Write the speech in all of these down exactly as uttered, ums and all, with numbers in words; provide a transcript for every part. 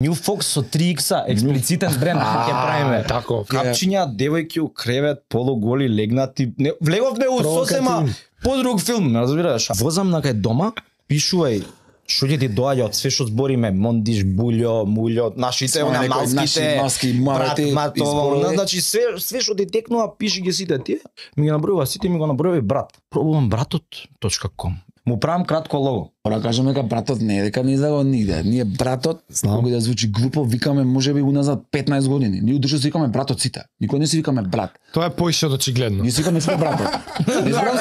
New Fox со три икс-а, експлицитен бренд ќе правиме. Тако. Капчиња, девојки у кревет, полуголи, легнати. Не, влеговме у сосема подруг филм, разбираш? Возам на кај дома, пишувај што ќе ти доаѓа од све што збориме, мондиш, булјо, мулјо, нашите, она малските, маски, брат, мавете, матово, значи све све што ти текнува, пиши ги сите тие. Ми ги набројува сите, ми го набројува и брат. Пробувам братот точка ком. Му правам кратко лого. Ора кажеме дека братот не е, дека не излага нигде. Ние братот, кога да звучи глупо, викаме можеби уназад петнаесет години. Ние удушо си викаме братот сите. Никој не си викаме брат. Тоа е поише од очигледно. Ние си викаме сите братот. Не знам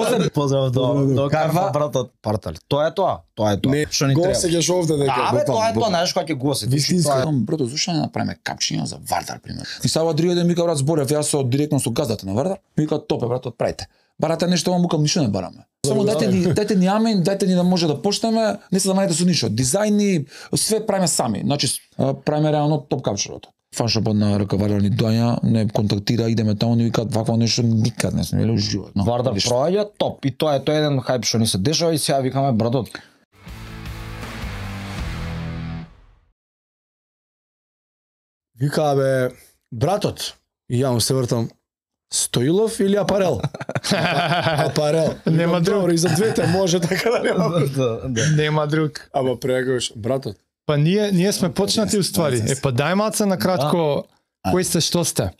за Поздрав до до Карва братот Партал. Тоа е тоа. Тоа е тоа. Што ни треба. Го сеќаш овде дека. Да, бе, тоа е тоа, знаеш кога ќе го осетиш. Вистинска. Брато, зошто не направиме капчиња за Вардар пример? И сава другиот ден мика брат зборев јас со директно со газдата на Вардар. Мика топе братот правите. Барате нешто, вам мукам ништо не бараме. Само дайте ни, дайте ни амин, дайте ни да може да почнеме, не се замарете со ништо. Дизајни, све правиме сами. Значи правиме реално топ капчерот. Фаншопот на Ракавардар ни доаѓа, не контактира, идеме таму, ни викаат вакво нешто никад не сме видели во живот. Вардар проаѓа топ и тоа е тоа еден хајп што ни се дешава и сега викаме братот. Вика бе братот. И ја му се вртам. Стоилов или Апарел? Апарел. Нема друг. И за двете може така да нема. Нема друг. Ама прегаш братот. Па ние ние сме почнати уствари. Е па дај малце на кратко кои сте, што сте?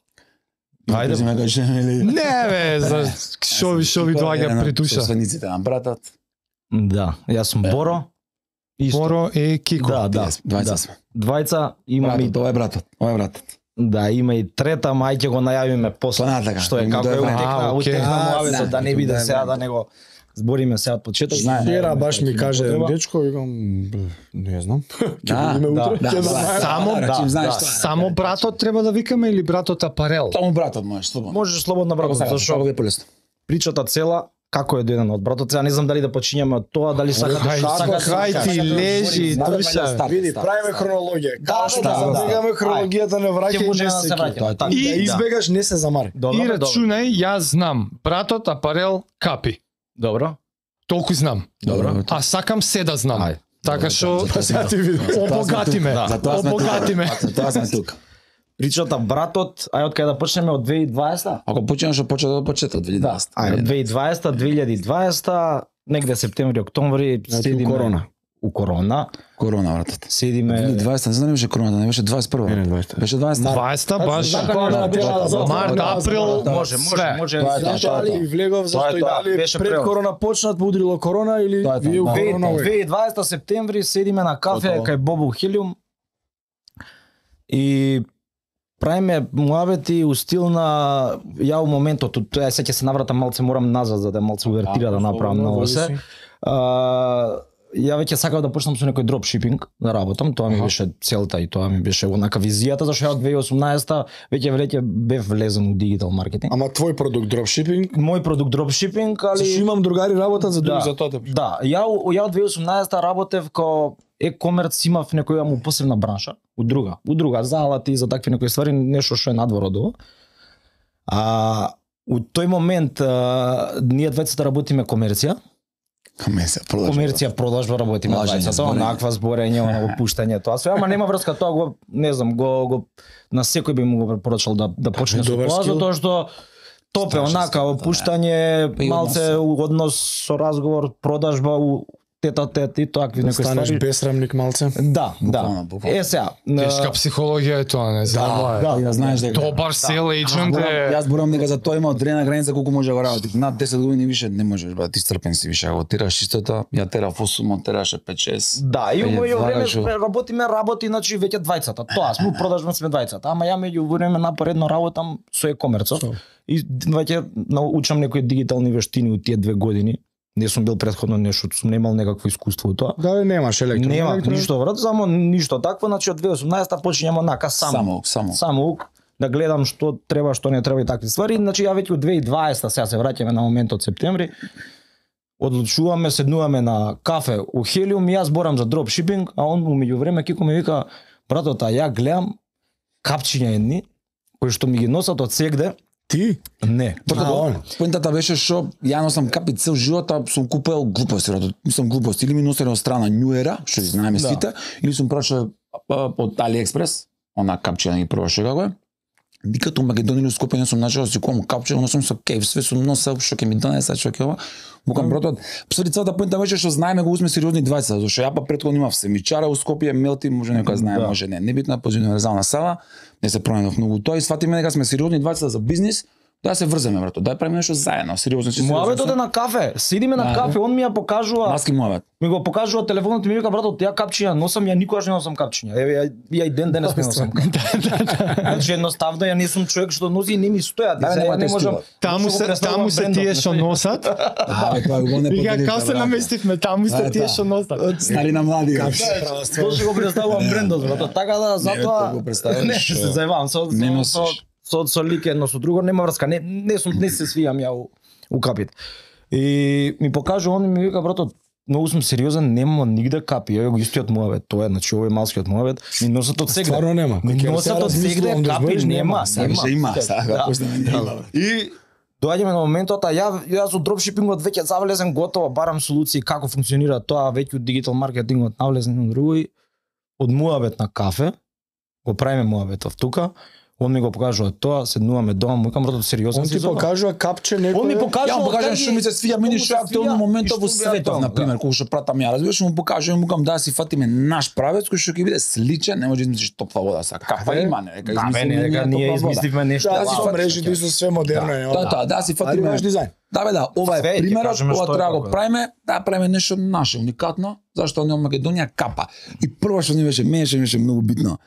Ајде ме кажеме или Не бе, за што ви што ви доаѓа при душа. Соствениците на братот. Да, јас сум Боро. Исто. Боро и Кико. Да, да. Двајца сме. Двајца има и Тоа е братот. Ова е братот. да, има и трета, мај ќе го најавиме после. Па, така. Што е Му како е дојде. утекна, А, окей. утекна А, муавето, знам, да не биде да, сега да. да него збориме сега од почеток. Знае. Вчера баш ми каже Треба. дечко, викам, б, не знам. Да, Ќе да, утре, ќе да, знаеме. Само да, да, знаеш да. што е. Само братот треба да викаме или братот Апарел? Само братот можеш слободно. Можеш слободно братот, Како зашо е полесно. причата цела како е дојден од братот. Сега не знам дали да почињаме од тоа, дали сака да Хај, сака хај ти лежи, душа. Види, правиме хронологија. Како што да, да. забегаме хронологијата не враќа Ќе и може не да се се враќаме. Така, И- Да избегаш, не се замари. Добро, И бе, добро. рачунај, јас знам. Братот Апарел Капи. Добро. Толку знам. Добро. А сакам се да знам. Ајде. Така што Па сега ти види. обогати ме. Да. Затоа сме тука. Обогати ме. Затоа сме тука. Причата братот, ај од кај да почнеме од две илјади и дваесета? Ако почнеш од почеток од почеток две илјади и дваесета. Ајде, две илјади и дваесета, две илјади и дваесета, негде септември, октомври, седиме корона. У корона, Корона братот. две илјади и седиме дваесета, не знам дали беше короната, не беше дваесет и прва. Не, не, дваесета. Беше дваесета. дваесета баш. Корона беше за- Март, да, април, да, може, може, све. може. Тоа е тоа, Зашто тоа е али тоа. влегов зашто Тоа е и тоа, дали беше пред превод. корона почнат, удрило корона или Тоа е тоа, вие у да. корона две овој? илјади и дваесета септември седиме на кафе Готово. кај Бобу Хелиум и правиме муабети у стил на ја у моментот, тоа се ќе се навратам малце, морам назад за да малце увертира да направам ново се. А, ја веќе сакав да почнам со некој дропшипинг да работам, тоа ми беше целта и тоа ми беше онака визијата, зашто ја од две илјади и осумнаесета веќе веќе бев влезен у дигитал маркетинг. Ама твој продукт дропшипинг, Мој продукт дропшипинг, али зашто имам другари работат за други Да, за тоа те питам. Да, ја у- ја од две илјади и осумнаесета работев као e-commerce, имав некоја му посебна бранша, у друга, у друга за алати, за такви некои ствари, нешто што е надвор од ова. А у тој момент а, ние двајцата работиме комерција, Комесија, продажба. комерција продажба работиме Лажење, двајцата, зборење. онаква зборење, оно опуштање, тоа све, ама нема врска, тоа го, не знам, го, го на секој би му го препорачал да да почне со добар тоа, скил. затоа што топе Страшна онака скил, да, опуштање, Па и малце однос со разговор, продажба у тета тет и такви некои Станеш ствари. бесрамник малце. Да, Буквално, да. буквално. Е сега, Тешка психологија е тоа, не знам. Да, ја знаеш дека. Добар сел ејджент е. Јас зборам дека за тоа има одредена граница колку може да го работи. Над десет години више не можеш, брат, ти стрпен си више. Ако тераш чистота, ја тера осум, тераше пет шест. да, и Па ја меѓу време влагаш во- сме- работиме работи, значи веќе двајцата. Тоа сме продажба сме двајцата, ама ја меѓу време напоредно работам со e-комерцот и веќе научам некои дигитални вештини у тие две години. Не сум бил претходно нешто, сум немал некакво искуство у тоа. Да, немаш електро. Нема електро. ништо врат, само ништо такво, значи од две илјади и осумнаесета почињам онака само. Само, само. Само ук, да гледам што треба, што не треба и такви ствари. Значи ја веќе од две илјади и дваесета, сега се враќаме на моментот септември, одлучуваме, седнуваме на кафе у Хелиум и јас зборам за дропшипинг, а он умеѓу време Кико ми вика, братот, а ја гледам капчиња едни кои што ми ги носат од сегде. Ти? Не. А, он. Поентата беше што ја носам капи цел живот, а сум купел глупости, брат. Мислам глупости или ми носеле од страна New Era, што ги знаеме Да. сите, или сум прашал од AliExpress, она капчина ги пробаше како е. Никад у Македонија или Скопје не сум начал да си купам капче, но сум со кеф, све сум носел, што ќе ми донесе, што ќе ова. Мукам братот, посреди целата поинта беше што знаеме го узме сериозни двајца, зашто ја па претходно имав семичара у Скопје, Мелти, може некој знае, да. Може не, небитна, позитивно универзална сала, не се променав многу тоа и сватиме дека сме сериозни двајца за бизнис. Да се врземе брато, да правиме нешто заедно, сериозно си. Муабетот е на кафе, сидиме на кафе, он ми ја покажува. Маски муабет. Ми го покажува телефонот и ми вика брато, ја капчиња носам, ја никогаш не носам капчиња. Еве ја, ја и ден денес не носам. Значи едноставно ја не сум човек што носи и не ми стојат. Да, не можам. Таму се таму се тие што носат. Да, тоа го не Вика како се наместивме, таму се тие што носат. Стари на млади. Тоа што го представувам брендот, брато. Така да затоа не се зајавам со со со со лик едно со друго нема врска. Не не сум не се свијам ја у, у капит. И ми покажа он ми вика брато, многу сум сериозен, нема нигде капи. Еве го истиот муабет, тоа е, значи овој малскиот муабет, ми носат од сегде. Стварно нема. Ми носат од сегде капи нема, нема. Има, сега И доаѓаме на моментот, а ја јас од дропшипингот веќе завлезен готово, барам солуции како функционира тоа, веќе од дигитал маркетингот навлезен на друго и од муабет на кафе го правиме муабетов тука. Он ми го покажува тоа, седнуваме дома, му викам брато сериозно. Он ти покажува капче некој. Он ми покажува, ја му покажам што ми се свија, мене што актуелно моментот во светот, на пример, кога што пратам ја, разбираш, му покажувам, му кажам да си фатиме наш правец кој што ќе биде сличен, не може да измислиш топла вода са. Кафа има, не, дека измислиме, дека ние измисливме нешто. Да, си мрежите и со све модерно е. Да, да, да си фатиме наш дизајн. Да бе да, ова е примерот, ова треба да го правиме, да правиме нешто наше, уникатно, зашто не Македонија капа. И прво што ни беше, мене што беше многу битно.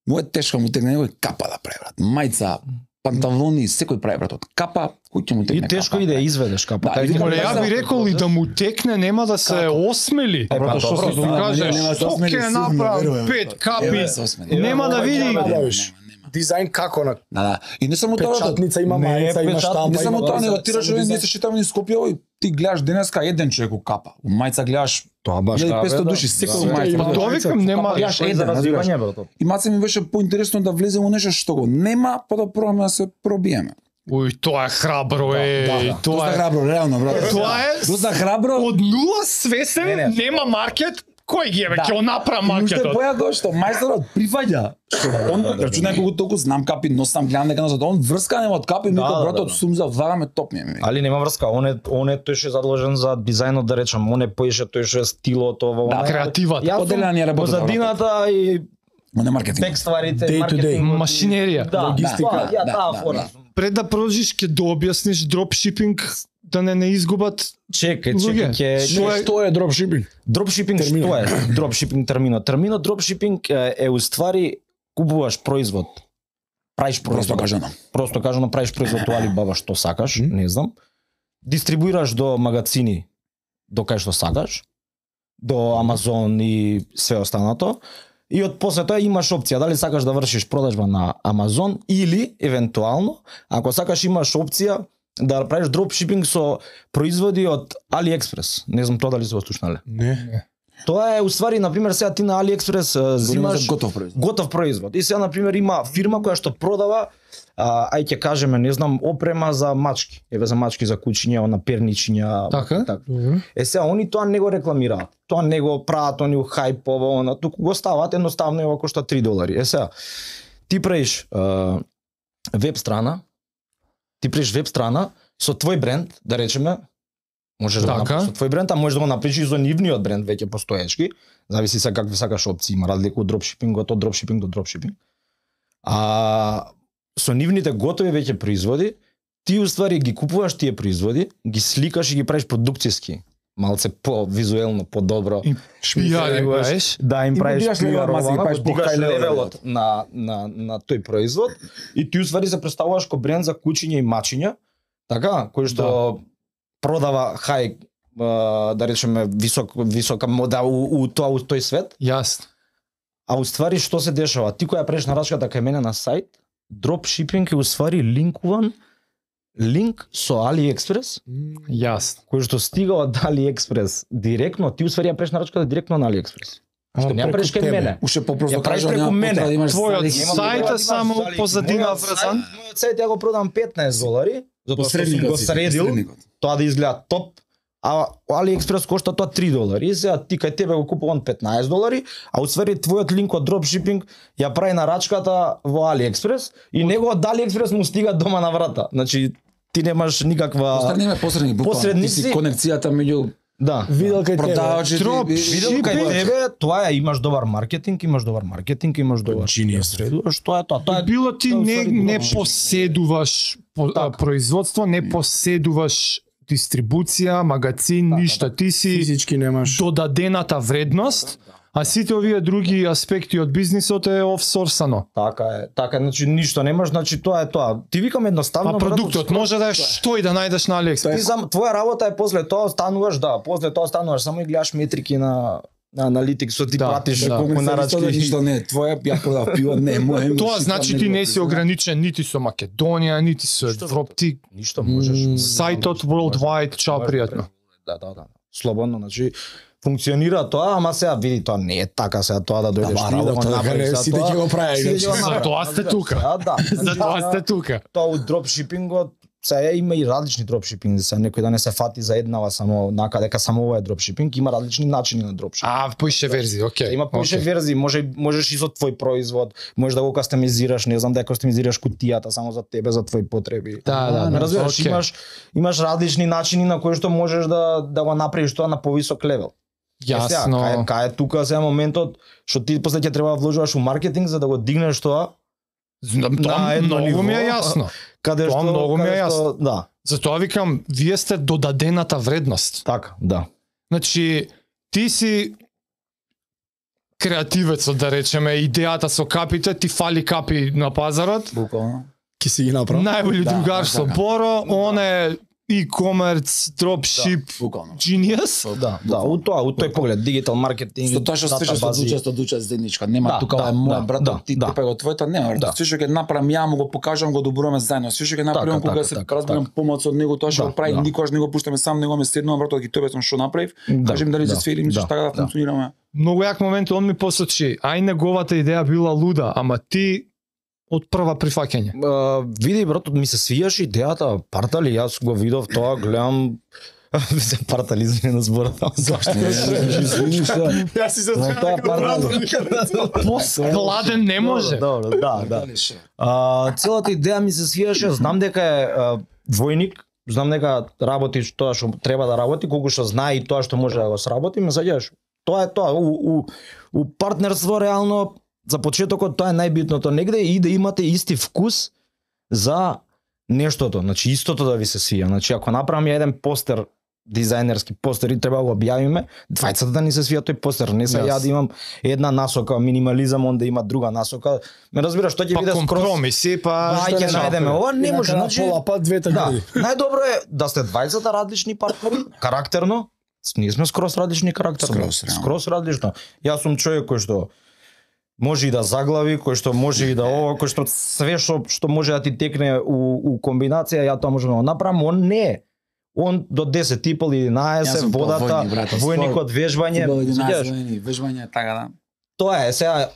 Му е тешко му тегне некој капа да прави брат. Мајца, панталони, секој прави брат од капа, кој ќе му тегне капа. И тешко и да изведеш капа. Да, и Оле, ја би рекол и да му текне, нема да се осмели. Е, па, што добро, се да, кажеш, нема да се што осмели, ќе сигурно, направам верувам. пет капи, нема да види. Дизајн како на Да, да. И не само тоа, печатница има Не, мајца, има печат- штампа. не само има тоа, ваза, него тираш само не дизајн. се шетаме ни Скопје, овој ти гледаш денеска еден човек у капа. У мајца гледаш Тоа баш илјада и петсто така, души, да. секој Да. мајца. Па, Тоа викам нема. гледаш Е, еден, за разбираш. развивање брато. И маце ми беше поинтересно да влеземе во нешто што го нема, па да пробаме да се пробиеме. Уј, тоа е храбро, е, Доста тоа е. храбро, реално, брат. Тоа е Доста храбро. од нула свесен, Не, не. нема маркет, кој ги е ве, Да. ќе го направи И уште маркетот. појако што мајсторот прифаќа. Што он рачунај колку толку знам капи, носам, гледам дека носат, он врска нема од капи, ми Да, вика да, братот да. сум за вагаме топ ми е. Али нема врска, он е он е тој што е задолжен за дизајнот да речам, он е поише тој што е стилот ова, Да, она. креативата. Јас сум Поделена ни е работата, позадината и Он е маркетинг. тек стварите, Day to day. маркетингот, Машинерија. Да, Логистика. да, ја Да, таа да, фора. да. Пред да продолжиш ќе да објасниш дропшипинг да не не изгубат Чекај, луѓе. чекај, ќе Што е- Што е дропшипинг? дропшипинг Терминот. што е? Дропшипинг терминот. Терминот дропшипинг е, е уствари купуваш производ. Правиш Просто производ. кажано. Просто кажано правиш производ у Алибаба што сакаш, не знам. Дистрибуираш до магазини до кај што сакаш, до Амазон и све останато. И од после тоа имаш опција дали сакаш да вршиш продажба на Амазон или евентуално ако сакаш имаш опција да правиш дропшипинг со производи од AliExpress. Не знам тоа дали се го слушнале. Не. Тоа е уствари на пример сега ти на AliExpress а, Зимаш зимаш готов производ. готов производ. И сега на пример има фирма која што продава а, ај ќе кажеме, не знам, опрема за мачки. Еве за мачки за кучиња, на перничиња. Така? така. Е сега они тоа не го рекламираат. Тоа не го прават они у хајпова, она туку го стават едноставно и ова кошта три долари. Е сега ти правиш а, веб страна, ти правиш веб страна со твој бренд, да речеме, можеш да го Така. направиш со твој бренд, а можеш да го направиш и со нивниот бренд веќе постоечки. Зависи се какви сакаш опции, има разлика од дропшипингот, од дропшипинг до дропшипинг. А со нивните готови веќе производи, ти уствари ги купуваш тие производи, ги сликаш и ги правиш продукцијски, малце по визуелно подобро. И пијари правиш. Да им И правиш дигаш левел, пиар, маси, ги ова, правиш го по дигаш high level. левелот на на на тој производ и ти уствари се представуваш ко бренд за кучиња и мачиња, така, кој што продава хај а, да речеме висок висока мода у, у тоа у тој свет. Јасно. А уствари што се дешава? Ти која правиш нарачката кај мене на сајт, дропшипинг е уствари линкуван линк со AliExpress, Јасно. кој што стига од AliExpress директно, ти уствари ја правиш нарачката директно на AliExpress. Што не ја правиш кај мене. Уште попросто Ја правиш кажа, преку нема мене. потреба да имаш Твојот залик. Имам сајт треба е да имаш само залик. позадина Мојот врзан. сајт- Мојот сајт ја го продам петнаесет долари, затоа што сум го Посредникот си, средил, посредникот. тоа да изгледа топ, а AliExpress кошта тоа три долари. И сега ти кај тебе го купувам петнаесет долари, а усвари твојот линк од дропшипинг ја прави нарачката во AliExpress и неговот AliExpress му стига дома на врата. Значи ти немаш никаква Посредни посредни буквално. посредници. Ти си конекцијата меѓу Да. Видел кај тебе. продавачите. Дроп и- Видел кај тебе, тоа е, имаш добар маркетинг, имаш добар маркетинг, имаш добар Genius. средувааш, тоа е тоа. Тоа е Било ти тоа не усвари не дропшипинг. поседуваш по, а, Така. производство, не поседуваш дистрибуција, магазин, ништа. Ти си Физички немаш. додадената вредност, а сите овие други аспекти од бизнисот е офсорсано. Така е, така е, значи ништо немаш, значи тоа е тоа. Ти викам едноставно. А продуктот брат, може да е што и да најдеш на Ти AliExpress. сам твоја работа е после тоа стануваш, да, после тоа стануваш само и гледаш метрики на на аналитиксот, ти Да, пратиш да. колку нарачки. Ништо не, е твоја ја продав пиво, не, мој. Тоа значи ти не си ограничен нити со Македонија, нити со Европа, ти Ништо можеш. сајтот worldwide, чао пријатно. Да, да, да. Слободно, значи функционира тоа, ама сега види тоа не е така сега тоа да дојдеш Ама ти да го работа, направиш. дека сите ќе го прават, Сите ќе го иначе. направат. Затоа сте тука. Сега, да. За тоа Значи, сте тука. Тоа од дропшипингот, сега има и различни дропшипинг, сега некој да не се фати за еднава само нака дека само ова е дропшипинг, има различни начини на дропшипинг. А, поише верзии, окей. Има повеќе окей. верзии, може можеш и со твој производ, можеш да го кастомизираш, не знам да ја кастомизираш кутијата само за тебе, за твои потреби. Да, да, Ме да. разбираш, окей. имаш имаш различни начини на кои што можеш да да го направиш тоа на повисок левел. Е, сега, Јасно. кај, кај е тука сега моментот што ти после ќе треба да вложуваш у маркетинг за да го дигнеш тоа, Знам, на Тоа едно многу ми е ниво, јасно. каде Тоа што многу ми е каде што- јасно. Да, Затоа викам, вие сте додадената вредност. така, да. Значи, ти си креативецот, да речеме, идејата со капите, ти фали капи на пазарот. Буквално. Ки си ги направи. Најболи Да, другар да, со така. Боро, он е e-commerce, dropship, Буквално. genius. Да, да, у тоа, у тој поглед, дигитал маркетинг, Со тоа што све што датабази. дуча, што дуча заедничка, нема Да, тука да, ова е мој да, брат, да, ти да. тепе го твоето, нема Да. брат. Све што ќе направам ја му го покажам, го добруваме заедно. Све што ќе направам Така, кога така, се така, разберам така. помоц од него, тоа што Да, го прави, да. никогаш не го пуштаме сам, него ме седнувам брат, ги тебе сум што направив. Да, Кажем дали се да, свери, мислиш да, така да да. функционираме. Многу јак момент, он ми посочи, ај неговата идеја била луда, ама ти од прва прифаќање. Uh, види брат, ми се свијаш идејата, партали, јас го видов тоа, гледам се партали извини на зборот. Зашто? Извини што. Јас си се За тоа партали. Поскладен не може. Добро, да, да. А, целата идеја ми се свијаше, знам дека е а, двојник, знам дека работи тоа што треба да работи, колку што знае и тоа што може да го сработи, ме сеќаваш. Тоа е тоа, у, у, у партнерство реално за почетокот тоа е најбитното негде и да имате исти вкус за нештото, значи истото да ви се свија. Значи ако направиме еден постер дизајнерски постер и треба да го објавиме, двајцата да ни се свија тој постер, не се Јас. ја да имам една насока минимализам, он да има друга насока. Ме разбираш, тоа ќе Па биде скроз компромиси, па Ај ќе најдеме ова, не може, значи пола пат двете да, гради. најдобро е да сте двајцата различни партнери, карактерно. Ние сме скроз различни карактерно. Скроз, реално. скроз различно. Јас сум човек кој што може и да заглави, кој што може и да ова, кој што све што што може да ти текне у, у комбинација, ја тоа можам да го направам, он не е. Он до десет и пол Јас единаесет сум водата, повојник, брате, војникот вежбање, сеќаваш? Вежбање, така да. Тоа е сега.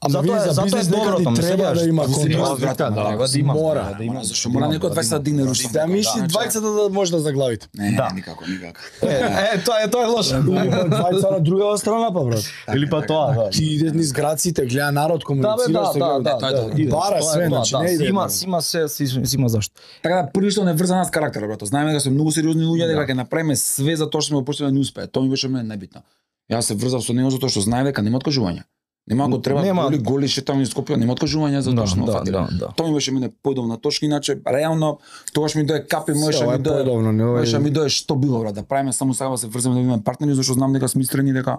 Ама Затоа вие е- за затоа е бизнес доброто, некаде ме треба сеќаваш? да има Треба, контрол. брате, да, треба да има, мора. да има. Зашто мора некој двајцет да дигне рушата. Да мисли двајцата да може да заглавите. Не, Да. никако, никако. Е, е, тоа е тоа е лошо. Или па двајца на другава страна па брат. Или па тоа, да. Ти иде низ граците, гледа народ, Да, бе, комуницира да, се да, гледа. да, тоа е да, добро. и Бара тоа е све, тоа, значи, да, не иде Сима, едно. сима се, си, си има зашто. Така да први што не врза нас карактер, брато. Знаеме дека сме многу сериозни луѓе, дека ќе направиме све за тоа што сме почнали да не успее. Тоа ми беше мене најбитно. Јас се врзав со него затоа што знаев дека нема откажување. Нема ако треба Нема. голи голи шетам низ Скопје, нема откажување за тоа што ме фатиле. да, да. Тоа ми беше мене појдовна точка, иначе реално тогаш ми дое капи, можеше Ова ми е дое. поедовно, не ова е- Можеше ми дое што било, брат, да правиме само сега да се врземе да имаме партнери, зашто знам дека сме искрени дека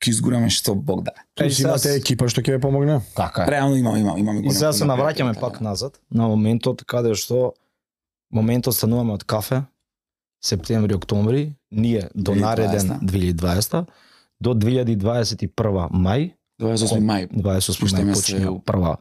ќе изгураме што Бог да. Е, Плюс имате сега- екипа што ќе ве помогне. Така е. Реално имам, имам, имам. И сега се навраќаме пак назад на моментот каде што моментот стануваме од кафе септември, октомври, ние до две илјади и нареден дваесета. две илјади и дваесета до две илјади дваесет и прва мај, дваесет и осми мај. дваесет и осми Пуштаме мај се почине у- прва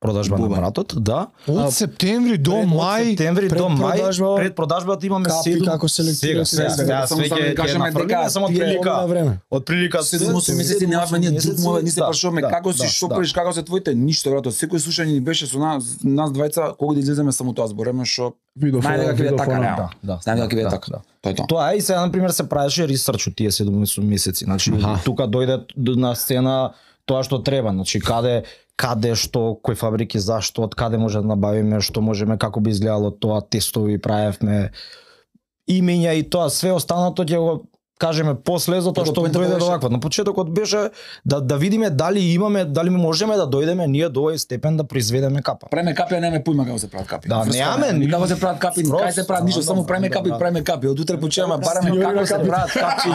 продажба на Бубен. братот, да. Од септември до Пред- мај. Од септември до мај, предпродажба, пред продажбата имаме капи седум. како селектира Сега, се. сега, Само све само ќе да ќе кажеме нафрлиме дека само од тие прилика. на време. Од прилика седум осум месеци немавме ние друг мове, ни се да, прашуваме да, како си да, шопреш, како се твоите, ништо брато. Секој слушање ни беше со нас, нас двајца, кога да излеземе само тоа збореме што Видов, најде дека ќе биде видов, така она, реално. да, Знаеме дека ќе биде да, така. да. Тоа е тоа. Тоа е и сега на пример се правеше ресерч од тие седум месеци. Значи Аха. тука дојде д- на сцена тоа што треба, значи каде каде што кои фабрики зашто, од каде може да набавиме, што можеме, како би изгледало тоа, тестови правевме, имења и тоа, све останато ќе го кажеме после затоа Како што поентата дојде до беше- вакво. На почетокот беше да да видиме дали имаме, дали можеме да дојдеме ние до овој степен да произведеме капа. Правиме капи, а немаме појма како се прават капи. Да, Врска, немаме, ни ни- како се прават капи, Скроз, кај се прават ништо, да, само да, правиме да, капи, да. правиме капи. Од утре почнеме бараме Сниори како на се капи. прават капи.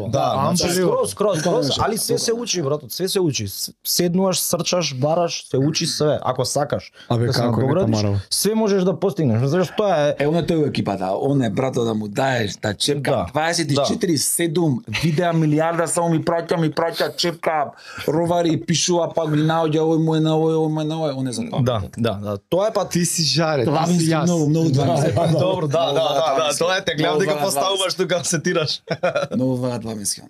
Да, значи, Амбелево. скроз, скроз, скроз, али све се учи, братот, све се учи. С- Седнуваш, срчаш, бараш, се учи све, ако сакаш. Абе, да се како е, надоградиш, нека марал. све можеш да постигнеш. Зашто тоа е Е, оне тој екипата, оне брато да му даеш, да чепка Да, дваесет и четири седум видеа милиарда само ми праќа, ми праќа чепка, ровари, пишува, пак ми наоѓа овој му е на овој, овој му е на овој, оне за тоа. Да, да, да. Тоа е па Ти си жаре, Това ти ми си се јас. многу, многу два ми се. Добро, да, да, да, да, тоа е те гледам дека Много поставуваш тука се тираш. Многу два два мисли.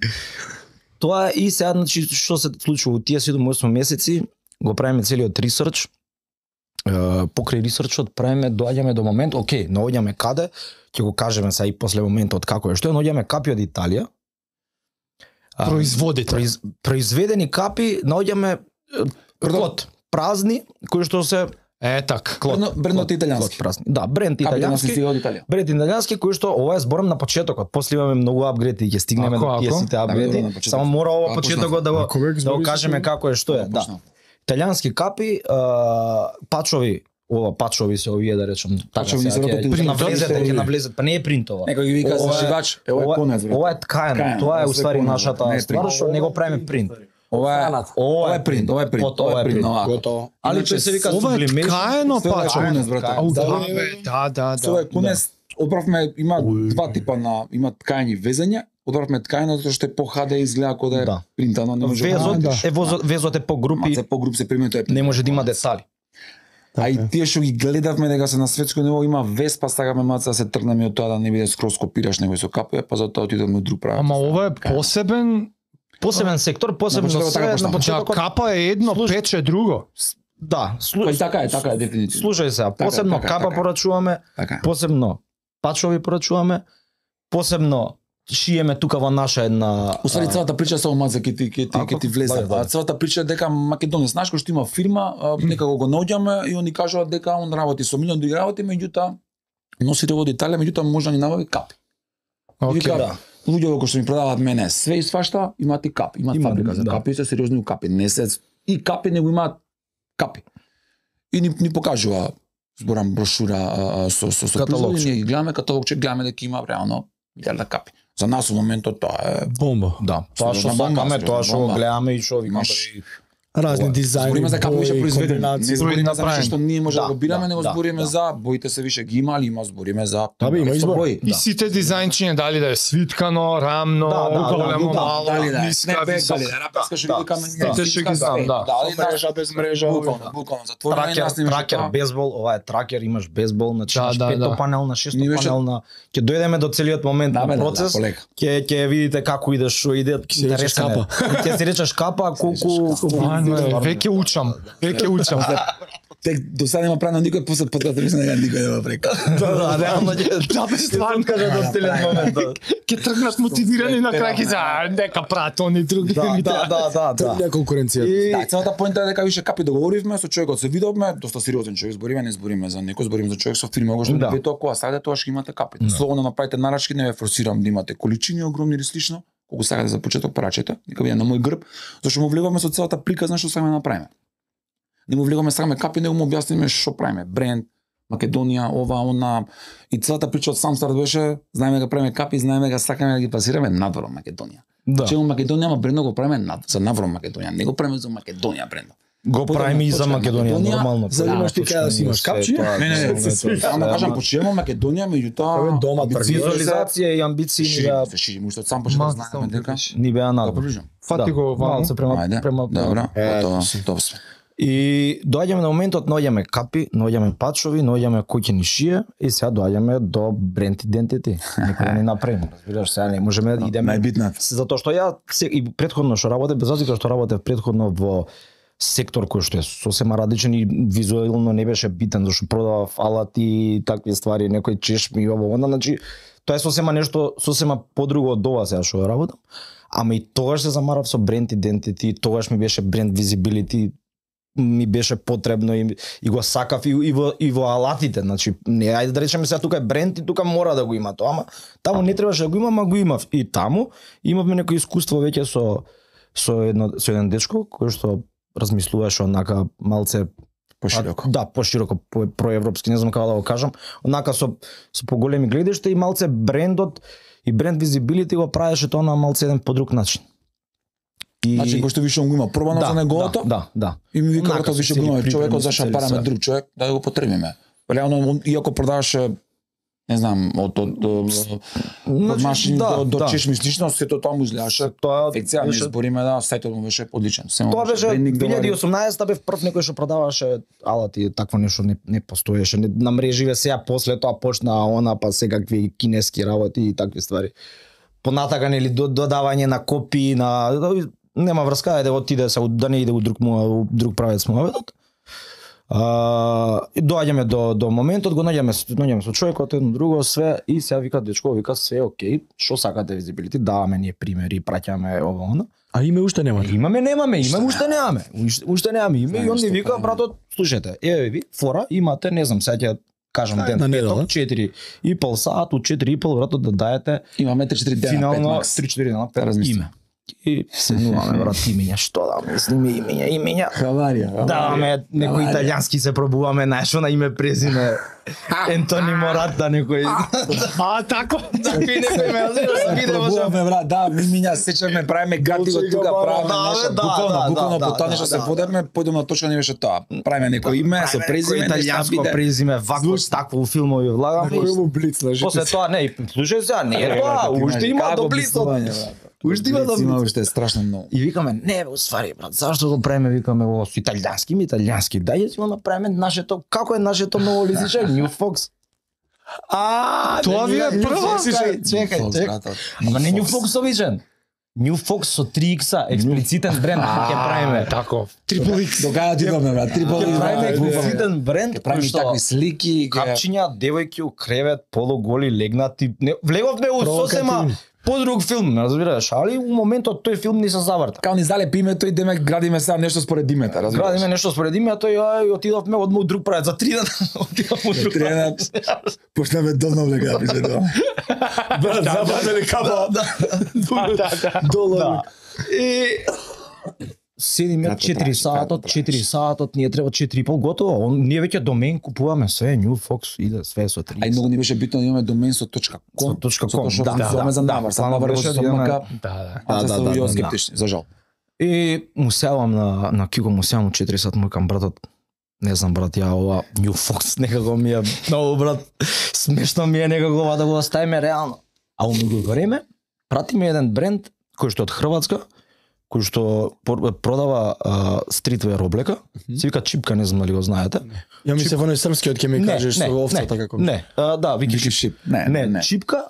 Тоа е и сега значи што се случува во тие седум осум месеци, го правиме целиот ресерч. Е, покрај ресерчот правиме, доаѓаме до момент, окей, наоѓаме каде, ќе го кажеме сега и после моментот како е, што е, наоѓаме капи од Италија. А, Производите. произ, произведени капи, наоѓаме е, клот, празни, кои што се Е така. клот, Брендот- брендот клот, италијански. клот празни. Да, бренд Капите нас не италијански. стига од Италија. Бренд италијански кој што ова е зборам на почетокот. После имаме многу апгрейди и ќе стигнеме Ако, до тие ако? сите Да, апгрейди. да, на почеток. Само мора ова Ако почетокот да го Ако веќе да го збори се кажеме тоа, како е, што е. Да. Почнав. Италијански капи, а, пачови, ова пачови се овие да речем, така Пачови сега се ќе рокот ќе и навлезете, принтот. ќе навлезете, па не е принтова. Некој ги вика Ова е- зашивач, е ова е конец, брат. Ова е ткаено, Ткаено, тоа е ова у се ствари конец, нашата не е ствар принт. што не го правиме принт. Ова е Странат. ова е принт, ова е принт, Ото, ова е принт, овако. Готово. Али Иначе тој се вика Ова е sublimation. ткаено Тоа е пачо. конец, брате. Ау, Да, да, бе, бе, да, да, Со е да. конец, одбравме, има два типа на, има ткаени везења, одбравме ткаено затоа што е по ха де изгледа како да е Да. принтано, не може Везот да е возот, везот е по групи, се по груп се применува тоа е не може да има детали. А и тие што ги гледавме дека се на светско ниво има вес, па сакаме маца да се тргнеме од тоа да не биде скроз копираш него со капе, па затоа отидовме од друг правец. Ама ова е посебен, Посебен сектор, посебно почетокот така се на почнав. да, почетокот. капа е едно, Слушай, пече друго. Да, Па слу... и така е, така е дефинитивно. слушај се, Така е, посебно така е, капа така е. порачуваме, Така. е. посебно пачови порачуваме, посебно шиеме тука во наша една Усвари а, целата прича со маца ќе ти ќе ти Ако? ќе ти влезе. Вајде, вајде. А целата прича е дека Македонија, знаеш кој што има фирма, а, некако го наоѓаме и они кажуваат дека он работи со милион други работи, меѓутоа носите од Италија, меѓутоа може да ни набави капи. И Океј. вика, да. луѓето кои што ми продаваат мене све и свашта, имаат и капи, имаат Има, фабрика за да. капи, се сериозни у капи, не се и капи него имаат капи. И ни, ни покажува зборам брошура а, а, со со со Каталогче. производи, ние ги гледаме каталогче, гледаме дека има реално милиарда капи. За нас во моментот тоа е Бомба. Да, тоа што Сериозна бомба, сакаме, тоа што сериозна го бомба. гледаме и што викаме. Имаш- Разни Ова. дизајни, Збориме за како више бои, произведено. Не комбинации. збориме за направени. нешто што ние може да, Да, го бираме, да, него да, збориме да. за боите се више ги има, али има збориме за Да, бе, има избор. бои. И сите дизајнчиња, дали да е свиткано, рамно, Да, да, да, големо, да, мало, Дали да е ниска, снепбек, висока. дали да е рапеска што да, ги викаме. да. Сите што ги знам, да. Дали Со мрежа, без мрежа, Буквално, да. буквално. Затворено и Тракер, нас не имаше тракер, тоа. бейсбол, ова е тракер, имаш бейсбол, значи Да, имаш да, пето да. панелна, шесто Ние беше- панелна. Ќе дојдеме до целиот момент Да, на бе, да, процес. да, полека. Ќе ќе видите како иде, што иде, се рече интересен е. капа. Ќе се речеш капа, колку Стварно е, веќе учам, веќе учам. Тек до сега нема правено никој после подкаст не дека никој нема прека. Да, да, реално ќе Да, бе, стварно. кажа до целиот момент. Да, Ќе тргнат мотивирани на крај ќе за нека прат они други да, ми да, да, да. Тргне конкуренција. И Да, целата поента е дека више капи договоривме со човекот се видовме, доста сериозен човек, збориме, не збориме за некој, збориме за човек со фирма, го што Да. да. ви тоа саде тоа што имате капи. Слободно направите нарачки, не ве форсирам да имате количини огромни или слично, колку сакате за почеток парачете, нека биде на мој грб, зашто му влегуваме со целата приказна што сакаме да направиме. Не му влегуваме сакаме капи, него му објасниме што правиме, бренд, Македонија, ова, она, и целата прича од сам старт беше, знаеме дека правиме капи, знаеме дека сакаме да ги пасираме надвор од Македонија. да. Чему Македонија, ама брендот го правиме над, за навор Македонија, не го правиме за Македонија брендот. Го правиме и за Почнеме Македонија, Македонија, нормално. за да имаш ти кај да си имаш капчи? Не, не, не, само да кажам, почнеме Македонија, меѓутоа Абе, дома амбициозно се Визуализација и амбиции ни шири, беа се шири, уште од сам почеток знаеме дека ни беа го надвор. приближам. Фати го ваму. Малце према Ајде, према добро, Е, готово, си. тоа сме. И доаѓаме на моментот, наоѓаме капи, наоѓаме пачови, наоѓаме коќени шие и сега доаѓаме до бренд идентити. Некој да ни направи, разбираш, сега не можеме да идеме. Најбитната. Затоа што ја се, и претходно што работев, без разлика што работев претходно во сектор кој што е сосема различен и визуелно не беше битен, зашто продавав алати и такви ствари, некој чешми и ово, онда, значи тоа е сосема нешто сосема подруго од ова сега што работам. Ама и тогаш се замарав со бренд идентити, тогаш ми беше бренд визибилити, ми беше потребно и, и го сакав и, и, во, и во алатите, значи не ајде да речеме сега тука е бренд и тука мора да го има тоа, ама таму не требаше да го има, ама го имав и таму имавме некој искуство веќе со со едно со еден дечко кој што размислуваше онака малце Пошироко. А, да, пошироко, по, проевропски, не знам како да го кажам, онака со со поголеми гледишта и малце брендот и бренд визибилити го правеше тоа на малце еден по друг начин. И... Значи, кој што више го има пробано да, за неговото, да, да, да. И ми вика Онака тоа више го има човекот зашто цели параме све. друг човек да го потребиме. Реално иако продаваше не знам, од од од Значи, машини да, до до да. чешми слично, сето тоа му изгледаше. Тоа Фекција ми беше- збориме да сајтот му беше одличен. Семо Тоа беше брендинг две илјади и добар. осумнаесетта бев прв некој што продаваше алати, такво нешто не не постоеше. Не, на мреживе сега после тоа почна она па секакви кинески работи и такви ствари. Понатака нели до- додавање на копии на нема врска, ајде отиде се да не иде у друг му у друг правец муаветот. А, и доаѓаме до до моментот, го наѓаме наѓаме со човекот едно друго све и сега вика дечко, вика све е окей, што сакате визибилити, даваме ние примери, праќаме ово она. А име уште нема. Имаме, немаме, имаме, уште немаме. Уште, уште немаме име и Знаеш он ни што вика, правиме. братот, слушајте, еве ви, фора, имате, не знам, сега ќе кажам Ај, ден, на недела. петок, четири и пол саат, у четири и пол, братот, да даете Имаме три четири дена, пет финално макс. три четири дена, пет размислам. име. И седнуваме, брат, имења, што да мислиме, имења, имења. Хаварија. Даваме некој Хаварија. италијански се пробуваме, знаеш, на име презиме Ентони Мората, некој. А, тако. Такви некој ме разбираш, виде може. Пробуваме, брат, да, ми миња сечеме, правиме гати го тука, правиме Да, нешто, бе, да, буквално, да, буквално да, по тоа да, нешто се да, водевме, појдеме на точка не беше тоа. Правиме некој име со презиме, италијанско нешто презиме, вако такво у филмови влагаме. Кој му блиц на После тоа не, и слушај сега, не е тоа, уште има до близо. Уште има до Има близо. уште страшно многу. И викаме, не, бе, уствари, брат, зашто го правиме, викаме, ово со италијански, ми италијански, дај си го направиме нашето, како е нашето ново лизиче, New Fox. А, Тоа ви е прво? Чекај, чекај, чекај. Ама не New Fox обичен. New Fox со три икса, експлицитен бренд ќе правиме. Тако. Трипл X. До кај отидоме, брат? Трипл Ќе правиме X. експлицитен бренд, Ќе кој правиме што такви слики, ќе капчиња, девојки у кревет, полуголи, легнати. Не, влеговме у сосема подруг филм, разбираш, али у моментот тој филм ни се заврта. као ни залепи името и демек градиме сега нешто според името, разбираш? Градиме нешто според името и ај отидовме одма у друг правец за три дена. Отидовме у друг Три дена. правец. Почнеме долно влега епизода. Брат, забатели капа. Да, да. Да. И седиме Кратко четири траче, сатот, кратко четири сатот, ние треба четири и пол готово. Он ние веќе домен купуваме све, New Fox иде све со три. А и многу ни беше битно да имаме домен со точка Со ком. точка Затоа ком, што да, организуваме да, за да. навар, само Планот навар беше со да имаме- мака. Да, да. А Да, да, да, да, да, да, да. скептични, за жал. И му севам на на Кико, му севам у четири сат, му викам братот, не знам брат, ја ова New Fox некако ми е многу брат, смешно ми е некако ова да го оставиме реално. А у многу време прати ми еден бренд кој што е од Хрватска, кој што пор- продава а, стритвер облека, се вика Чипка, не знам дали го знаете. Ја ми се во српскиот ќе ми кажеш со овцата не, како. Не, а, да, Вики Вики Чип. Шип. Не, Не, не. Чипка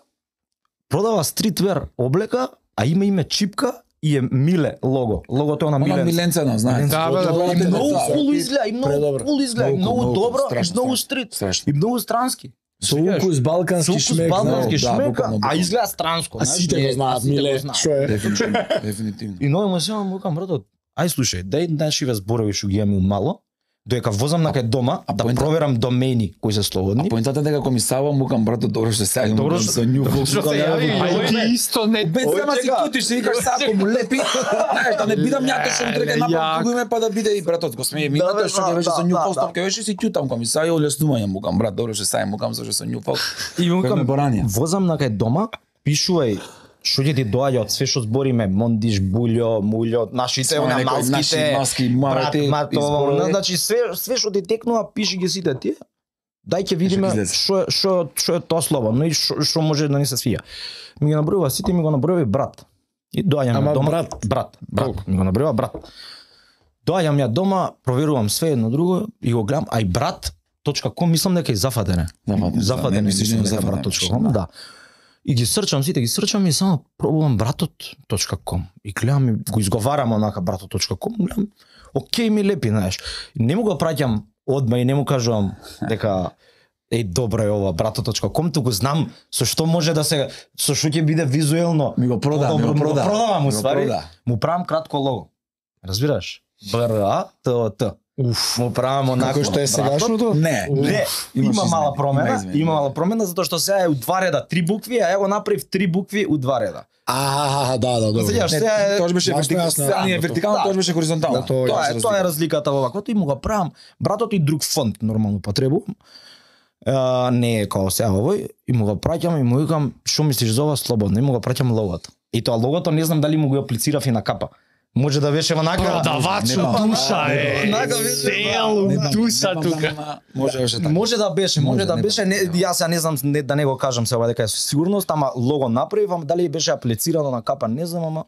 продава стритвер облека, а има име Чипка и е Миле лого. Логото е на Она Миле. Миленцено, знаете. Да, бе, да, Тоа И е многу тоа. кул изгледа, и многу Предобро. кул изгледа, и Многу, многу многу, добро, и страшно, многу страшно. стрит, Страшно. и многу странски. Со укус балкански Со укус шмек. балкански да, шмека, буквално, а буквално. изгледа странско. А знаеш, сите не- го знаат, а сите го Миле, знаат. што е? Дефинитивно, дефинитивно. И нови му се му викам братот, ај слушај, дај нашиве зборови што ги имаме умало, доека возам на кај дома а да поента- проверам домени кои се А слободни. поентата е дека кога ми савам, мукам брато, добро што се Добро јавам што- со New Fox. Што се јави, А и ти исто не... Без Ој, сама си чека. тутиш, си викаш сега ако му лепи, знаеш, да не бидам јатешен трека Леле, направам јак. друго име па да биде и братот, го смее ми Да, имате бе, што да, ќе беше да, со New да, Fox, да. ќе беше си тютам кога ми са и олеснување мукам брат, добро што сај мукам зашто со New Fox. И му Кој ме викам, боранија? возам на кај дома, пишувај што ќе ти доаѓа од све што збориме, мондиш, булјо, мулјо, нашите, Свој она некој малските, наши маски, брат, мавете, мато, изборови. она, значи све све што ти текнува, пиши ги сите тие. Дај ќе видиме излезе. што е- што што е тоа слободно и што што може да ни се свија. Ми ги набројува сите, ми го набројува и брат. И доаѓаме Ама дома. брат? брат, брат, ми го набројува брат. Доаѓам ја дома, проверувам све едно друго и го гледам, а и брат точка ком мислам дека е зафатене. Зафатене, Зафатене не мислиш мислам дека дека зафатене, брат точка ком, да. да. И ги срчам сите, ги срчам и само пробувам братот точка ком. И гледам и го изговарам онака братот точка ком, гледам, окей ми лепи, знаеш. Не му го праќам одма и не му кажувам дека еј добро е ова братот точка ком, туку знам со што може да се со што ќе биде визуелно. Ми го прода, ми подобро, го прода. продавам Ми го уствари. прода. Му правам кратко лого. Разбираш? Б Р А Т О Т. Уф, му правам онако. Како што е сегашното? Не, Не, Имаш има мала измени, промена, има измени, има да. мала промена затоа што сега е у два реда три букви, а ја го направив три букви у два реда. А, да, да, добро. Сеќаш, сега е Тоа беше Јасно, вертикално, јасно, сега не е јасно. вертикално, Да. тоа беше хоризонтално. Да, тоа Тоа се е, тоа е разликата во ваквото и му го правам. Братот и друг фонд нормално потребувам. А, не е како сега овој и му го праќам и му викам што мислиш за ова слободно и му го праќам логото. И тоа логото не знам дали му го аплицирав и на капа. Може да беше онака Продавач Не, у душа е. Онака беше, Сел Не у знам, душа не знам, тука. ама Може беше така. Може да беше, може, Може, да не беше. Не, знам. јас ја не знам не, да не го кажам сега дека е со сигурност, ама лого направив, ама дали беше аплицирано на капа, не знам, ама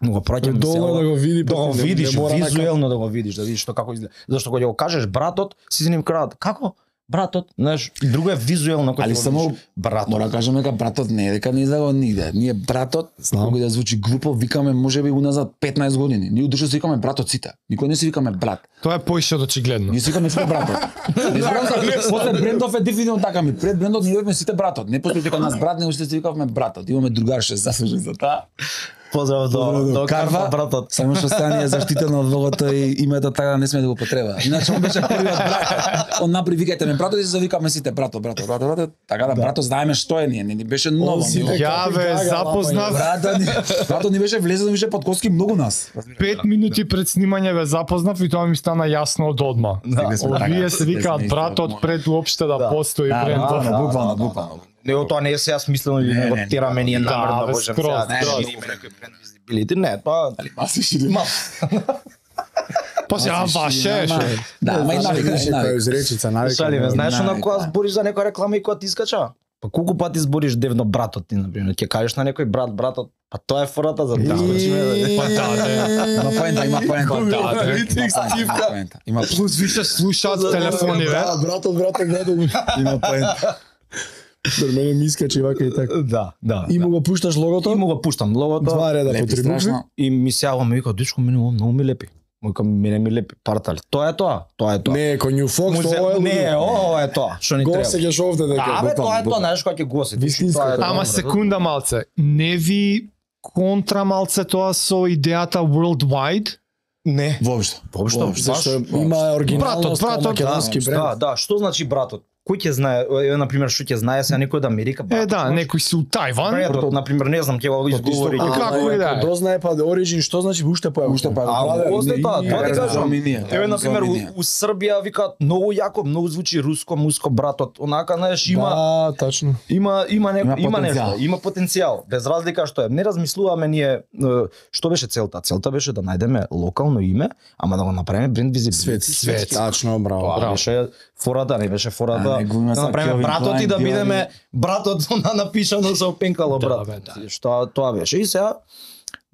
му го праќам Долу да го види, да го не- не видиш, мора на визуелно да го видиш, да видиш што како изгледа. Зашто кога ќе го кажеш братот, си ним краат. Како? Братот, знаеш, друго е визуелно кога Али ќе го само видиш. братот. Мора да кажеме дека братот не е дека не излего нигде. Ние братот, Знам. кога да звучи глупо, викаме можеби уназад петнаесет години. Ние удушо се викаме братот сите. Никој не се викаме брат. Тоа е поише од очигледно. Ние се викаме сите братот. Не знам за после брендов е дефинитивно така ми. Пред брендот ние бевме сите братот. Не постои дека нас брат, него сите се викавме братот. Имаме другарше заслужен за таа. Поздрав до до Карва, братот. Само што сега ни е заштитено од логото и името така не сме да го потреба. Иначе он беше првиот брат. Он напри викајте ме братот и се завикаме сите братот, братот, братот, братот. Така да братот знаеме што е ние, не ни беше ново. Он си Ние- дека- Ја ве Гага, запознав Братот ни, братот ни беше влезен више под коски многу нас. пет минути пред снимање ве запознав и тоа ми стана јасно од одма. Стигли сме така, Овие се стигли викаат сме братот исто, пред уопште да Да. постои Да, брендов. буквално, буквално, буквално. Не, тоа не е сега смислено или Не, него не, тераме ние да, намерно бе, можем скроз, сега да скроз. шириме некој бренд визибилити. Не, тоа Маси шири. Ма, Па сега ваше шо е. Да, ама и навика, и Која навика. изречица, навика. шалиме, знаеш навика. на која збориш за некоја реклама и која ти искача? Па колку пати збориш девно братот ти, например, ќе кажеш на некој брат, братот, па тоа е фората за да скочиме. Па да, да. Има поента, има поента. Па да, да. Има поента, има поента. Плюс више слушаат телефони, ве. Да, братот, братот, братот. Има поента. До мене ми искачи вака и така. Да, да. И му го пушташ И логото? му го пуштам логото Два реда по Лепи три букви. страшно. и ми се јава ми вика, дечко, мене ова многу ми лепи. Му викам, мене ми лепи партали. Тоа е тоа, тоа е тоа. Не, кој New Fox, Му се- ова е не, лудо. ова е тоа, што ни Го треба. се геш овде дека. Да, бе, тоа е буквално, тоа, знаеш кога ќе го осетиш. Вистинско Тоа е тоа. тоа. Ама секунда малце, не ви контра малце тоа со идејата worldwide? Не. Воопшто. Воопшто, Воопшто. Зашто Баш. има оригиналност, Братот, братот, македонски Да, бренд. да, што значи братот? Кој ќе знае, е, на пример, што ќе знае сега некој од Америка? Е, братот, да, знаеш? некои си у Тајван. Братот, на пример, не знам, ќе го изговори. А, ќе го како изговори. и да е. Ако дознае па да оригин, што значи уште па Уште па А, после тоа, тоа ти кажам. Еве, Еве, на пример, у, у Србија викаат многу јако, многу звучи руско, муско братот. Онака, знаеш, има Да, тачно. има има не, Има има, потенцијал. нешто, има потенцијал. Без разлика што е. Не размислуваме ние е, што беше целта. Целта беше да најдеме локално име, ама да го направиме бренд визибилити. Свет, свет. Тачно, браво. Тоа Браво. беше фората, не беше фората. А, не го има Да са направиме Келвин братот Клайн, и да Диори. бидеме братот на напишано со пенкало Да, брат. бе, да. Што тоа беше. И сега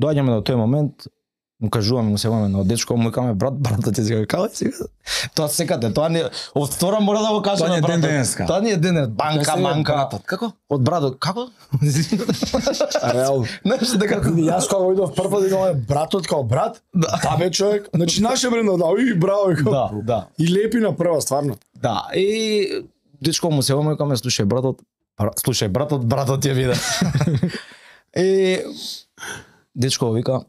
доаѓаме до тој момент, му кажуваме, му се ваме на дечко, му викаме брат, братот ти сега како сега. Тоа секаде, тоа не од втора мора да го кажа Тоа на ни е ден братот. денеска. Тоа ни е денес, банка, манка. Братот, како? Од братот, како? Реално. Знаеш дека Јас кога идов прв пат викам, братот као брат? Да, бе човек. Значи наше брендо, да, и браво. викам. Да, да. И лепи на прва, стварно. Да, и дечко му се ваме викаме, слушај братот, бра- слушај братот, братот ќе биде. И дечко вика,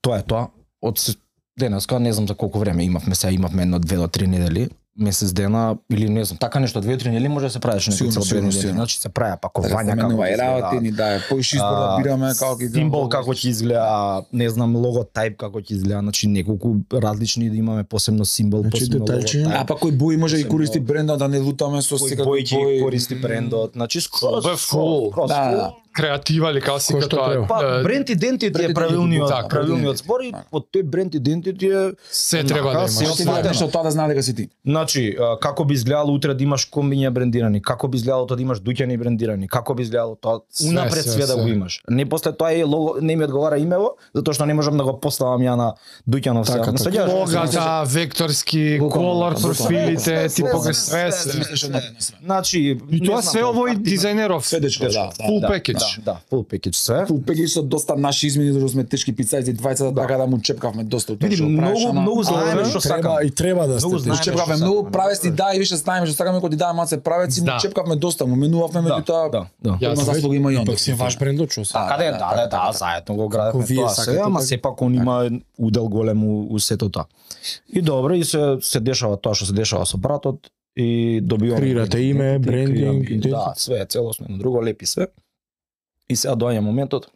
тоа е тоа. Од с- денеска не знам за колку време имавме, сега имавме едно две до три недели, месец дена или не знам, така нешто две до три недели може да се правиш некои Сигурно, цел две сигурно, недели. сигурно. Значи се праја пакувања Менува како и ќе работи, изгледа, ни дае поише избор да а, бираме како ги символ како ќе изгледа, не знам, логотип како ќе изгледа, значи неколку различни да имаме посебно символ, Значи, посебно деталчиња. логотип. А па кој бои може да ги користи бренда да не лутаме со Кој секако бој ќе користи брендот, значи скроз Бе, фул. скроз, Да, фул. да. креатива или како си Кој што треба. Па тоа. бренд идентитет бренд е правилниот, идентитет, правилниот така, збор и така. под тој бренд идентитет е Се треба да Нака, имаш. се Ти да нешто тоа да знае дека си ти. Значи, а, како би изгледало утре да имаш комбиња брендирани, како би изгледало тоа да имаш дуќани брендирани, како би изгледало тоа Све, унапред све, све да све. го имаш. Не после тоа е лого, не ми одговара имево, затоа што не можам да го поставам ја на дуќанов Така, се. така. Логата, векторски, Буквално, колор, буквално. профилите, Све, све, типоге све, све, све, све. Мислиш однапред на све. Значи, И не тоа знам, све овој активно- дизајнеров. Све дечко, да, да. Full да, package. Да, да, full package све. Фул пеги со доста наши измени, зашто сме тешки пицајци, двајцата, така да му чепкавме доста од тоа Види, што правиш, многу, ана. многу знаеме Ајде, што треба сакаме. и треба да Многу сте. знаеме. Чепкавме што многу сакаме, правести, да. да, и више знаеме што сакаме, кога ти даде маце правеци, Да. му чепкавме доста, му менувавме, Да, меѓутоа да, да. Ја има знам. заслуга има и он. Пак си ваш брендот, што се. Да, Каде, да, да, да, да, да, да, да. заедно го градевме Како вие тоа сакате, се, ама така. сепак он има удел голем у, у сето тоа. И добро, и се се дешава тоа што се дешава со братот и добиваме Креирате име, брендинг, креираме, да, све е целосно, едно друго лепи све. И сега доаѓа моментот,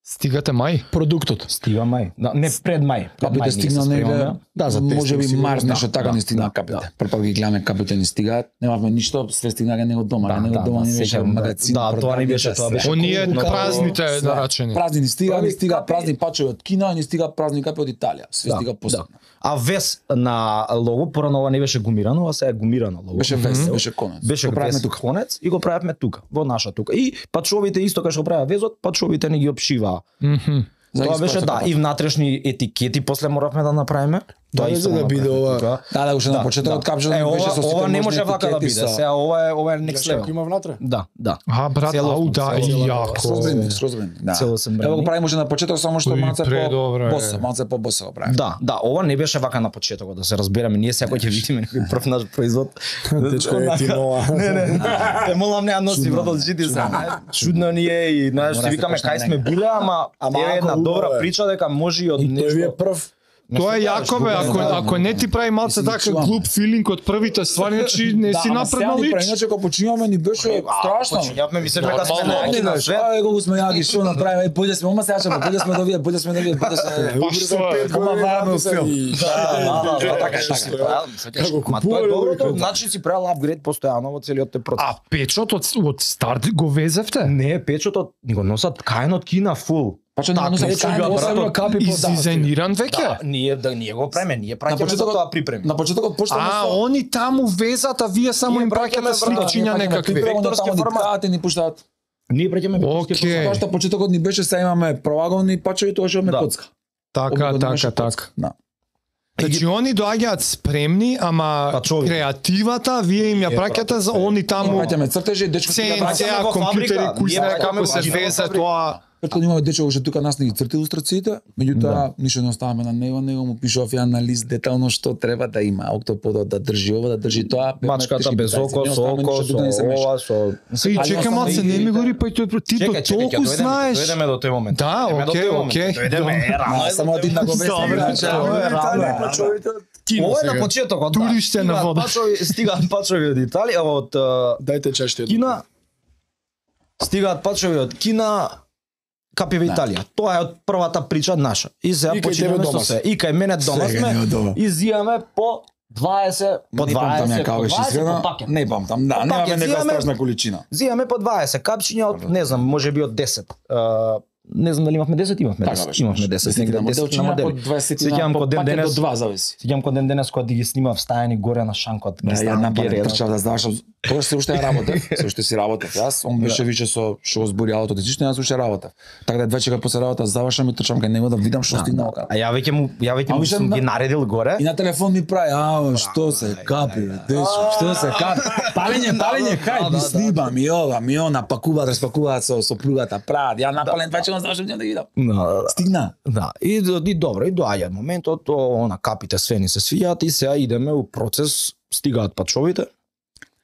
Стигате мај. Продуктот. стига мај. Да, не пред мај. Пред Капите мај ние се стигна спремаме. негде, Да, за може тестинг би сигурно. март нешто Да, така да, не стигна да, капите. да. Прв пак ги гледаме капите не стигаат, немавме ништо, све стигнаат него дома, Да, него да, дома да, не беше сеќавам, да. магазин. Да, тоа не беше, продавница, тоа беше све. Оние Много- празните Све. нарачени. Празни не стига, не Прави стига капи. празни пачови од Кина, не стига празни капи од Италија. Све Да, стига да. посебно. А вес на лого, порано ова не беше гумирано, а сега е гумирано лого. Беше вест, Мгм. беше конец. Беше Го правиме вес тука. конец и го правевме тука, во наша тука. И пачовите исто кај што правеа везот, пачовите не ги обшиваа. Мгм. За Тоа ги беше спрача да, капата. и внатрешни етикети после моравме да направиме. Да, исто за да го биде направивме ова- тука. Да, да, уште на почетокот капчето Е, беше ова, со сите ова не можни може вака да етикети биде. со- Сега ова е ова е next Гледаш како level. има внатре? Да, да. А, брат, Целосно, ау, да, целосно. јако. Скроз брендинг, скроз брендинг. Да. Целосен Ево го брендинг. правиме уште на почеток, само што Уи, малце предобро е. по босо, малце по босо го правиме. Да, да, ова не беше вака на почетокот, да се разбереме. Ние секој ќе видиме некој прв наш производ. Дечко е ти нова. Не, не. Те молам не носи Чудно, брат бе, жити се. чудно. Чудно ни е и знаеш, Мора си да се викаме почне кај сме негде. биле, ама Ама е една ако добра убаво е. прича дека може и од И тој ви е нешто. прв. Тоа е јако бе, ако да, ако не ти прави малце Мислам, така чувам. глуп филинг од првите ствари, значи не си напреднал лич. лич. Иначе кога починуваме ни беше страшно. Почињавме ми се дека сме Нормално, најаки на свет. Ај го сме јаки што направиме, појде сме, ома сега ќе појде сме до вие, појде сме до вие, појде сме. Па што е? Ома вајаме у филм. Да, да, да, така е, Што така е? е. Како Ма тоа купувале е доброто, луѓето. значи си правил апгрейд постојано во целиот те процес. А печот од од старт го везевте? Не, печотот ни го носат каен од Кина фул. Па што не Така, носам ечо кај го, осем брат, капи по да. Издизајниран Да, веќе? ние да ние го преме, ние На праќаме за почетокот- тоа припреми. На почетокот почнаме А, со они таму везат, а вие само Ние им праќаме праќате брат, сликчиња ние праќаме некакви. припреми. Onda Векторски tamo ni формат. ткате ни пуштаат. Ние праќаме Океј. Тоа што почетокот ни беше, сега имаме проаголни пачови, тоа што имаме Да. коцка. Така, Обикновено така, имаше така. коцка. Да. Значи они доаѓаат спремни, ама Пачови. креативата вие им ја Е, праќате за они таму Праќаме цртежи, дечко Се сега праќаме. цеа во компјутери, фабрика. кој Ние знае праќаме како во се кино везе фабрика. тоа. Претходно имаме дечко уште тука нас не ги црти илустрациите, меѓутоа ништо не оставаме на него, него му пишував ја на лист детално што треба да има, октоподот да држи ова, да држи тоа, Мачката без око, со око, со ова, со... И Али чека осам малце, не ми гори, па и тој ти до Чекај, чекај, ќе толку дојдеме, знаеш. дојдеме до тој момент. Да, Дојдеме до окей, тој момент. окей. Дојдеме, е, рано е само до тој один да го момент. вести. Добре, значи, Ова е рано, е рано. Кино Ова е на сега. почетокот, да. Турище на Стигаат вода. Пачови, стигаат пачови од Италија, од а, Дајте чашите. Кина. Стигаат пачови од Кина, капи во Италија. Тоа е од првата прича наша. И сега И кај тебе починеме дома со се. се. И кај мене дома Сега не сме. од ова. И зијаме по дваесет, по Не памтам ја дваесет, како по беше дваесет искрено. по пакет. Не памтам, да, По немаме пакет нека зијаме. страшна количина. Зијаме по дваесет капчиња од, не знам, може би од десет. А, не знам дали имавме десет, имавме Така десет. беше. Имавме десет, негде на десет на моделчиња модели. по дваесет Сеќавам по кod ден пакет денес- до два зависи. Сеќавам кога ден денес кога ги ги снимав стајани горе на шанкот. Да, ја нападам, Гере, трчав да завршам. Тоа се уште ја работев, се уште си работев. Јас, он беше више со што го збори аутото, зишто јас уште работев. Така да две чека после работа завршам и трчам кај него да видам што стигнал. А ја веќе му ја веќе А му више сум на- ги наредил горе. И на телефон ми прави, а, што се капи, дечко, што се капи. Палење, палење, хај, ми снима, ми ова, ми она, пакуваат, распакуваат со со плугата, прават. Ја напален две чека завршам да ги видам. Да, да, да. Стигна. Да, и, и добро, и доаѓа моментот, о, она капите све ни се свијат и сега идеме у процес, стигаат пачовите,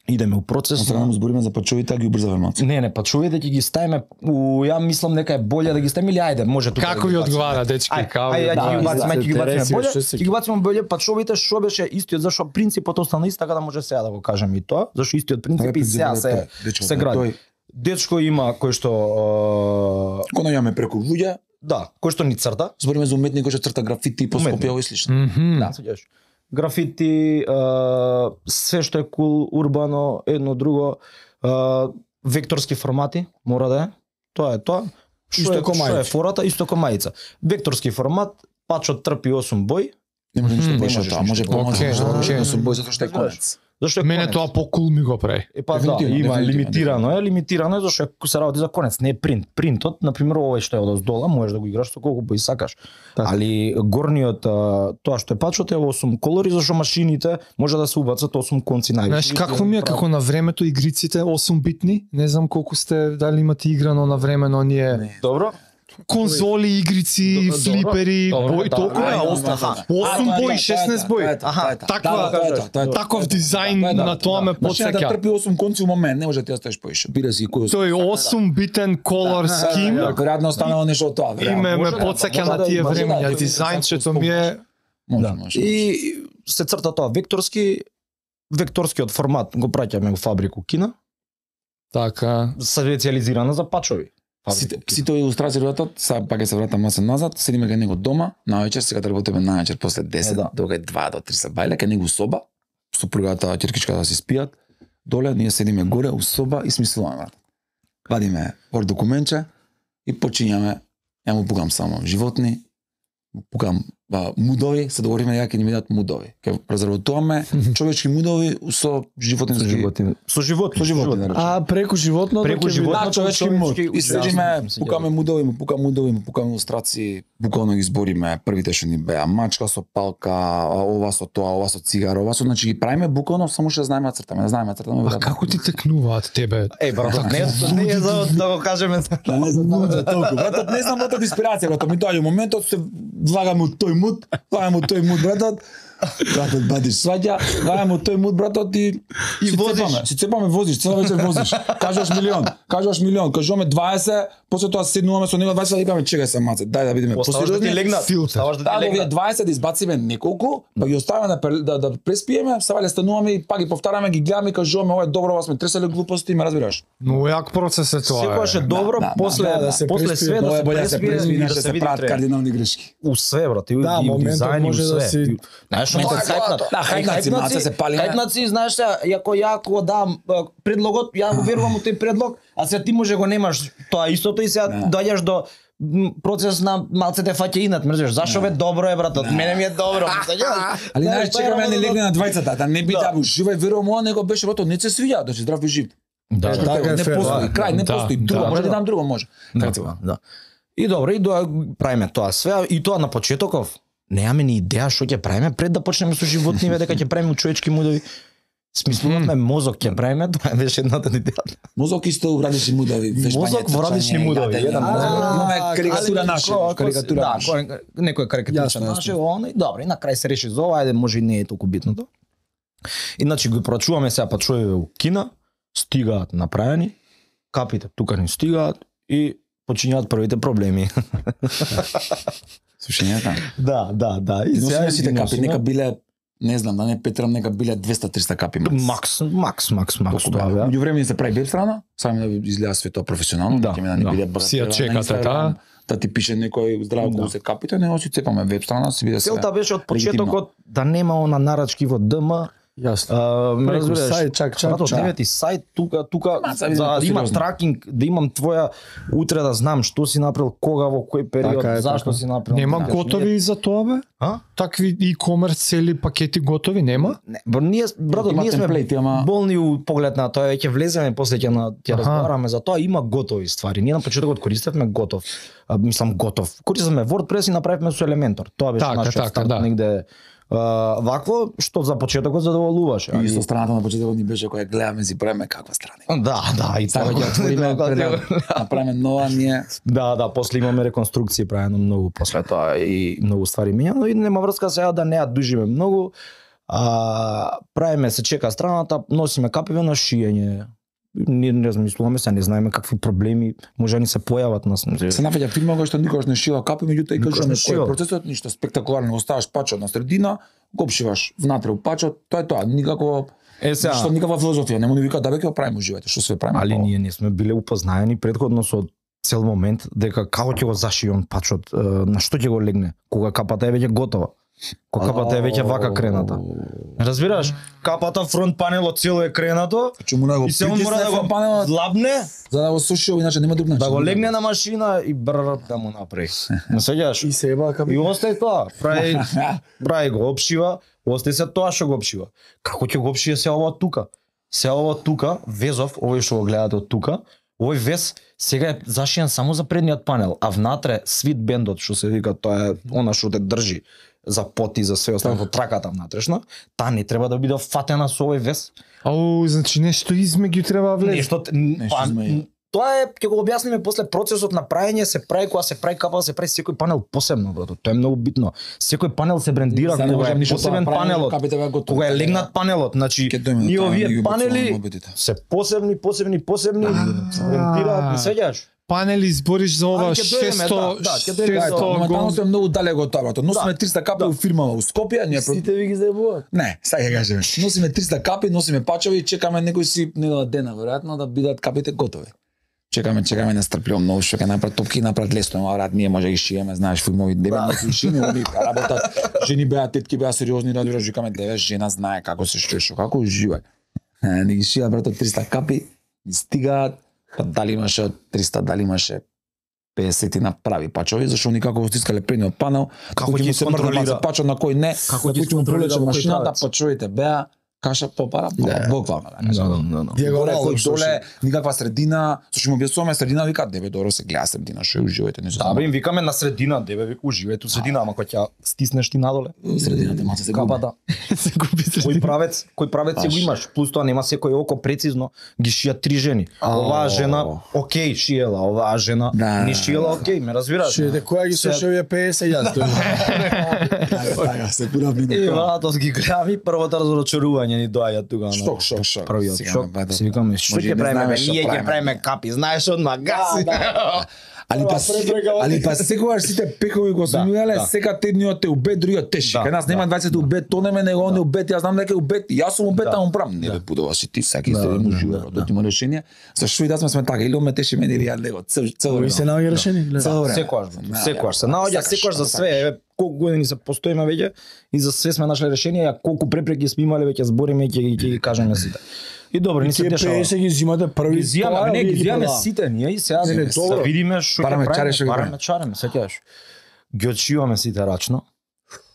идеме у процес. Сега му збориме за пачовите, а ги убрзаваме малку. Не, не, пачовите ќе ги ставиме, у, ја мислам дека е боле да ги ставиме или ајде, може тука. Како да ви ги бациме. одговара, дечки, Ај, као? ај, ја ќе да, ги бациме, да, ќе ги бациме интереси, боле, што се- ќе ги бациме боле пачовите, што беше истиот, зашо принципот остана ист, така да може сега да го кажем и тоа, зашо истиот принцип и сега се се гради. Дечко има кој што а, Кој најаме преку луѓе, да, кој што ни црта. збориме за уметник кој што црта графити по Уметник. Скопје и слично. Мгм. Да, сеќаваш. Графити, а, све што е кул, урбано, едно друго, а, векторски формати, мора да е. Тоа е тоа. Што Исто е, ко што е мајца. фората, исто ко мајца. Векторски формат, пачот трпи осум бој. Не може ништо Мм, поише од можеш тоа, ништо. може помојше, Окей, може да окей. може бој затоа што е конец. Зашто е Мене конец. тоа покул ми го прави. Е па да, Дефинитивно, има дефинитивно, лимитирано е, лимитирано е зашто е се работи за конец, не е принт. Принтот, на пример, овој што е од оздола, можеш да го играш со колку бои сакаш. Така. Али горниот а, тоа што е пачот е осум колори, зашто машините може да се убацат осум конци највише. Знаеш какво ми е како на времето игриците осум битни? Не знам колку сте дали имате играно на времено оние Добро? конзоли, игрици, Добро. флипери, Добро, бој да, толку ај, е ај, осум аха. осум бој, шеснаесет бој. Аха, таква- Таков дизајн на тоа ме Машината потсеќа. трпи осум конци у момент, не може да ти оставиш поише. Бира си кој Тој осум битен колор ским Веројатно останало нешто од тоа. и ме ме може да, потсеќа може на да, тие може да, времења. тој Дизајнчето ми е Може, Да. може. И се црта тоа векторски, векторскиот формат го праќаме во фабрику Кина, така. специализирана за пачови. Сите, сите илустрацијата, сега пак ќе се вратам масе назад, седиме кај него дома, наоѓаш сега работиме наоѓаш после десет, Е, да. до кај два до три се бајле кај него соба, супругата, ќеркичката да се спијат, доле ние седиме горе у соба и смислуваме. брат. Вадиме Word документче и почињаме, ја му пукам само животни, му пукам ба, мудови, се договориме ја ќе ни ми дадат мудови. Ќе презработуваме човечки мудови со животински Со животни. Со животни. Со животни, да речем. А преку животното Преку ќе животното, Да, човечки муд. човечки И седиме, ужасно, пукаме мудови, му пукаме мудови, му пукаме илустрации, буквално ги збориме првите што ни беа мачка со палка, а, ова со тоа, ова со цигара, ова со, значи ги правиме буквално само што знаеме да цртаме, да знаеме да цртаме. А како ти текнуваат тебе? Е, брат, не, не е за да го кажеме. Да, не знам да толку. Братот, не знам братот инспирација, братот ми доаѓа моментот се влагаме од тој муд, влагаме од тој муд, братот. Братот бадиш сваѓа, влагаме од тој муд, братот и И си возиш. цепаме, си цепаме, возиш, цела вечер возиш. Кажуваш милион, кажуваш милион, кажуваме дваесет, после тоа седнуваме со него дваесет и викаме чекај се маце, дај да видиме Оставаш да ти посериозни. легнат. Филтер. Оставаш да Да, ти да овие легнат. дваесет да избациме неколку, па ги оставиме да, пре- да, да преспиеме, сега вале стануваме и пак ги повтараме, ги гледаме и кажуваме ова е добро, ова сме треселе глупости, ме разбираш. Но јак процес е тоа. Секогаш е е. добро да, да, после да, да се после преспие. све да Ова е се боле да се преспие преспи, и не да што се се види прават тренинг. кардинални грешки. У све, брат, и Да, и у моментот дизајн, и у може да све. си- Знаеш, Моментот што хајпнат. Да, хајпнаци, маце се палиме. Хајпнаци, знаеш се, јако јако дам а, предлогот, ја го верувам у тој предлог, а се ти може го немаш тоа истото и сега доаѓаш до м, процес на малце те фаќа инат, мрзеш. Зашо бе добро е братот? Мене ми е добро. Али Знаеш, знаеш, тоа е чекаме да не работа легне на двајцата, да не би Да. да уживај, верувам ова, него беше братот, не се свиѓа, да си здрав и жив. Да, Кажа, да, така е не фер, постои, да. крај, не Да, постои, да. друго, може да Да. дам друго, може. да, Така, да. И добро, и да правиме тоа све, и тоа на почетоков. Немаме ни идеја што ќе правиме пред да почнеме со животни, ве дека ќе правиме човечки мудови. Смислуваме мозок ќе правиме, тоа беше едната идеја. Мозок исто радични мудови, вештање, Мозок во радични трчање, мудови, гадење. еден А, мозок. Имаме карикатура Али, наша, ко- ко- карикатура да, наша. кој- некој карикатура Јасно, наше, јасно. оно и добро, и на крај се реши за ова, ајде може и не е толку битното. Иначе го прочуваме сега пачове у Кина, стигаат направени, капите тука ни стигаат и почињаат првите проблеми. Слушањата. Да, да, да. И носиме сите ги капи, носиме. нека биле, не знам, да не петрам, нека биле двеста до триста капи макс. Макс, макс, макс, макс Толку тоа беа. беа. Меѓу време се прави веб страна, само да изгледа све тоа професионално, Да, ќе ми да не да. биде брат. Си ја на чекате, Инстаграм, да? Да ти пише некој здраво Да. колку се капите, него си цепаме веб страна, си биде се. Целта беше од легитимно. почетокот да нема она нарачки во ДМ. Јасно. А, ме Преку разбираш, сајт, чак, чак, брато, чак. девет и сајт тука, тука Ма, сега за видиме да има посериозно. тракинг, да имам твоја утре да знам што си направил, кога, во кој период, Така е, зашто така. си направил. Нема Знаеш, готови ние- и за тоа бе? А? Такви e-commerce цели пакети готови нема? Не, бр, ние брато, Има ние сме темплети, ама- болни у поглед на тоа, ќе влеземе после ќе на ќе Аха. разговараме за тоа, има готови ствари. Ние на почетокот користевме готов. А, мислам готов. Користевме WordPress и направивме со Elementor. Тоа беше Така, нашиот така, старт да. негде а, вакво што за почетокот задоволуваше. И али- исто страната на почетокот ни беше која гледаме си правиме каква страна. Да, да, и Сега тоа ќе отвориме, Кога ќе- пред- направиме нова ние. Да, да, после имаме реконструкција правено многу после тоа и многу ствари мења, но и нема врска сега да не ја дужиме многу. А, правиме се чека страната, носиме капиве на шиење. Ние не размислуваме се, не знаеме какви проблеми може да ни се појават нас. Се нафаќа фирма која што никогаш не шива капи, меѓутоа и Никогаш кажуваме не кој е шива. процесот, ништо спектакуларно, оставаш пачот на средина, го обшиваш внатре у пачот, тоа е тоа, никако Е сега, што никаква филозофија, нема ни вика да бе ќе го правиме уживајте, што све правиме. али па, ние не сме биле упознаени предходно со цел момент дека како ќе го зашијам пачот, е, на што ќе го легне, кога капата е веќе готова. Кокапата е веќе вака крената. Разбираш? Капата фронт панелот цело е кренато. Че мора да го И се он мора да го панелот злабне, за да го суши, иначе нема друг начин. да го легне на машина и брр да му направи. Не сеќаш? И се еба капи. И остај тоа, прави прави го обшива, остај се тоа што го обшива. Како ќе го обшие се ова тука? Се ова тука, везов, овој што го гледате од тука, овој вез сега е зашиен само за предниот панел, а внатре свит бендот што се вика, тоа е она што те држи за поти, за све останато, траката внатрешна, таа не треба да биде фатена со овој вез. Ау, значи нешто измеѓу треба влезе. Нешто, па, измеѓу. тоа е, ќе го објасниме после процесот на праење, се прави кога се прави капа, се прави секој панел посебно, брато. Тоа е многу битно. Секој панел се брендира За да кога можам е ништо посебен тоа правиме, панелот. капите вака готово. Кога е легнат панелот, значи Ќе дојме до ние тоа, ние овие ги панели бацуваме мобитите. се посебни, посебни, посебни, се брендираат, не сеќаш? Панели збориш за ова Али ќе дојдеме, шесто да, да, ќе дојдеме до- шесто Моментално гон. сме многу далеко од тоа, брато. Носиме Да. триста капи у фирмава у Скопје, ние про- Сите ви ги заебуваат. Не, сега ќе кажеме. Носиме триста капи, носиме пачови и чекаме некој си недела дена веројатно да бидат капите готови. Чекаме, чекаме нестрпливо многу што ќе направат топки, направат лесно, ама брат, ние може да ги шиеме, знаеш, филмови деве не ги шиеме, они работат. Жени беа тетки беа сериозни, разбираш, викаме деве жена знае како се штешо, како уживај. Не, не ги шија брато триста капи, и стигаат, па дали имаше од триста, дали имаше педесет направи пачови, зашто они како го стискале предниот панел, Како кој ќе ќе ги се мрда контролира? пачо на кој не, Како на ќе кој ќе му контролира пролече кој машината, правец? пачовите беа каша попара, Да. буквално. Да, да, да. Диагонал, Диагонално, кој што доле, никаква средина, со што му објаснуваме средина, вика, дебе, добро се гледа средина, што е уживајте, не се Да, бе, им викаме на средина, деве вика уживајте у средина, ама кога ќе стиснеш ти надоле, средината маца се губи. капата. Се губи Кој правец, кој правец си го имаш, плюс тоа нема секој око прецизно, ги шијат три жени. Оваа жена, окей, шиела, оваа жена, Да. не шиела, окей, ме разбираш? Шиете која ги Се- слуша овие педесет јас тоа. Така, се пура И минута. вратос ги гледам и првото разочарување ни доаѓа тука. на Шок, шок, шок. Првиот Сега, шок. бе, да. Си викаме, што Може и ќе не правиме, знаеме бе? што Ние ќе правиме. правиме капи, знаеш одма гаси. Али па али па секогаш сите пекови го сме имале, да. сека едниот е убет, другиот теши. Да, Кај нас нема да, дваесет убет, то нема него он е убет, јас знам дека е убет, јас сум убет, Да. а он прам. Не бе пудова си ти, саки Да, се да, му живе, да, да има решение. Зашто и да сме сме така, или он ме теши мене или ја него, цел цел Кој се наоѓа решение, гледа. Цело време. Секојаш, Да, секојаш се да, наоѓа, сакаш, секојаш за да, све. Еве, колку години се постоиме веќе и за све сме нашле решение, а колку препреки сме имале веќе збориме и ќе ги ќе ги кажеме сите. И добро, ни се Тие дешава. педесет ги зимате први. Ги зијаме, тоа, не вие ги зијаме продавате. сите ние и сега Не, не, да добро. видиме што ќе Параме чаре, правиме, што ги параме правиме. чареме, сеќаваш. Ги отшиваме сите рачно.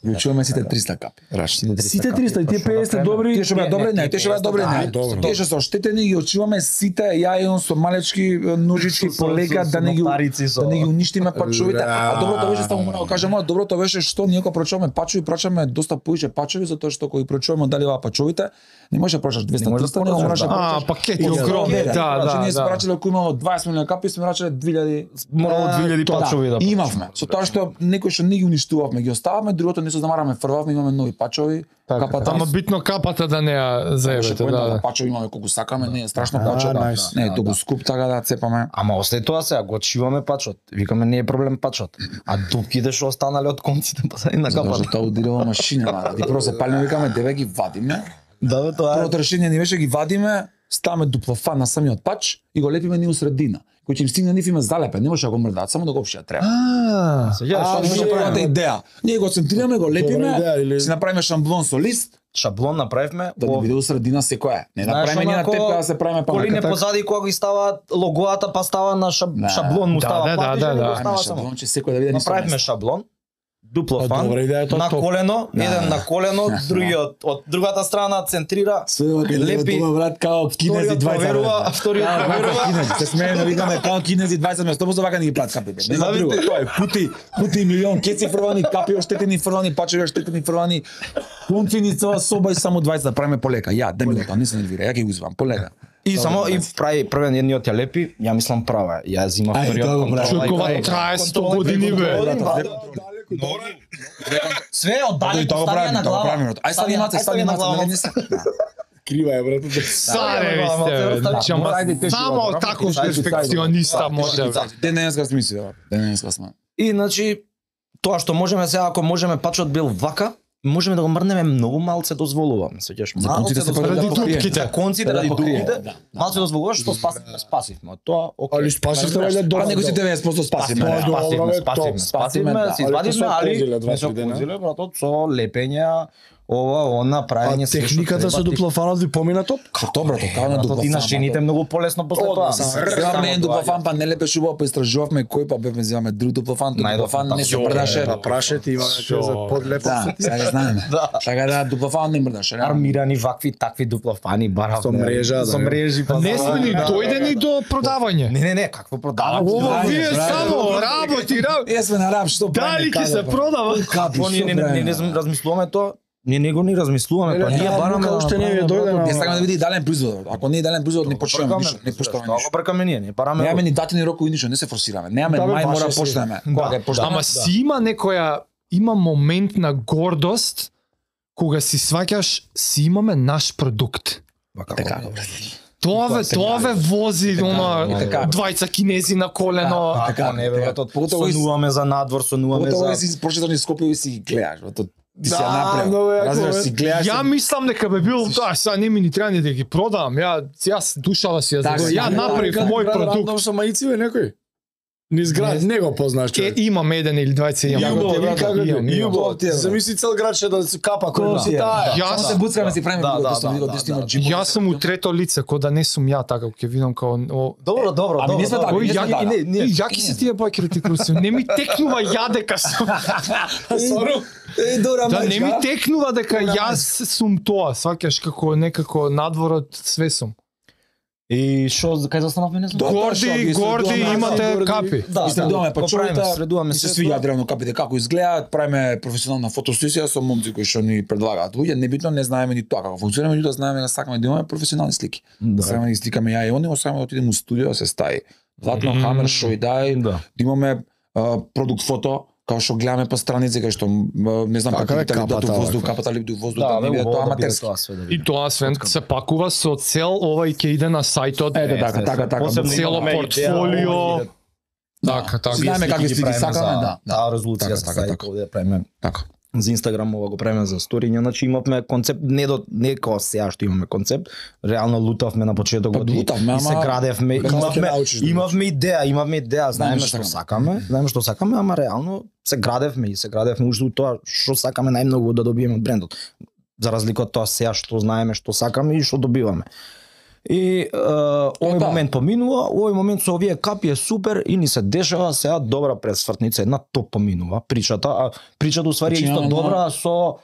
Ја чуваме сите триста капи. Раш. Сите триста и тие педесет добри. Тие што беа добри, не, тие што беа добри, не. добро. Тие што се оштетени ги очиваме сите, ја и он со малечки ножички Со- полека со- да со не ги ноктарици, со- да не ги уништиме пачовите. А Да. доброто беше само мора да кажам, а доброто беше што ние кога прочуваме пачови, прочуваме доста поише пачови затоа што кога ги прочуваме дали ова пачовите, не може да прочаш двеста Не може да триста, него прочаш, мораш да да. А, прочаш. пакети Од огромни, сто. да, Значи да, ние сме да. рачале ако имало дваесет милиони капи, сме рачале две илјади. Морало две илјади Да, пачови да. и имавме. Со тоа што некои што не ги уништувавме, ги остававме, другото не се замараме, фрвавме, имаме нови пачови, капата. Ама битно капата да не ја Беше заебете, поента да. да пачови имаме колку сакаме, не е страшно Да, пачо, да. најс. Не е Да, толку да. скуп така да цепаме. Ама остај тоа сега, го отшиваме пачот. Викаме не е проблем пачот. А дупките што останале од конците позади на Затоа капата. што тоа удирува машина, да. Ти прво се палиме, викаме деве ги вадиме. Да, бе, тоа е. Првото решение ни беше ги вадиме, ставаме дуплофан на самиот пач и го лепиме ни у средина. Кој ќе им стигне нив име залепен, не може да го мрдаат, само да го опшија треба. А, Сега А, што беше беше првата правиме? идеја. Ние го центрираме, го лепиме, идеја, или- си направиме шамблон со лист, Шаблон направивме. да ни во- биде у средина секоја. Не Знаеш, направиме ние на онако, тепка да се правиме Колине памека. позади кога ги ставаат логоата, па става на шаб... Да. шаблон му Да, става да, платиш, да, и да, го да. става само. Шаблон че секој да види нисто Направивме место. шаблон, дупло А, фан, добра идеја, тоа на топ. колено, Да. еден на колено, другиот од другата страна центрира, Све ова кај лепи, лепи, брат, као кинези вториот дваесет. проверува, брат. вториот Као проверува. кинези, се смееме, викаме као кинези дваесет место, сто вака не ги плат капите. Нема Знаете, друго. Тоа е пути, пути милион кеци фрвани, капи оштетени фрвани, пачеви оштетени фрвани. Концини цела соба и само дваесет да правиме полека. Ја, дај минута, не се нервира, ја ќе го узвам полека. И само и прави првен едниот ја лепи, ја мислам права. е. Ја зима Ај, вториот тоа го контрола. прави. и Човекова прави. трае сто Контрола и години, бе. контрола, Брат, да. Све од Тоа далеко тоа го ставија правиме, на тоа го глава. правиме. Ај стани маце, стани на маце, глава. не не се. Крива е, брат. Царе ви Да, сте, да, бе. Значи, ама Ајде, те само шива, таков ајде, ајде, перфекциониста ајде, може. бе. Ден денеска смисли, да. Ден денеска сме. И значи тоа што можеме сега ако можеме пачот бил вака, можеме да го мрнеме многу малце дозволуваме, сеќаш. За конците се ради ради дупките. За конците ради дупките. Да. Малце дозволуваш што спасивме, спасивме. Тоа окей. Али спасивте валјда А добро. него си деветдесет проценти спасивме. Тоа не? е добро, Спасивме, бе, спасивме, топ. спасивме, да. си Али извадивме, се али окозиле два не се три дена. окозиле, братот, со лепења, ова, она, А правење се што техниката со треба, дуплофанот ви помина топ? Што брато, како на Братот, и на дуплофан. жените многу полесно после Одма, тоа. само Сега мен дуплофан па не лепеше убаво, па истражувавме кој па бевме вземаме друг дуплофан, дуплофан не се мрдаше. Да прашете има за подлепо. Да, сега го знаеме. Така да дуплофан не мрдаше. Армирани вакви такви дуплофани барав. Со мрежа, со да. мрежи, па Не за- сме ни Да. дојдени до продавање. Не, не, не, какво продавање? Ова Браво, вие браво. само работи, работи. Ние сме на раб, што Дали ќе се продава? Какво ние не, не, не, не размислуваме тоа? Ние него ни размислуваме, па ние бараме да уште не ви направиме, дојде на- Ние сакаме да види идеален производ. Ако не е идеален производ, не почнеме Бркаме, ништо, не почнеме Тоа ништо. го бркаме ние, не бараме. Немаме ни датини рокови ништо, не се форсираме. Немаме Да, бе, мај баше мора си. почнеме. Кога ќе почнеме? Ама си има некоја, има момент на гордост кога си сваќаш, си имаме наш продукт. Така. Тоа ве, тоа ве вози, она, така. двајца кинези на колено. Така, не бе, братот, Поготово и- сонуваме за надвор, сонуваме Поготово за... да си прочиташ низ Скопје и си ги гледаш, брато. Ти си Да, ја многу направил. јако, Разбираш, бе. си гледаш. Ја мислам дека бе бил, да, сега не ми ни треба ни да ги продавам. Ја јас душава си ја Така, забавам. Ја да, направив да, мој Брат, продукт. рандом со маици бе некој. Низ град, не го познаш Е, човек. имам еден или двајца имам. Јубо, ти ви брат, како имам, ти? имам. Јубо, ти замисли цел град ќе да се капа кој си таа. Јас Само се буцкаме си правиме Да, видео, да, да, да, видео, да, да, да. джимбо. Јас сум у трето лице, кој да не сум ја така, ќе видам као о, Добро, добро, Ами добро. не сме добро. така, Ој, не сме ја, така. не, не, И јаки се тие бакерите круси. Не ми текнува ја дека сум. Е, добра Да не ми мајчка. текнува дека јас сум тоа, сваќаш како некако надворот све сум. И шо, кај застанавме, не знам. Да, Горди, шо, ги горди средуваме, имате горди. капи. Да, Средуваме го пачулите, правиме, средуваме се се свиѓа древно капите како изгледаат, правиме професионална фотосесија со момци кои што ни предлагаат луѓе, небитно не знаеме ни тоа како функционира, меѓутоа знаеме да сакаме да имаме професионални слики. Да. Сакаме да ги сликаме ја и они, сакаме да отидеме у студио да се стаи. Златно Мм. хамер шо и дај, Да. да имаме а, продукт фото, као што гледаме по страници кај што м, не знам Така како е, да капата, до воздух, ваква. капата ли до воздух, Да, да не бе, биде тоа убаво да биде аматерски. тоа све да И биде. тоа свен се пакува со цел овај ќе иде на сајтот. Ете така, така, така. Посебно цело имаме идеја, портфолио. ова иде- Така, така. Си знаеме какви слики правиме сакаме, за- да, да. Таа резолуција Така, за така, сајт, така. овде да правиме Така. за Инстаграм, ова го правиме за сториња, значи имавме концепт, не до не како сега што имаме концепт, реално лутавме на почетокот Па, и, лутавме, и се ама- градевме, Како ќе имавме научиш да имавме идеја, имавме идеја, знаеме што што сакаме. сакаме, знаеме што сакаме, ама реално се градевме и се градевме уште тоа што сакаме најмногу да добиеме од брендот. За разлика од тоа сега што знаеме што сакаме и што добиваме. И е, овој да. момент поминува, овој момент со овие капи е супер и ни се дешава сега добра пресвртница, една топ поминува причата, а причата уствари е Значи, исто на- добра со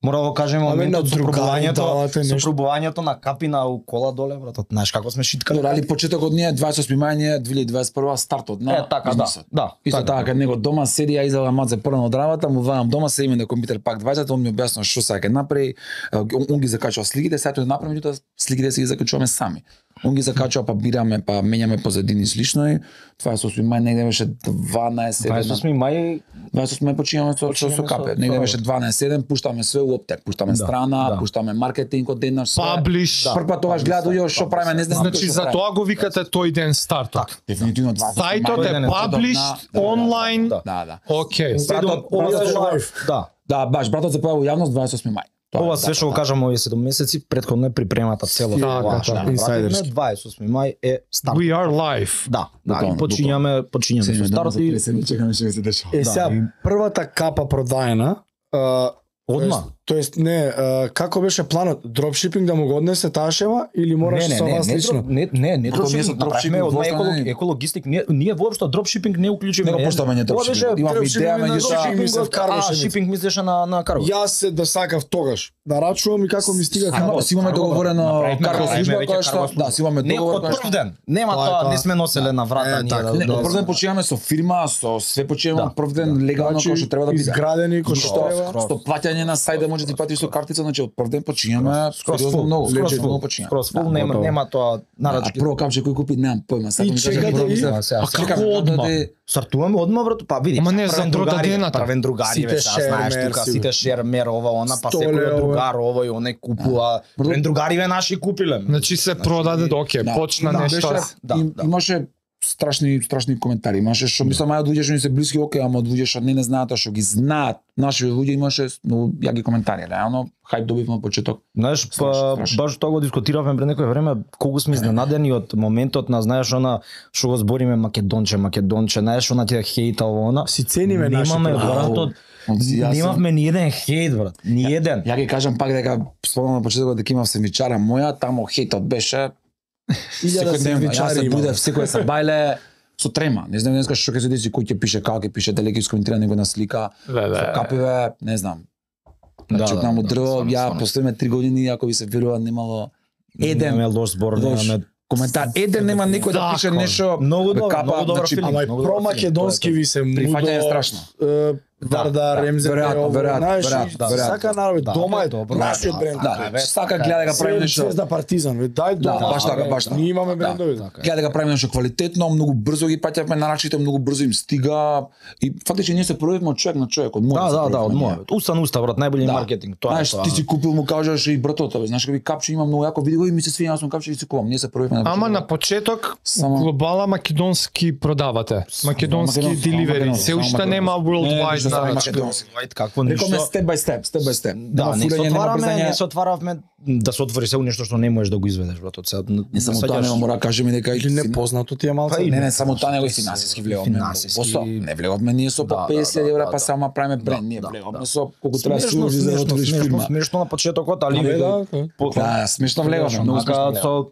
мора да го кажеме Аме, моментот на со другари пробувањето, давате со нешто. пробувањето на капи на кола доле, братот, знаеш како сме шиткали. Добро, али почетокот ни е дваесет и осми мај ни е две илјади дваесет и прва стартот на Е, така, да, бизнисот. да. Исто така. така, кај него дома седи, ја изела маце прво од работа, му вајам дома, се име на компјутер пак дваесет, он ми објаснува што сака да направи, он, он ги закачува сликите, сето да направиме, меѓутоа сликите си ги закачуваме сами. Он ги закачува, па бираме, па менјаме позадини и слично и дваесет и осми мај негде беше дванаесет дваесет и осми мај дваесет и осми мај починуваме со со, со Починуваме капе. со- Негде со- беше дванаесет пуштаме све у оптек, пуштаме Да, страна, да. пуштаме маркетинг од денаш, све. Паблиш. Прв пат тогаш гледаат луѓе што правиме, не знам Значи што за правиме. тоа го викате тој ден стартот. Дефинитивно дваесет и осми Сајтот мај. е ден е паблиш Да, да, онлайн. да. Да, да. Окей. Братот, ова братот, се лайф. да. Да, баш, братот се појави у јавност дваесет и осми мај. Тоа е, Ова да, све што го да. кажам овие седум месеци, претходно е припремата цело Така, тоа. така, што направивме, инсайдерски. дваесет и осми мај е старт. We are live. Да, да, Буквално, и почињаме, почињаме Се со старт и чекаме што се дешава. Е, сега, првата капа продаена, а, одма. Тоест, не, а, како беше планот? Дропшипинг да му го однесе таа шема или мораш не, со не, вас не, лично? не, не, не, Тоа ние со дропшипинг направивме дропшипинг од воопшто еколог, не- екологистик, ние, ние воопшто дропшипинг не уклучиме. Не го поштаме ние Тоа дропшипинг. беше Имавме дропшипинг идеја, на меѓутоа дропшипинг ми се а, вкарваше. шипинг мислеше на на карго. Јас се да сакав тогаш. Нарачувам и како ми стига Ама карго. си имаме договорено Направивме карго карго, служба веќе која што карго да, си имаме Не договор од која прв што ден. Нема Тоа е тоа, тоа. не сме носеле на врата Е, ние така. да. Не, да- од прв ден почиваме со фирма, со све почиваме Да. од прв ден легално Значи, како што треба да биде. изградени кој што Што треба. што плаќање на сајт да може да ти платиш со картица, значи од прв ден почињаме Скроз сериозно фул, многу, скроз скроз фул, многу почињаме. скроз фул, Да, нема готово. нема тоа А нарачки. прво капче кој купи немам појма, сакам И да кажам чекате, прво и- мислам. А, сега, А сега. чекаме Како одма? да Стартуваме одма, брато, па види. Ама не, сега, за правен другари, продадената. правен другари, Сите ве, сега знаеш шермер тука, си, сите шермер, ова, она, па Столе, секој ова. другар, овој, оне купува. Правен другари ве наши купиле. Значи се продаде, окей, Да. почна Да, нешто. беше- Да, им- да. Имаше страшни страшни коментари. Имаше што мислам ајде луѓе што ни се блиски, окей, ама од луѓе што не не знаат, а што ги знаат, наши луѓе имаше многу јаки коментари. Реално хајп добивме од почеток. Знаеш, па баш тоа го дискутиравме пред некој време, колку сме изненадени од моментот на, знаеш, она што го збориме македонче, македонче, знаеш, она ти хејта ово она. Си цениме нашите. Немаме братот. Немавме ни еден хејт, брат. Ни еден. Ја ги кажам пак дека спомнам на почетокот дека имав сендвичара моја, таму хејтот беше илјада сендвичари има. Буде секој се бајле со трема. Не знам денеска што ќе се деси, кој ќе пише, како ќе пише, дали ќе искоментира него на слика. Со капиве, не знам. Значи Да, таму да, дрво, да, ја стварно. последните три години, ако ви се верува, немало еден Немаме лош збор, лош немаме коментар. Еден нема некој да пише нешто. Многу добро, капа, многу добро значи, филм. Ама и Многу добро про-македонски филм, ви се мудо. Прифаќање е страшно. е, Вардар, да, Ремзен, веројатно, ово, веројатно, знаеш, веројатно, и веројатно. Сака народ, Да, дома е добро, нашиот да, бренд. Да, Така е, сака гледа да прави нешто. Звезда Партизан, ве дај дома. баш така, баш така. Ние имаме Да. брендови. Гледа да правиме нешто квалитетно, многу брзо ги паќавме нарачите, многу брзо им стига и фактички ние се пројавивме од човек на човек, од мојот. Да, да, да, од мојот. Уста на уста, брат, најболи Да. маркетинг, тоа е Знаеш, тоа. ти си купил, му кажеш и братот, бе, знаеш како капче има многу јако, види го и ми се свиѓа, јас сум капче и си купам. Ние се пројавивме на Ама на почеток Само- глобала македонски продавате. Македонски македонски, само деливери. македонски, Се само уште нема македонски. Не, worldwide ништо само на македонски. White, какво Рековме ништо. степ бај степ, степ бај степ. Да, не се фурање, отвараме, брзање. не се отваравме да се отвори се нешто што не можеш да го изведеш, брат, од сега. Не само тоа, нема мора да кажеме дека Или непознато ти е малце. Па и Не, не, само тоа него и финансиски влеговме. Финансиски. Посо, не влеговме ние со по Да, песет да, евра, да, па да. само правиме бренд, ние да, влеговме да. со колку треба да Смешно, служи за да смешно, отвориш смешно, фирма. смешно на почетокот, али Абе, да, по- Да, смешно влеговме, многу Ака смешно влеговме. со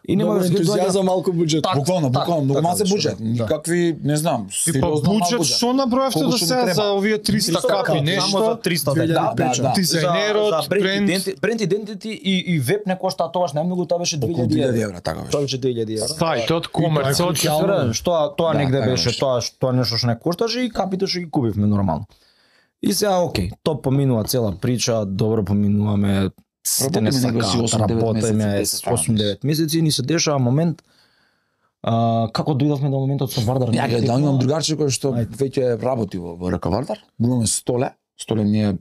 и нема Много да ентузијазам, малку буџет. Так, Буквално, так, буквално, многу така малце беше, буџет, да. никакви, не знам, И па сериозно мал буџет буџет. што набројавте Колку до што сега треба? за овие триста капи, Само нешто? за триста две илјади да, да, да. Дизајнерот, За- за бренд бренд. иденти- бренд идентити и и веб не кошта тоа најмногу, тоа беше Околу две илјади евра. евра, така беше. Тоа беше две илјади евра. Сајтот, комерцот, Свирен, што тоа Да, негде така беше, беше. тоа што нешто што не кошташе и капите што ги купивме нормално. И сега окей, топ поминува цела прича, добро поминуваме, сите не Работиме некои си сакаат, осум девет работиме месеци, десет, осум девет месеци и ни се дешава момент а, како дојдовме до моментот со Вардар. Ја ќе да имам другарче кој што Ајде. веќе работи во во РК Вардар. Го имаме Столе. Столе ни е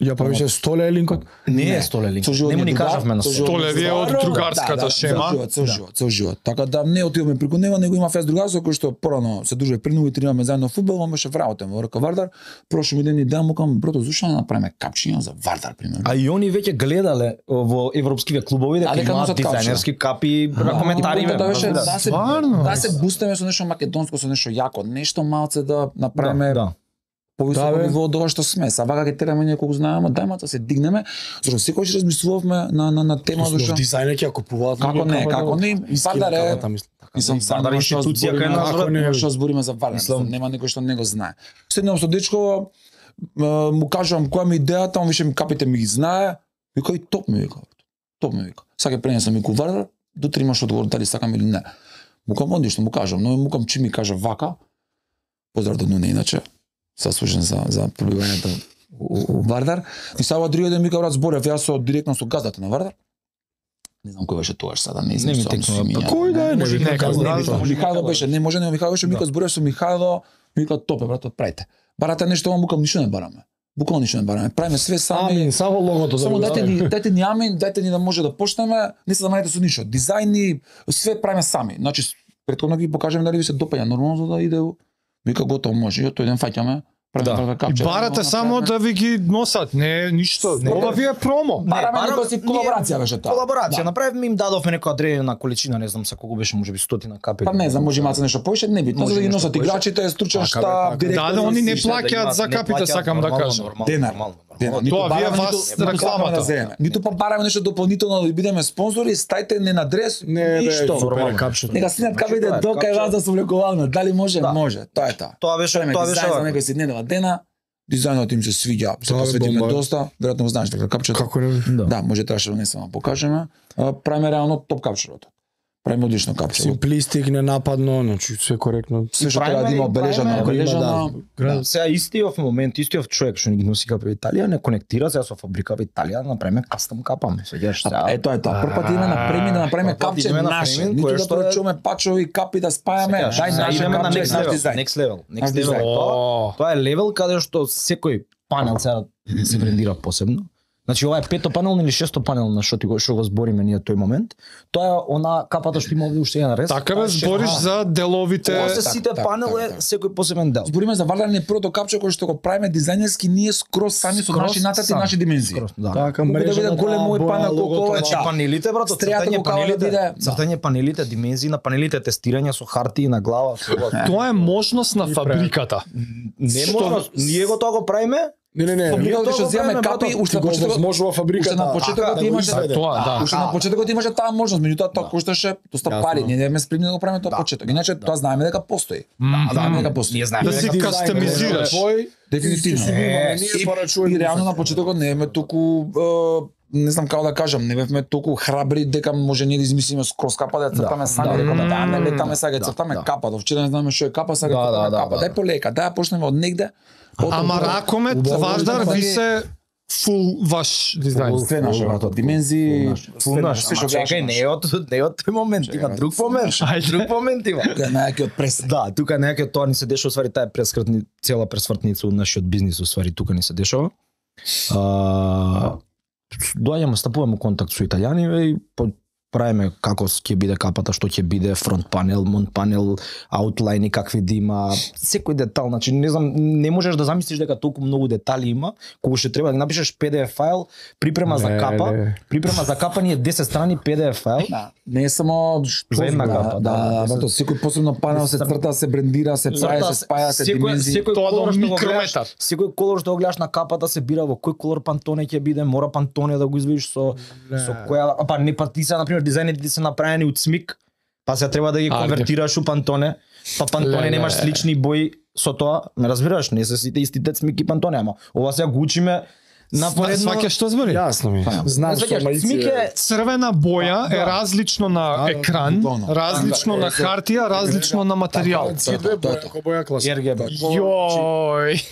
Ја па више столе е линкот. Не Не. е Столе линк. Цел живот Не му ни ни е другар, кажавме на цел Столе. живот Столе ви е од Да, другарската да, шема. Цел живот, цел живот, цел живот. Така да не отидовме преку него, него има фест другарство кој што порано се дружи при него и тренираме заедно фудбал, он беше вработен во РК Вардар. Прошли ден и ден му кажам, брато, зошто не направиме капчиња за Вардар примерно? А и они веќе гледале во европскиве клубови дека А, дека имаат носат капчиња. дизајнерски капи, на коментари Да, да, беше, да. да се Стварно? да се бустаме со нешто македонско, со нешто јако, нешто малце да направиме Да. повисоко Да, бе. ниво од ова што сме. Са вака ќе тераме ние колку знаеме, дај мата се дигнеме, зашто секогаш размислувавме на на на тема зашто Дизајнер ќе ја купуваат. Како луѓе не, капата, како не, искина Вардар е- капата, мислам. Мислам, Вардар институција кај нас, ако брат, не не, што збориме за Вардар, мислам- мислам, нема некој што не го знае. Седнам со дечко, м, му кажувам која ми е идејата, он више ми капите ми ги знае, вика и топ ми вика. Топ ми вика. Сега ќе пренесам и ку Вардар, до три имаш одговор дали сакам или не. Му кажам одишно, му кажам, но му кажам чи ми кажа вака. Поздрав до Нуне иначе. Заслужен за за пребивањето у, у Вардар. И сега другиот ден ми кажа брат зборев јас со директно со газдата на Вардар. Не знам кој беше тогаш сада, не Не знам ми што текнува, ми па миња. Кој да е, не Може видам нека како знам, не знам. видам. Михајло беше, не може не Михајло беше, ми кажа зборев со Михајло, ми кажа топе брат, правите. Барате нешто, му кажам ништо не бараме. Буквално ништо не бараме. Правиме све сами. Амин, само логото за Само да дайте ни, дайте ни амин, дайте ни да може да почнеме, не се замарете со ништо. Дизајни, све правиме сами. Значи претходно ги покажеме дали ви се допаѓа нормално за да иде. Вика готово може. И тој ден фаќаме. Да. правиме И капче. барате само да ви ги носат, не ништо. Ова ви е промо. бараме бараме- некоја си колаборација беше тоа. Колаборација Да. направивме, им дадовме некоја одредена количина, не знам се колку беше, можеби стотина капи. Па не знам, може имаат нешто повеќе, не битно, Може за да ги нешто носат повеќе. играчите, стручен Така, бе, штаб, така. директор. Да, да, они не Сите плаќаат имаат- за не капите, плаќаат, сакам да нормално, кажам. нормално, Денар. нормално, Денар. нормално. Ниту Тоа вие бараме, вас ниту- ниту рекламата. сакаме да земеме. Ниту па бараме нешто дополнително да бидеме спонзори, стајте не на адрес, Не, бе, ништо. супер капчето. Нека синат Значи, капите тоа е, до кај капче. вас да се облекувална. Дали може? Да. Може. Тоа е тоа. Тоа беше, Правиме тоа беше дизајн за вака. некој си недела дена. Дизајнот им се свиѓа, се Тоа е посветиме бомба. доста. Веројатно го знаеш дека капчето. Како не? Да. Да, може требаше да не само покажеме. А, Правиме реално топ капчето. Правиме одлично капчето. Симплистик, ненападно, значи све коректно. Све што правиме треба да има и обележано, правиме- обележано. Да. Сега истиот момент, истиот човек што ни ги носи капи во Италија, не конектира сега со фабрика во Италија да направиме кастом капаме. Сеќаш сега. Е, тоа е тоа. Прв пат идеме на премин да направиме Прв пат капче идеме на наше. премин, Ниту кое да што е- порачуваме пачови, капи да спајаме. Сеќаш, Дај сега наше идеме на капче, next наш level, дизајн. next level, Наш next level. дизајн. Тоа, О, тоа е левел каде што секој панел сега се брендира посебно. Значи ова е пето панелно или шесто панелно на што ти го што го збориме ние тој момент. Тоа е она капата што има овде уште еден рез. Така бе, збориш за деловите. Ова се сите так, панел так, е так. секој посебен дел. Збориме за вардарни првото капче кој што го правиме дизајнерски ние скроз сами со Скроз наши нацрти и сам. наши димензии. Скроз, да. Така Колку да биде голем мој панел колку ова е Значи да. панелите, брато, Стрејата цртање го кава да панелите, биде- цртање панелите, димензии на панелите, тестирање со хартии на глава, со Тоа е можност на фабриката. не можно, ние го тоа го правиме. Не, не, не. Ние тоа што го земаме правиме, капи, брато. уште на Го почетокот возможува фабриката. уште на почетокот така, имаше да го изведе. Тоа, да. Уште на почетокот имаше таа можност, меѓутоа тоа кошташе доста Јасно. пари. Ние не сме спремни да го правиме тоа почеток. Иначе тоа знаеме дека постои. Да, Знаеме дека постои. Ние знаеме Да си дека- кастомизираш. Твој, Дефинитивно. си го имаме, Е, ние И, порачуваме и реално на почетокот не бевме толку е, не знам како да кажам, не бевме толку храбри дека може ние да измислиме скроз капа да ја цртаме сами, да, рекоме да. да не летаме сега, Да, цртаме да. капа, до вчера не знаме што е капа, сега Да, цртаме да, да, капа. да. Дај полека, дај ја почнеме од негде. Ама ракомет, Убаво, важдар, да, ви да. се фул ваш дизајн. Све наше брато, димензии, Фул наш, све што ама чекај, не е од не е од тој момент, има Чекај, друг момент. Ајде. Друг момент има. најаки од прес. Да, тука некако тоа ни се дешава, свари таа прескртни цела пресвртница од нашиот бизнис, свари тука ни се дешава. А, доаѓаме, стапуваме контакт со италијани и по- правиме како ќе биде капата, што ќе биде фронт панел, монт панел, аутлайни какви да има, секој детал, значи не знам, не можеш да замислиш дека толку многу детали има, кога ще треба да ги напишеш пи ди еф файл, припрема за Не, капа, не. припрема за капа ни е десет страни пи ди еф файл. Да, не е само што За една да, капа, да, да, да, да, брато, секој посебно панел се црта, се брендира, се прави, се спаја, се димензии. секој Тоа до колор што го гледаш, микрометар. секој колор што го гледаш на капата се бира во кој колор пантоне ќе биде, мора пантоне да го извадиш со со која, а па не па ти се на пример дизајните ти се направени од смик, па се треба да ги Ајде. конвертираш у пантоне, па пантоне Леле. немаш слични бои со тоа, ме разбираш, не се сите истите смик и пантоне, ама ова сега го учиме напоредно. Сваќаш што збори? Јасно ми. Знам што Сваќаш, малици смик е Црвена боја е Да. различно на Да, да, екран, буквално. различно Да, на е, хартија, различно на материјал. Цидве боја, како боја класа. ер ге би. Јој.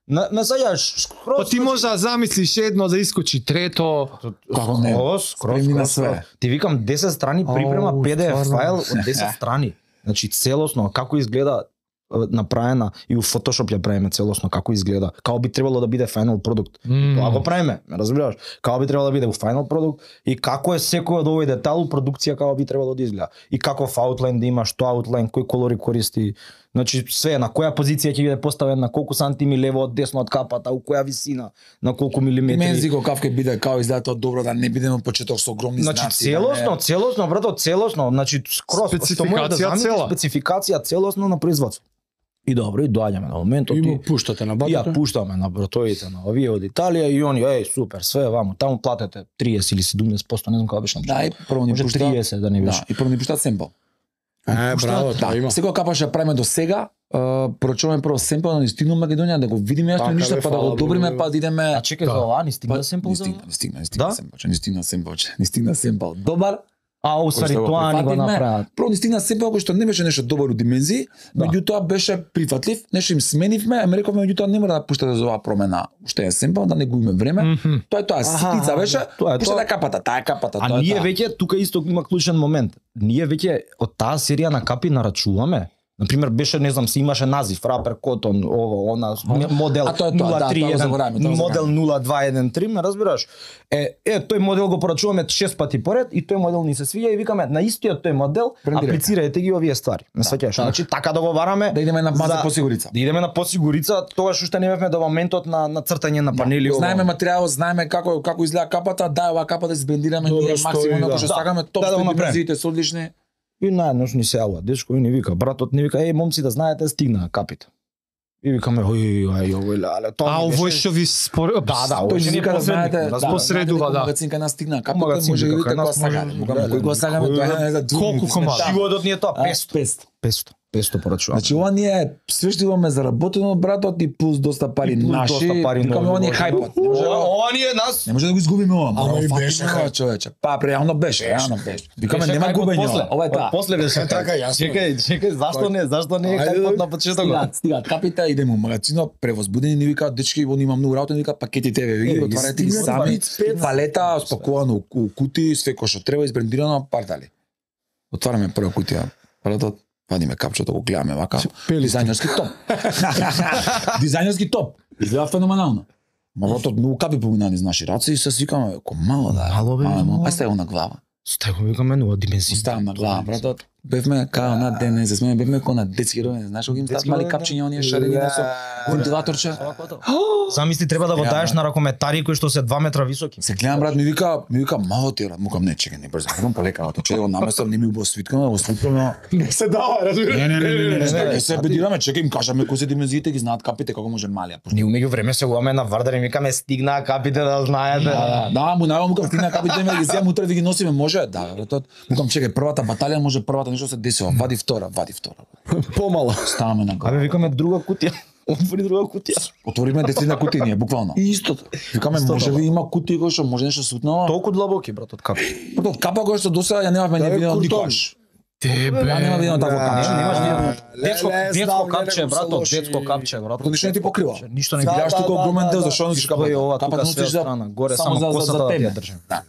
На на сега скроз. Па ти може да замислиш едно да искочи трето. Како не? Скроз, скроз, Спремни на скроз, све. скроз. Ти викам десет страни припрема Ау, пи ди еф стварно. файл од десет страни. Значи целосно како изгледа е, направена и у Photoshop ја правиме целосно како изгледа. Како би требало да биде final продукт. Тоа го правиме, ме разбираш? Како би требало да биде у final продукт и како е секој од овој детал у продукција како би требало да изгледа. И каков аутлайн да има, што аутлайн, кои колори користи. Значи све на која позиција ќе биде поставен, на колку сантими лево од десно од капата, у која висина, на колку милиметри. Димензии го каф ќе биде као изгледа тоа добро да не бидеме од почеток со огромни Значи знаци. целосно, да не- целосно, брато, целосно, значи скроз што може да Спецификација замислиш, цела. спецификација целосно на производство. И добро, и доаѓаме на моментот И и, му пуштате на и ја батата. пуштаме на братовите на овие од Италија и они, еј, супер, све ваму, таму платете триесет или седумдесет проценти, не знам како беше. Да, и прво ни може пушта. триесет да не беше. Да, и прво ни пушта семпл. Е, браво, тоа Да, има. секоја капа што ја правиме до сега, порачуваме прво семпл на Истина Македонија да го видиме јасно Така, ништо, бе, па да го фала, одобриме, бе. па да идеме. А чекај за ова, ни стигна Па, семпл не за стигна, не стигна, не стигна Да? семпл, не стигна семпл, не стигна семпл. Добар, А, усвари кој што тоа ни го прифативме. направат. Прво ни стигна семпл кој што не беше нешто добар у димензии, Да. меѓутоа беше прифатлив, нешто им сменивме, ама рековме меѓутоа не мора да пуштате за оваа промена, уште е семпл, да не губиме време. Мгм. Тоа е тоа, Аха, ситница беше, тоа е пуштате тоа. капата, таа е капата, А тоа е ние таа. веќе тука исто има клучен момент. Ние веќе од таа серија на капи нарачуваме. Например, беше, не знам, си имаше назив, Рапер, Котон, ово, она, модел А тоа е тоа, да, тоа го забораваме, тоа го модел забораваме. нула два еден три, ме разбираш? Е, е, тој модел го порачуваме шест пати поред и тој модел ни се свиѓа и викаме на истиот тој модел Брендирајте. аплицирајте ги овие ствари. Не сваќаш? Значи така да го вараме. Да идеме на маза за- посигурица. Да идеме на посигурица, тогаш уште не бевме до моментот на на цртање на панели. ово. Знаеме материјал, знаеме како како изгледа капата, да, оваа капа да се брендираме Добро ние стои, максимум да. ако што Да, сакаме, топ да, да го стои направиме. димензиите се одлични. И наеднош ни се јавува дечко и ни вика, братот ни вика, еј момци да знаете стигнаа капите. И викаме, ој, ај, овој леле, тоа А ми овој беше- што ви спор... Да, да, Тој овој ни ни вика да знаете, да, разбира. посредува, знаете дека да. магазин кај нас стигна капа, Магазин може да вика, видите кај нас кога сакаме. може- Викаме, да, кој го да. сакаме, тоа е за други. Колку комади? Животот ни е тоа, А, песто. песто. песто. песто порачуваме. Значи ова ние све што имаме заработено братот и плюс доста пари И плюс наши. доста пари Викаме нови ова ни е вложено. хајпот. Не може да го- Ова ни е нас. Не може да го изгубиме ова. Ама и фатиме беше ова, хајп. човече. Па реално беше, реално беше. Викаме Беше нема хајп од губење. после. ова. Ова е Од таа. После беше Така, јасно. Чекај, чекај, зашто не? Зашто не е Ајде, хајпот да- на почетокот? Стигаат, стигаат капите, идеме у магазинот, превозбудени ни викаат дечки, он има многу работа, ни викаат пакетите ве, ги Е, отварате ги стигнат сами, дваесет и пет. палета спакувано у- у кутии, све кој што треба избрендирано, партали. Отвараме прва кутија, братот, вадиме капчето, го гледаме вака. Пели Дизајнерски топ. Дизајнерски топ. Изгледа феноменално. Ма братот многу капи помина низ наши раци и се свикаме, ко мало да. Мало, бе, мало. Ај ставам на глава. Стай го викаме нова димензија. Ставам на глава, братот. Бевме као на ден, не се сме, бевме ко на детски родени, знаеш кога им стават мали капчиња оние шарени со вентилаторче. Замисли треба да го даеш на ракометари кои што се два метра високи. Се гледам брат, ми вика, ми вика мало ти брат, мукам не чекај, не брзо, идам полека, ото че го наместам, не ми убаво свиткаме, го свиткаме. Не се дава, разбираш. Не, не, не, не, не, не, се бедираме, чекај им кажаме кои се димензиите, ги знаат капите како може мали. Ние умеѓу време се гуваме на Вардар и викаме стигнаа капите да знаете. Да, да, му најавам мукам стигнаа капите, ме ги зеам утре ви ги носиме, може? Да, братот. Мукам чекај, првата баталија може првата нешто се десило, вади втора, вади втора. Помало. Ставаме на глава. Абе викаме друга кутија. Отвори друга кутија. Отвориме десетина кутии ние, буквално. И истото. Викаме, може би има кутии кои што може нешто сутнало. Толку длабоки брат од капи. Братот, капа кој што досега ја немавме, не видено никогаш. Тебе. Ја нема видено такво капче. Немаш видено. ле, Детско ле, детско знам, капче не, не, брат, лоши. детско капче брат. Братот, ништо не ти покрива. Ништо не Да, Гледаш да, тука да, огромен да, дел, да. зашто носиш Стои ова капата? тука Капата све носиш за страна, горе само само за- косата за да ја теме. држим. Да.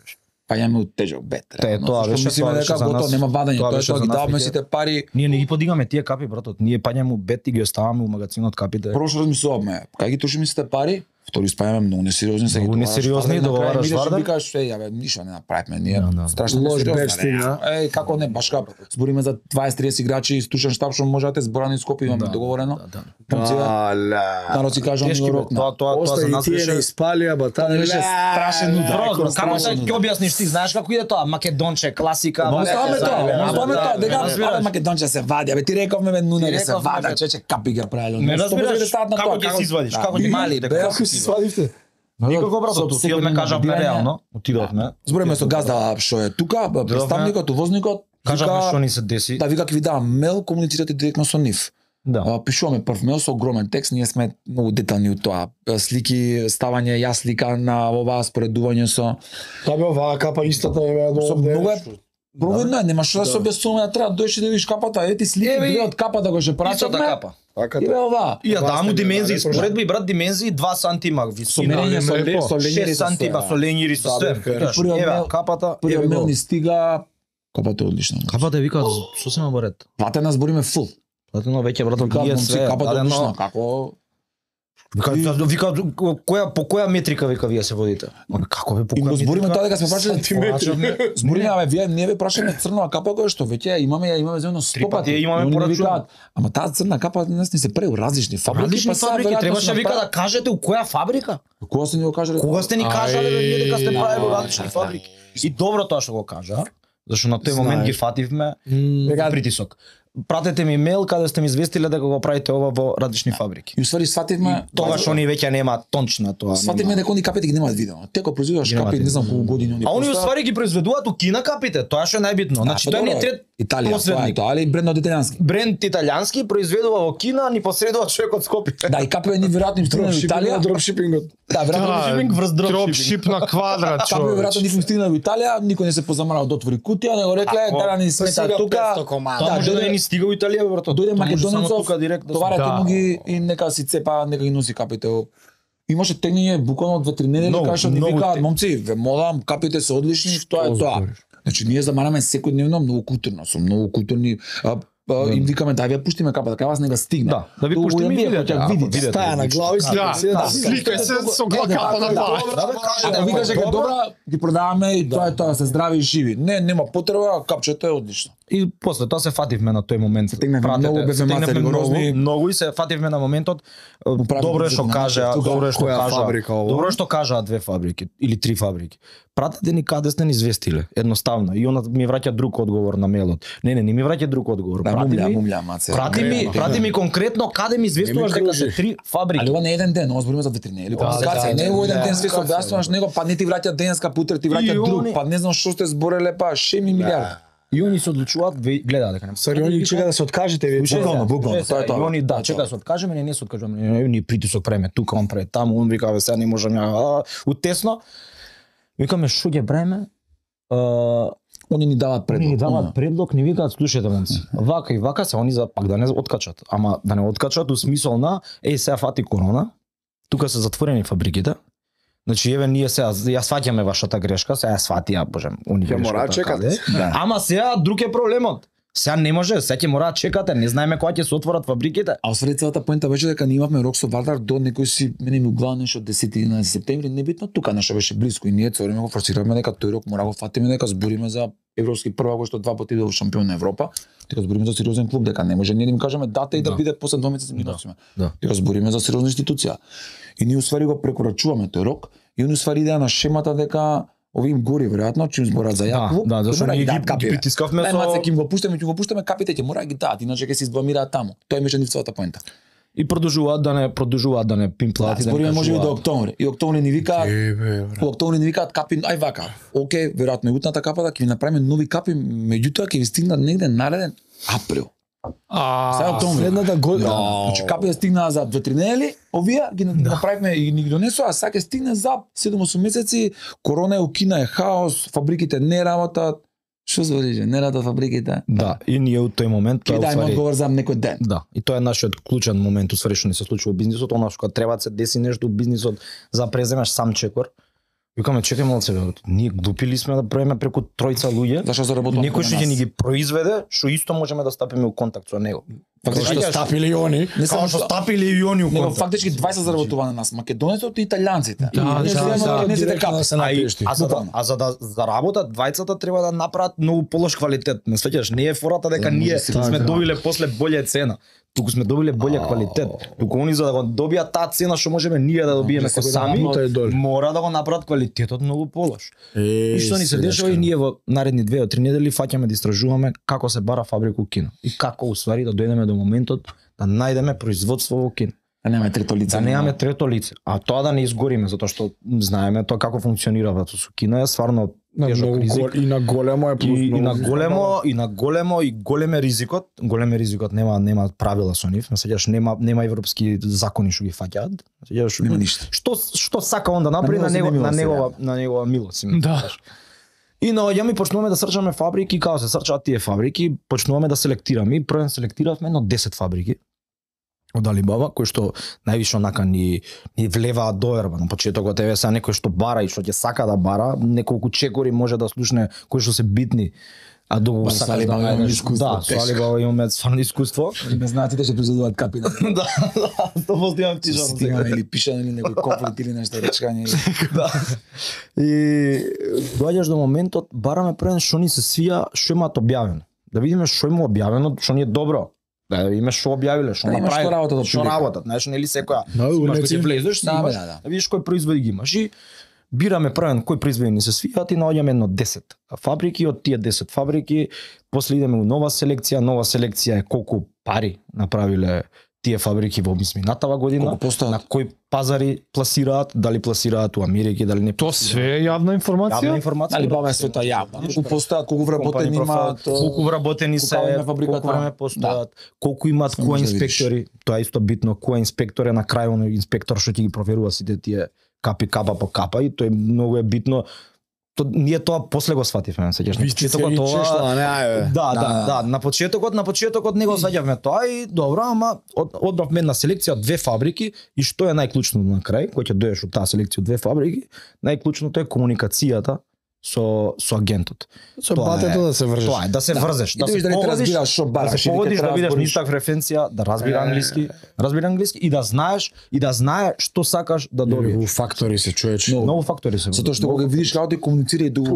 Па јаме у тежок бет. Те, тоа беше- мислиме тоа беше дека за готово, нас- нема вадање, тоа тоа е беше тоа за ги нас даваме веќе. сите пари. Ние не ги подигаме тие капи брат, ние паѓаме у бет и ги оставаме у магазинот капите. Прво што размислуваме, кај ги трошиме сите пари, втори спајаме многу несериозни, сега Многу ги несериозни, договараш Вардар, договараш на крај, Вардар. идеш и викаш, е, јаве, ништо не направивме, ние Да, да. страшно Лош несериозно, бет не, стигна. Еј, како не, баш како збориме за дваесет триесет играчи, стучен штаб што може да те зборани Скопје, имаме договорено. Да, да. Момци, Аля. народ си кажа, Тешки ми го бе, рокна. тоа тоа тоа за Оста и нас тие беше не испалија, ба таа беше страшен удар. Бро, како страшен се ќе удар. објасниш ти, знаеш како иде тоа? Македонче, класика. Ма оставаме тоа, заебе, ма оставаме да, тоа, дека разбираш. абе Македонче се вади, абе ти рековме бе нуне Ти се рековме, вада, бе. чече капи ги правело. Не разбираш како ќе се извадиш, како ќе мали, мали, Како си свадивте? Никако брат, отидовме кажавме реално, отидовме. Збориме со газда што е тука, бе, представникот, увозникот, Кажавме вика- што ни се деси. Да, вика ќе ви давам мейл, комуницирате директно со нив. Да. А, Пишуваме прв мейл со огромен текст, ние сме многу детални у тоа. Слики, ставање, јас слика на ова споредување со Та бе оваа капа истата е со овде. многу е провидно е, нема што да се објаснуваме, да треба да дојдеш и да видиш капата, ети слики Еве и- две од капата го ќе Истата прачаме. капа. Така И бе ова. И ја Ова дам му сте димензии, гледали, споредби брат димензии два сантима Со висина. мерење, со лепо. ле- со ленјери, шест со сантима све. со ленјери со Да, све. бе, Викаш, првиот еве мейл- капата, Првиот еве мейл го. ни стига. Капата е одлична. Капата вика сосема во ред. Платена збориме фул. Платено веќе брат Вика, ние момци, све. капата е дадено- одлична, како Вика, вика која по која метрика вика вие се водите? Ма како бе по и го која збориме метрика? тоа дека сме прашали Сантиметри. Збориме, абе, вие не ве прашаме црнава капа која што веќе ја имаме, ја имаме земно сто Три пати пати. ја имаме И они порачувано. викаат, ама таа црна капа нас ни се преу различни фабрики, Различни па сега фабрики, веројатно требаше се вика да направи- кажете у која фабрика? Кога се ни го кажале? Кога сте ни кажале бе вие дека сте Ај, правело да, различни да, фабрики? И добро тоа што го кажа, зашто на тој момент ги фативме Дека- притисок. Пратете ми мейл каде сте ми известиле дека го правите ова во различни фабрики. И уствари свативме, Тогаш они веќе нема точна тоа. свативме нема. дека они капите ги немаат видено. Те кога произведуваш Ги немаат капи, не знам видено. колку години они. А они постојат. уствари ги произведуваат у Кина капите, тоа што е најбитно. Значи па тој ни е добро, трет Италија, тоа е посредник. тоа, али брендот италијански. Бренд италијански произведува во Кина, ни посредува човек од Скопје. Да, и капи ни веројатно им стигнале во Италија. Дропшипингот. Да, веројатно Дропшипинг врз дропшипинг. Дропшип на квадрат, капи човек. веројатно ни им стигнале во Италија, никој не се позамарал да отвори кутија, него рекле, Ако дара ни смета сега тука. петсто комада. Тоа може да дојде- не ни стига у Италија, брато. Дојде Тоа може само македонецов, тука директно. товарете Да. му ги и нека си цепа, нека ги носи капите. Имаше тегнење буквално од две-три недели, Многу, кај што ни многу викаат, те- момци, ве молам, капите се одлични, тоа е тоа. Значи ние замараме секојдневно многу културно, со многу културни а, а, им викаме да ја пуштиме капата, кај вас не га стигне. Да, да ви Тоа пуштиме го и ја видите. ќе Ако видите. видите. Стаја на глава и Да, слика. да, сликај се со капа на тоа. Ако викаш дека е добра, ги продаваме и тоа е тоа, се здрави и живи. Не, нема потреба, капчето е одлично. И после тоа се фативме на тој момент. Стигнавме Пратете, многу, бевме стигнавме мацари ригорозни. многу, многу и се фативме на моментот. правим Добро е бюджет што на кажа, нашиот, добро е што која кажа. фабрика ова? Добро е што кажаа две фабрики или три фабрики. Пратете ни каде сте ни известиле, едноставно. И она ми враќа друг одговор на мејлот. Не, не, не ми враќа друг одговор. Да, Прати мумља, ми, мумља, маце. прати ми, прати ми конкретно каде ми известуваш Не ми дека се кружи. три фабрики. Али ова не е еден ден, ова збориме за ветеринарија или Да, комуникација. да, Не е во еден да, ден све се објаснуваш него, па не ти враќа денеска, путер ти И враќа друг, они- па не знам што сте збореле, па шеми милиарди. И они се одлучуваат, ве- гледаат дека не. Сори, они чека да се откажете вие. Слушај, Буквално, сега, буквално, слушај тоа е сега, тоа. И они Тоа да, е чека тоа. да се откажеме, не не се откажеме, не, не, ние притисок правиме тука, он прави таму, он вика, сега не можам ја, а, утесно. Викаме што ќе правиме? А, Они ни даваат Они ни предлог. даваат предлог, ни викаат, слушајте момци, вака и вака се, они за пак да не откачат, ама да не откачат у смисол на, еј сега фати корона, тука се затворени фабриките, значи еве ние сега ја сваќаме вашата грешка, сега ја сватија, боже, они Ќе мора грешката чекат. каде. Да. Ама сега друг е проблемот. Сега не може, сега ќе мора да чекате, не знаеме кога ќе се отворат фабриките. А освен целата поента беше дека ние имавме рок со Вардар до некој си мене ми углава нешто десети единаесети септември, небитно тука нешто беше блиско и ние цело време го форсиравме дека тој рок мора го фатиме дека збориме за европски првак кој што два пати бил шампион на Европа, дека збориме за сериозен клуб, дека не може ние да им кажеме дата и да, да. биде после два месеци ми носиме. Да. Дека збориме за сериозна институција. И ние усвари го прекорачуваме тој рок и они усвари идеја на шемата дека ови им гори веројатно чим зборат за јако. Да, да, зашто ние ги притискавме со маце ќе им го пуштаме, ќе го пуштаме капите, ќе мора да ги дадат, иначе ќе се избламираат таму. Тоа беше нивцата поента. И продолжуваат да не продолжуваат да не пимплаат да, и да збориме не можеби кажуваат. до октомври. И октомври ни викаат, во октомври ни викаат капи, ај вака. Океј, веројатно и утната капа да ќе ви направиме нови капи, меѓутоа ќе ви стигнат негде нареден април. А, Сега октомври. Следната година. Да. Значи капите стигнаа за две-три недели, овие ги направивме и ни ги донесоа, а сега ќе стигне за седум-осум месеци. Корона е укина, е хаос, фабриките не работат. Што збориш, не работат фабриките? Да, и ние у тој момент Ќе тоа дајме усвари одговор за некој ден. Да, и тоа е нашиот клучен момент усвари што ни се случува во бизнисот, она што треба да се деси нешто во бизнисот за да преземеш сам чекор. Викаме чекај малце, ние глупили сме да правиме преку тројца луѓе. Зашто заработуваме? Некој што ќе ни ги произведе, што исто можеме да стапиме у контакт со него. Фактички Што стапили и они. Не Како што стапили и они у Него контакт. фактички дваесет заработува на нас, македонецот и италијанците. Да, Ние да, земаме да, македонеците директно капи. да се А, и, напишти. а, за да, а за да заработат двајцата треба да направат многу полош квалитет. Не свеќаш, не е фората дека Да, ние може си сме така. добиле после болја цена. Туку сме добиле болја квалитет. Туку они за да го добијат таа цена што можеме ние да добиеме се ко го сами, направат тој доле. мора да го направат квалитетот многу полош. Е, И што ни се дешава и ние во наредни две до три недели фаќаме да истражуваме како се бара фабрика у Кина и како усвари да дојдеме до моментот да најдеме производство во Кина. Да немаме трето лице. Да немаме трето лице, а тоа да не изгориме затоа што знаеме тоа како функционира со Кина е стварно на тежок многу ризик. гол, и на големо е плюс И, и многу на ризик. големо и на големо и голем е ризикот, голем е ризикот, нема нема правила со нив, сеќаш нема нема европски закони што ги фаќаат. Сеќаш Нема ништо. Што што сака он да направи На на него него на се негова на негова милост. си Да. знаеш. И наоѓаме и почнуваме да срчаме фабрики, како се срчаат тие фабрики, почнуваме да селектираме и првен селектиравме едно десет фабрики од Алибаба, кои што највише онака ни ни влеваат доверба. На почетокот еве са некој што бара и што ќе сака да бара, неколку чекори може да слушне кои што се битни. А дуго Ба, сакаш со Алибаба да имаме најдеш- искуство, Да, со тешко. Алибаба имаме стварно искуство. Не знаат да ќе произведуваат капи. да, да, сто поsto имам тижано Стигаме или пишано или некој конфликт или нешто речкање. Да. И доаѓаш до моментот, бараме првен што ни се свија, што имаат објавено. Да видиме што има објавено, што ни е добро. Да име што објавиле, што Да, имаш направи, што работат од што прилика. работат. Знаеш, нели секоја Да, си имаш унеци. кога ќе влезеш, си Да, бе, имаш, да, да. да видиш кои производи ги имаш и бираме првен кои производи ни се свијат и наоѓаме едно десет фабрики, од тие десет фабрики после идеме у нова селекција, нова селекција е колку пари направиле тие фабрики во изминатава година, Колку постојат? на кои пазари пласираат, дали пласираат у Америка, дали не Тоа пласираат. све е јавна информација? Јавна информација. Али брат. баба е света јавна. Колку постојат, колку вработени Компани профил, имаат, колку вработени се, колку време фабриката. колку време постојат, колку имаат Се кои може да видиш. инспектори, тоа е исто битно, кој инспектор е на крај оној инспектор што ќе ги проверува сите тие капи капа по капа и тоа е многу е битно. То, ние тоа после го свативме, сеќаш. На Висти се почетокот и тоа чешла, не ајде. Да, да, Да. да, на почетокот, на почетокот не го сваќавме тоа и добро, ама од, одбавме една селекција од две фабрики и што е најклучно на крај, кој ќе доеш од таа селекција од две фабрики, најклучното е комуникацијата со со агентот. Со Тоа батето е- да се вржеш. Тоа е да се Да. врзеш, И да да видиш се дали те поводиш, разбираш што да бараш се или поводиш, ќе да треба бидеш збориш. нисак референција, да разбира Е. англиски, разбира англиски и да знаеш и да знае што сакаш да У добиеш. фактори се човече. Но- Многу фактори се. Затоа што кога ги видиш како ти комуницира и дуго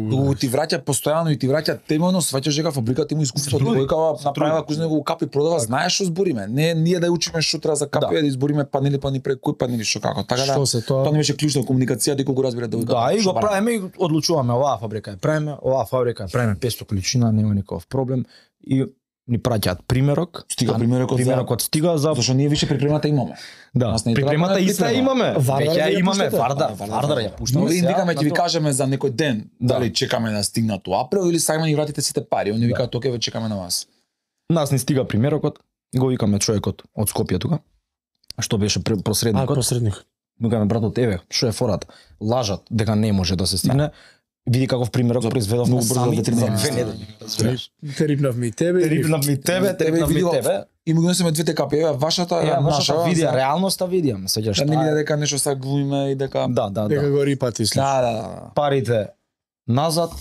дуго ти враќа постојано и ти враќа темено, сваќаш дека фабриката има искуство, Се труди, тој се направила труди. кој знае го капи продава, знаеш што збориме. Не ние да ја учиме што треба за капи, Да. да избориме панели па ни пред кој панели што како. Така да Што се тоа? тоа не беше клучно комуникацијата и колку разбира да Да, и го правиме и одлучуваме оваа фабрика е правиме, оваа фабрика е правиме песто количина, нема никаков проблем и ни праќаат примерок. Стига а примерокот за- примерокот стига за Зашто ние више припремата имаме. да. Нас не треба Припремата да иста припрема. имаме. Вардар Веќе ја ја имаме пуштате? Вардар, Да, Вардар ја пуштаме. Но ви сега викаме на ќе ви тоа. кажеме за некој ден, Да. дали чекаме да стигнат у април или сакаме ни вратите сите пари. Они викаат окей, ве чекаме на вас. Нас ни стига примерокот, го викаме човекот од Скопје тука. Што беше пре- А, посредникот. посредник. Викаме братот, еве, што е фората? Лажат дека не може да се стигне. Види каков примерок За- произведовме многу брзо сами за за две две недели. недели. Терипнавме и тебе. и нив. Терипнав ми тебе, терипнав ми види го- тебе. И му ги носиме двете капи, еве вашата, Ја, еве вашата нашата. видија, за- реалноста видиам, сеќаш Да не таа види е- дека нешто са глумиме и дека Да, да, Дека да. го рипати слично. Да, да, да. Парите назад,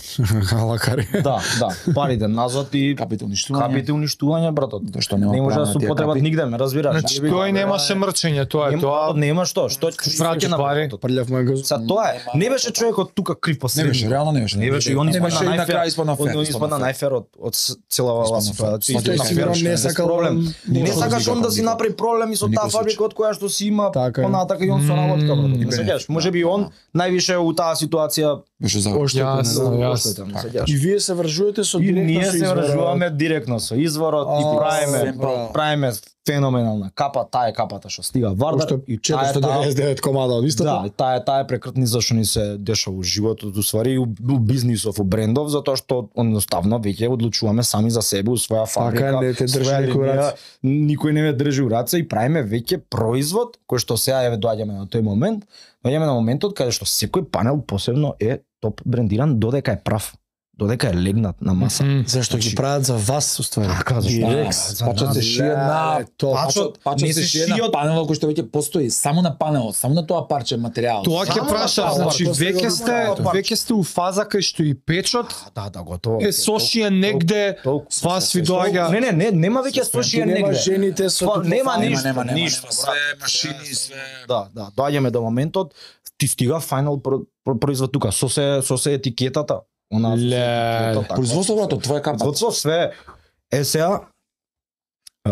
Лакари. да, да, парите назад и Капите уништување. капите уништување, братот. Тоа што нема Не може да правна се тие употребат капи. нигде, ме разбираш. Значи тој немаше мрчење, тоа е Нема, тоа. нема што, што ќе Враќаш пари. Прљав мој газон. Са тоа е. Не беше човекот тука крив Не посредник. беше, реално не беше. Не беше и он Не испадна беше и на крај најфер. испадна фер. Он испадна најфер од од с- целава оваа Испадна фер. ситуација. Па тој Испадна сигурно фер, не без сакал проблем. да- Не Никој сакаш он да си никој. направи проблеми со таа Никој фабрика од која што си има Така е. понатака и он со работка, брат. Не Бе, сеќаш, да, можеби он да. највише у таа ситуација Беше за Јасно, јасно. оштетен, не сеќаш. И вие се вржувате со И директно ние со се изворот. вржуваме директно со изворот и А, правиме семпл. правиме феноменална капа, таа е капата што стига Вардар Уште и таа е четиристо таа- деветдесет и девет комада од истото. Да, таа е таа е прекртница што ни се дешава у животот, уствари и у, у бизнисов, у брендов, затоа што едноставно веќе одлучуваме сами за себе у своја фабрика. Така, не те држи своја никој линија, раце. Никој не ме држи у раце и правиме веќе производ кој што сега еве доаѓаме на тој момент, доаѓаме на моментот каде што секој панел посебно е топ брендиран додека е прав, додека е легнат на маса. Мгм. Зашто ги прават за вас уствари. Така, зашто? И Да, Рекс. за Пачот нас. се шие на Леле, тоа. Пачот, Пачот не се се шие на шијат- панелот кој што веќе постои, само на панелот, само на тоа парче материјал. Тоа ќе Само прашам, на значи тоа, веќе тоа сте е тоа. веќе сте у фаза кај што и печот Да, да, готово. е сошија негде, толку- вас ви доаѓа. Не, не, не, нема веќе сошија Нема негде. жените со Па, тука нема фајна. ништо, нема, нема, ништо, нема, брат. све машини, све. Да, да, доаѓаме до моментот, ти стига фајнал про- про- производ тука, со се со се етикетата. Она со се Леле. етикетата, така. Производство брато, тоа е капа. Производство све. Е сега а,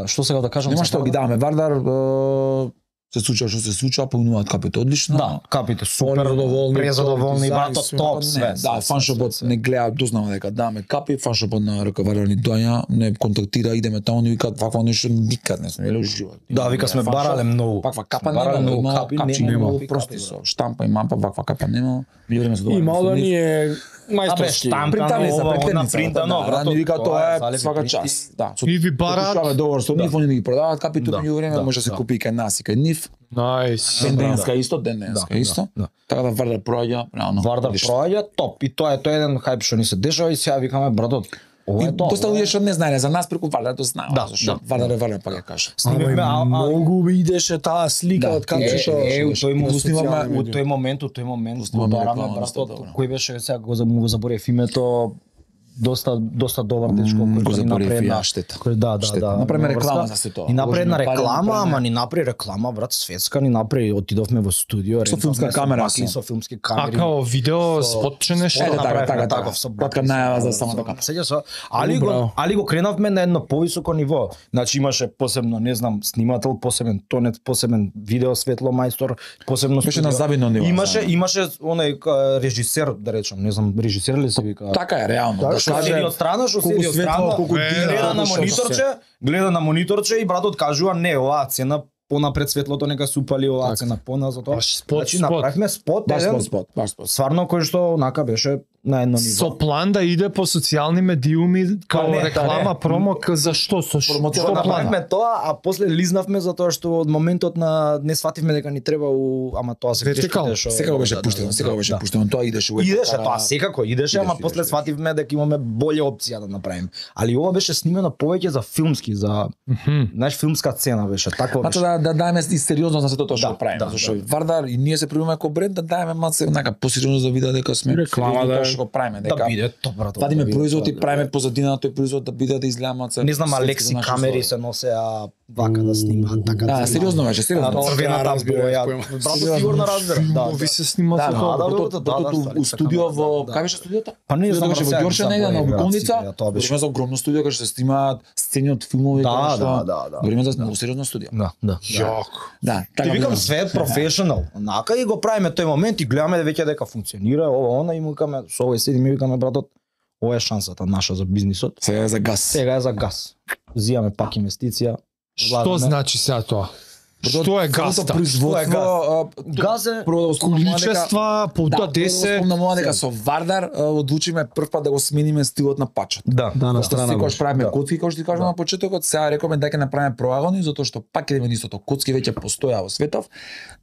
што сега да кажам? Нема за што Вардар? ги даваме Вардар, е, се случува што се случува, понуваат капите одлично. Да, капите супер, Задоволни, презадоволни, топ, брато, дизајн, топ, све, све. Да, све, фаншопот све, не све. гледа, дознава дека даваме капи, фаншопот на ръководител ни доаѓа, не контактира, идеме таму, ни викаат вакво нешто никад не сме видели у живот. Да, вика сме барале многу. Ваква капа Барале нема, многу има капи, капчи нема нема, овакви прости капи, со штампа и мапа, ваква капа нема. Меѓувреме се Има да ни е Абе, мајсторски. штамп, Принтани за ова, она принтерница, принтано, да, брато, ни вика тоа тоа е е залеви свака принти. час. Да, со И ви бараат. Подпишуваме договор со нив, Да. они ни ги продаваат капите, Да, меѓувреме да, може да се да. купи и кај нас и кај нив. Најс. Ден Да, денеска да. исто, ден денеска Да, исто. да, да. Така да Вардар проаѓа, реално. Вардар одлично. проаѓа топ и тоа е тоа е еден хајп што ни се дешава и сега викаме братот, ова И е тоа. доста ова е- луѓе што не знаеле за нас преку Вардар тоа знаат, Да, зашто да, Вардар да. е Вардар, па ќе кажа. Снимивме, а- а- Многу идеше таа слика Да, од кај Е, што е, у тој го момент, снимаме, у тој момент, у тој момент, го снимаме бараме реклама, братот, доста добро. кој беше сега го за- му го заборев името, доста доста добар дечко М, кој го ни заборев направи и една- јас, штета. кој- Да, да, Штета. да. Направиме врска. реклама за се тоа. Ни направи една Уложиме пари, реклама, направиме- ама ни направи реклама, брат, светска, ни направи, отидовме во студио, Со рентавме филмска камера бакли, со. со филмски А камери. као видео, Со- спотче нешто? Е, да, направивме така, така. таков со Кратка бакли, со- најава за со- самата со- капа. Сеќаш се? Али Браво. го али го кренавме на едно повисоко ниво. Значи имаше посебно, не знам, снимател, посебен тонет, посебен видео светло мајстор, посебно Беше студио. на завидно ниво. Имаше знаеме. имаше онај ка, режисер, да речам, не знам, режисер ли се вика? Така е, реално. Да, Да што каже, седи од страна, што колку седи од светло, страна, колку Е, гледа да, на што мониторче, гледа на мониторче и братот кажува не, оваа цена понапред светлото нека се упали, оваа цена поназад. тоа. Баш спот, Значи спот. направивме спот, Баш еден, спот, спот, баш спот. стварно кој што онака беше на едно ниво. Со план да иде по социјални медиуми као Па не, реклама, не. промо, к- за што? Со ш- Промоција што на план? Направивме тоа, а после лизнавме затоа што од моментот на не свативме дека ни треба у ама тоа се Вертикал. грешките што Секако беше да, пуштено, да, секако да, беше да. пуштено, тоа идеше uvek. Идеше Пара- тоа, секако идеше, ама Идеше, после идеше. свативме дека имаме болја опција да направиме. Али ова беше снимено повеќе за филмски, за Мгм. знаеш филмска цена беше, такво Значи беше. да да даеме и сериозно за сето тоа што Да, го правиме, да, зашто да. Вардар и ние се примаме како бренд да даеме малце онака посериозно за вида дека сме Реклама, сериозни да. тоа што го правиме, дека Да биде тоа брато. вадиме да биде производ тоа, и да. правиме позадина на тој производ да биде да изгледа малце. Не знам, светски Алекси за наши камери услови. се носеа вака да снимаат, така Да, да сериозно беше, сериозно. А, црвената разбира, боја. поема. Брато сигурно разбира. Да, Филмови да. се снимаат Да, со да, тоа. да, да, да, да, да, у старица студио камера, во да, кај да. беше студиото? Па не знам, Беше во сега Ѓорче негде на заборав, Обиколница. брат, тоа беше. Говориме за огромно студио кај што се снимаат сцени од филмови, Да, кај што- да, да, да. Говориме за многу сериозно студио. Да, да. Јак. Да, Ти викам било. све е професионал. Онака и го правиме тој момент и гледаме веќе дека функционира, ова она и му викаме со овој седиме и викаме братот, ова е шансата наша за бизнисот. Сега е за газ. Сега е за газ. Зијаме пак инвестиција. Што влагаме. значи сега тоа? Брато, Што е самото гаста? производство, а, Газ е прво да го спомнам дека Количества, да, пута прво да го десет. спомнам дека со Вардар а, одлучиме прв пат да го смениме стилот на пачот. Да, Да, на да. страна Секогаш беше. правиме Да. коцки, како што ти кажам Да. на почетокот, сега рековме дека направиме проагони затоа што пак идеме на истото. Коцки веќе постоја во светов.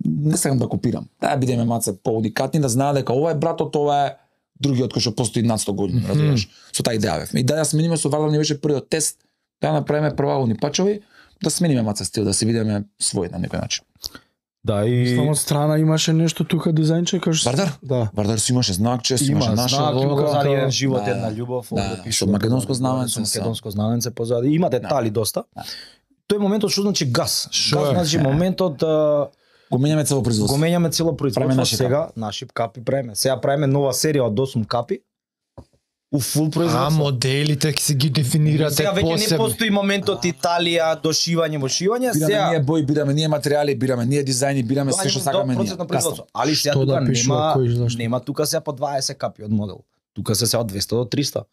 Не сакам да копирам. Да бидеме маце поудикатни, да знаат дека ова е братот, ова е другиот кој што постои над сто години, разбираш. Со таа идеја бевме. И да ја смениме со Вардар не беше првиот тест да направиме проагони пачови, да смениме маце стил, да се видиме свој на некој начин. Да, и Само од страна имаше нешто тука дизајнче кажеш. Вардар? Да. Вардар си имаше знакче, си има имаше наша знак, лого. позади еден живот, Да, една љубов, да, овде со пишува, македонско да, знаменце, со македонско знаменце позади. Има детали доста. Да. Тој моментот што значи газ. Шо Газ е? значи моментот а, Го менјаме цело го производство. менјаме цело Правиме производство наши сега, наши капи правиме. Сега правиме нова серија од осум капи. У фул А производство. моделите ќе се ги дефинирате Сега веќе не посебно. постои моментот Италија, дошивање, мошивање, Бираме сега ние бои, бираме ние материјали, бираме ние дизајни, бираме се што сакаме ние. процент на производство. Али сега Што тука да пишува, кој, нема зашто? нема тука сега по дваесет капи од модел. Тука се сега од двеста до триста.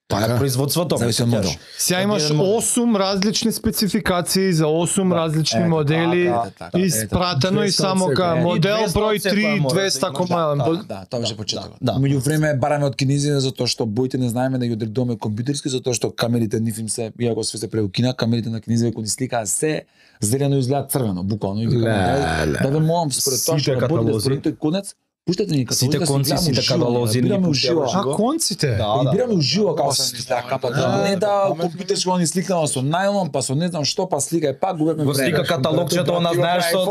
Тоа е Така. производството. Зависи од ме модел. сеќаш. Сега имаш Еден модел. осум различни спецификации за осум Да. различни Ето, модели. така, така, Испратено и двеста само од ка секој. И модел двеста од број секоја три мора да двеста имаш, кома. Да, да, тоа беше почетокот. да. Меѓу време бараме од кинезите затоа што боите не знаеме да ги одредуваме компјутерски затоа што камерите нив им се, иако све се преукина, камерите на кинезите кога ни сликаа се зелено изгледа црвено, буквално. И викаме, Леле. да ве молам според тоа Сите што работите каталози. според тој конец, пуштете ни каталози, Сите да си конци, гледаме сите уживо, каталози, да бираме ни уживо. пуштеваш. А конците? Да, И да. бираме уживо како О, се стара, капата. да, Не да паметно. компјутерско ни сликнало со најлон, па со не знам што, па слика и пак губиме Го слика каталогчето, она знаеш што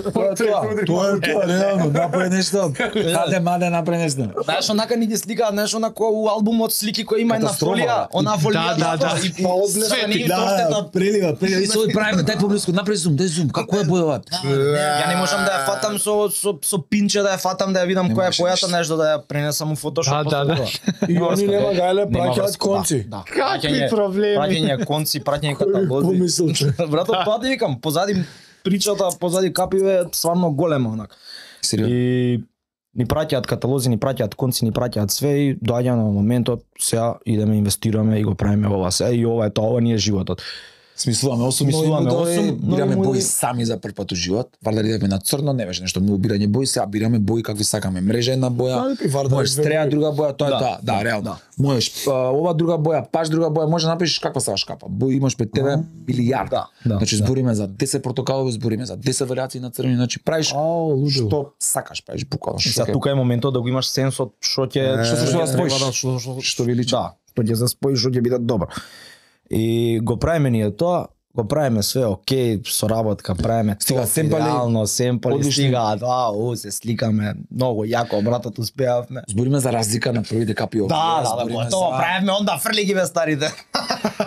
Тоа е тоа. Тоа е тоа, реално, направи нешто. Хаде маде направи нешто. Знаеш, онака ни ги сликаат, знаеш, онако у албумот слики кои има една Катастрофа, фолија, бе. она фолија. Да, да, да. И Па одгледа, све ни ги да, тоштетат. прелива, прелива. И со правиме, дај поблиску, направи зум, дај зум. Како е бојова? Ја не можам да ја фатам со со со пинче да ја фатам да ја видам Не која е може бојата, ништо. нешто да ја пренесам у Photoshop. Да, да, да. И они нема гајле праќаат конци. Да. Какви Праќање- проблеми? Праќање конци, праќање каталози. Помислил че. Брато, тоа ти викам, позади причата, позади капиве е стварно голема онак. Сериозно. И ни праќаат каталози, ни праќаат конци, ни праќаат све и доаѓа на моментот сега идеме инвестираме и го правиме ова се и ова е тоа, ова ни е животот. Смислуваме осум нови Смислуваме модели, осум нови бираме бои модели. сами за прв пат у живот. Вардар идевме на црно, не беше нешто многу бирање бои, сега бираме бои какви сакаме. Мрежа една боја, Да, и Вардар можеш две стреја бои. друга боја, тоа е Да, тоа. Да, да, реално. да. Можеш а, ова друга боја, паш друга боја, може да напишеш каква сакаш капа. Бои имаш пред тебе билијард. Да, да, Значи да. збориме за десет портокалови, збориме за десет варијации на црвени, значи правиш Ау, лудо. што сакаш, правиш буквално што Сега ќе- тука е моментот да го имаш сенсот што ќе Што се што да споиш, треба што што што ви личи. Да, што ќе се спои, што ќе биде добро. И го правиме ние тоа, го правиме све окей, со работка правиме Стига тоа, семпали, идеално, семпали, одлични. стига, да, у, се сликаме, многу јако, братот успеавме. Збориме за разлика на првите капи овие. Да, да, да, збориме готово, за- правиме онда фрли ги бе старите.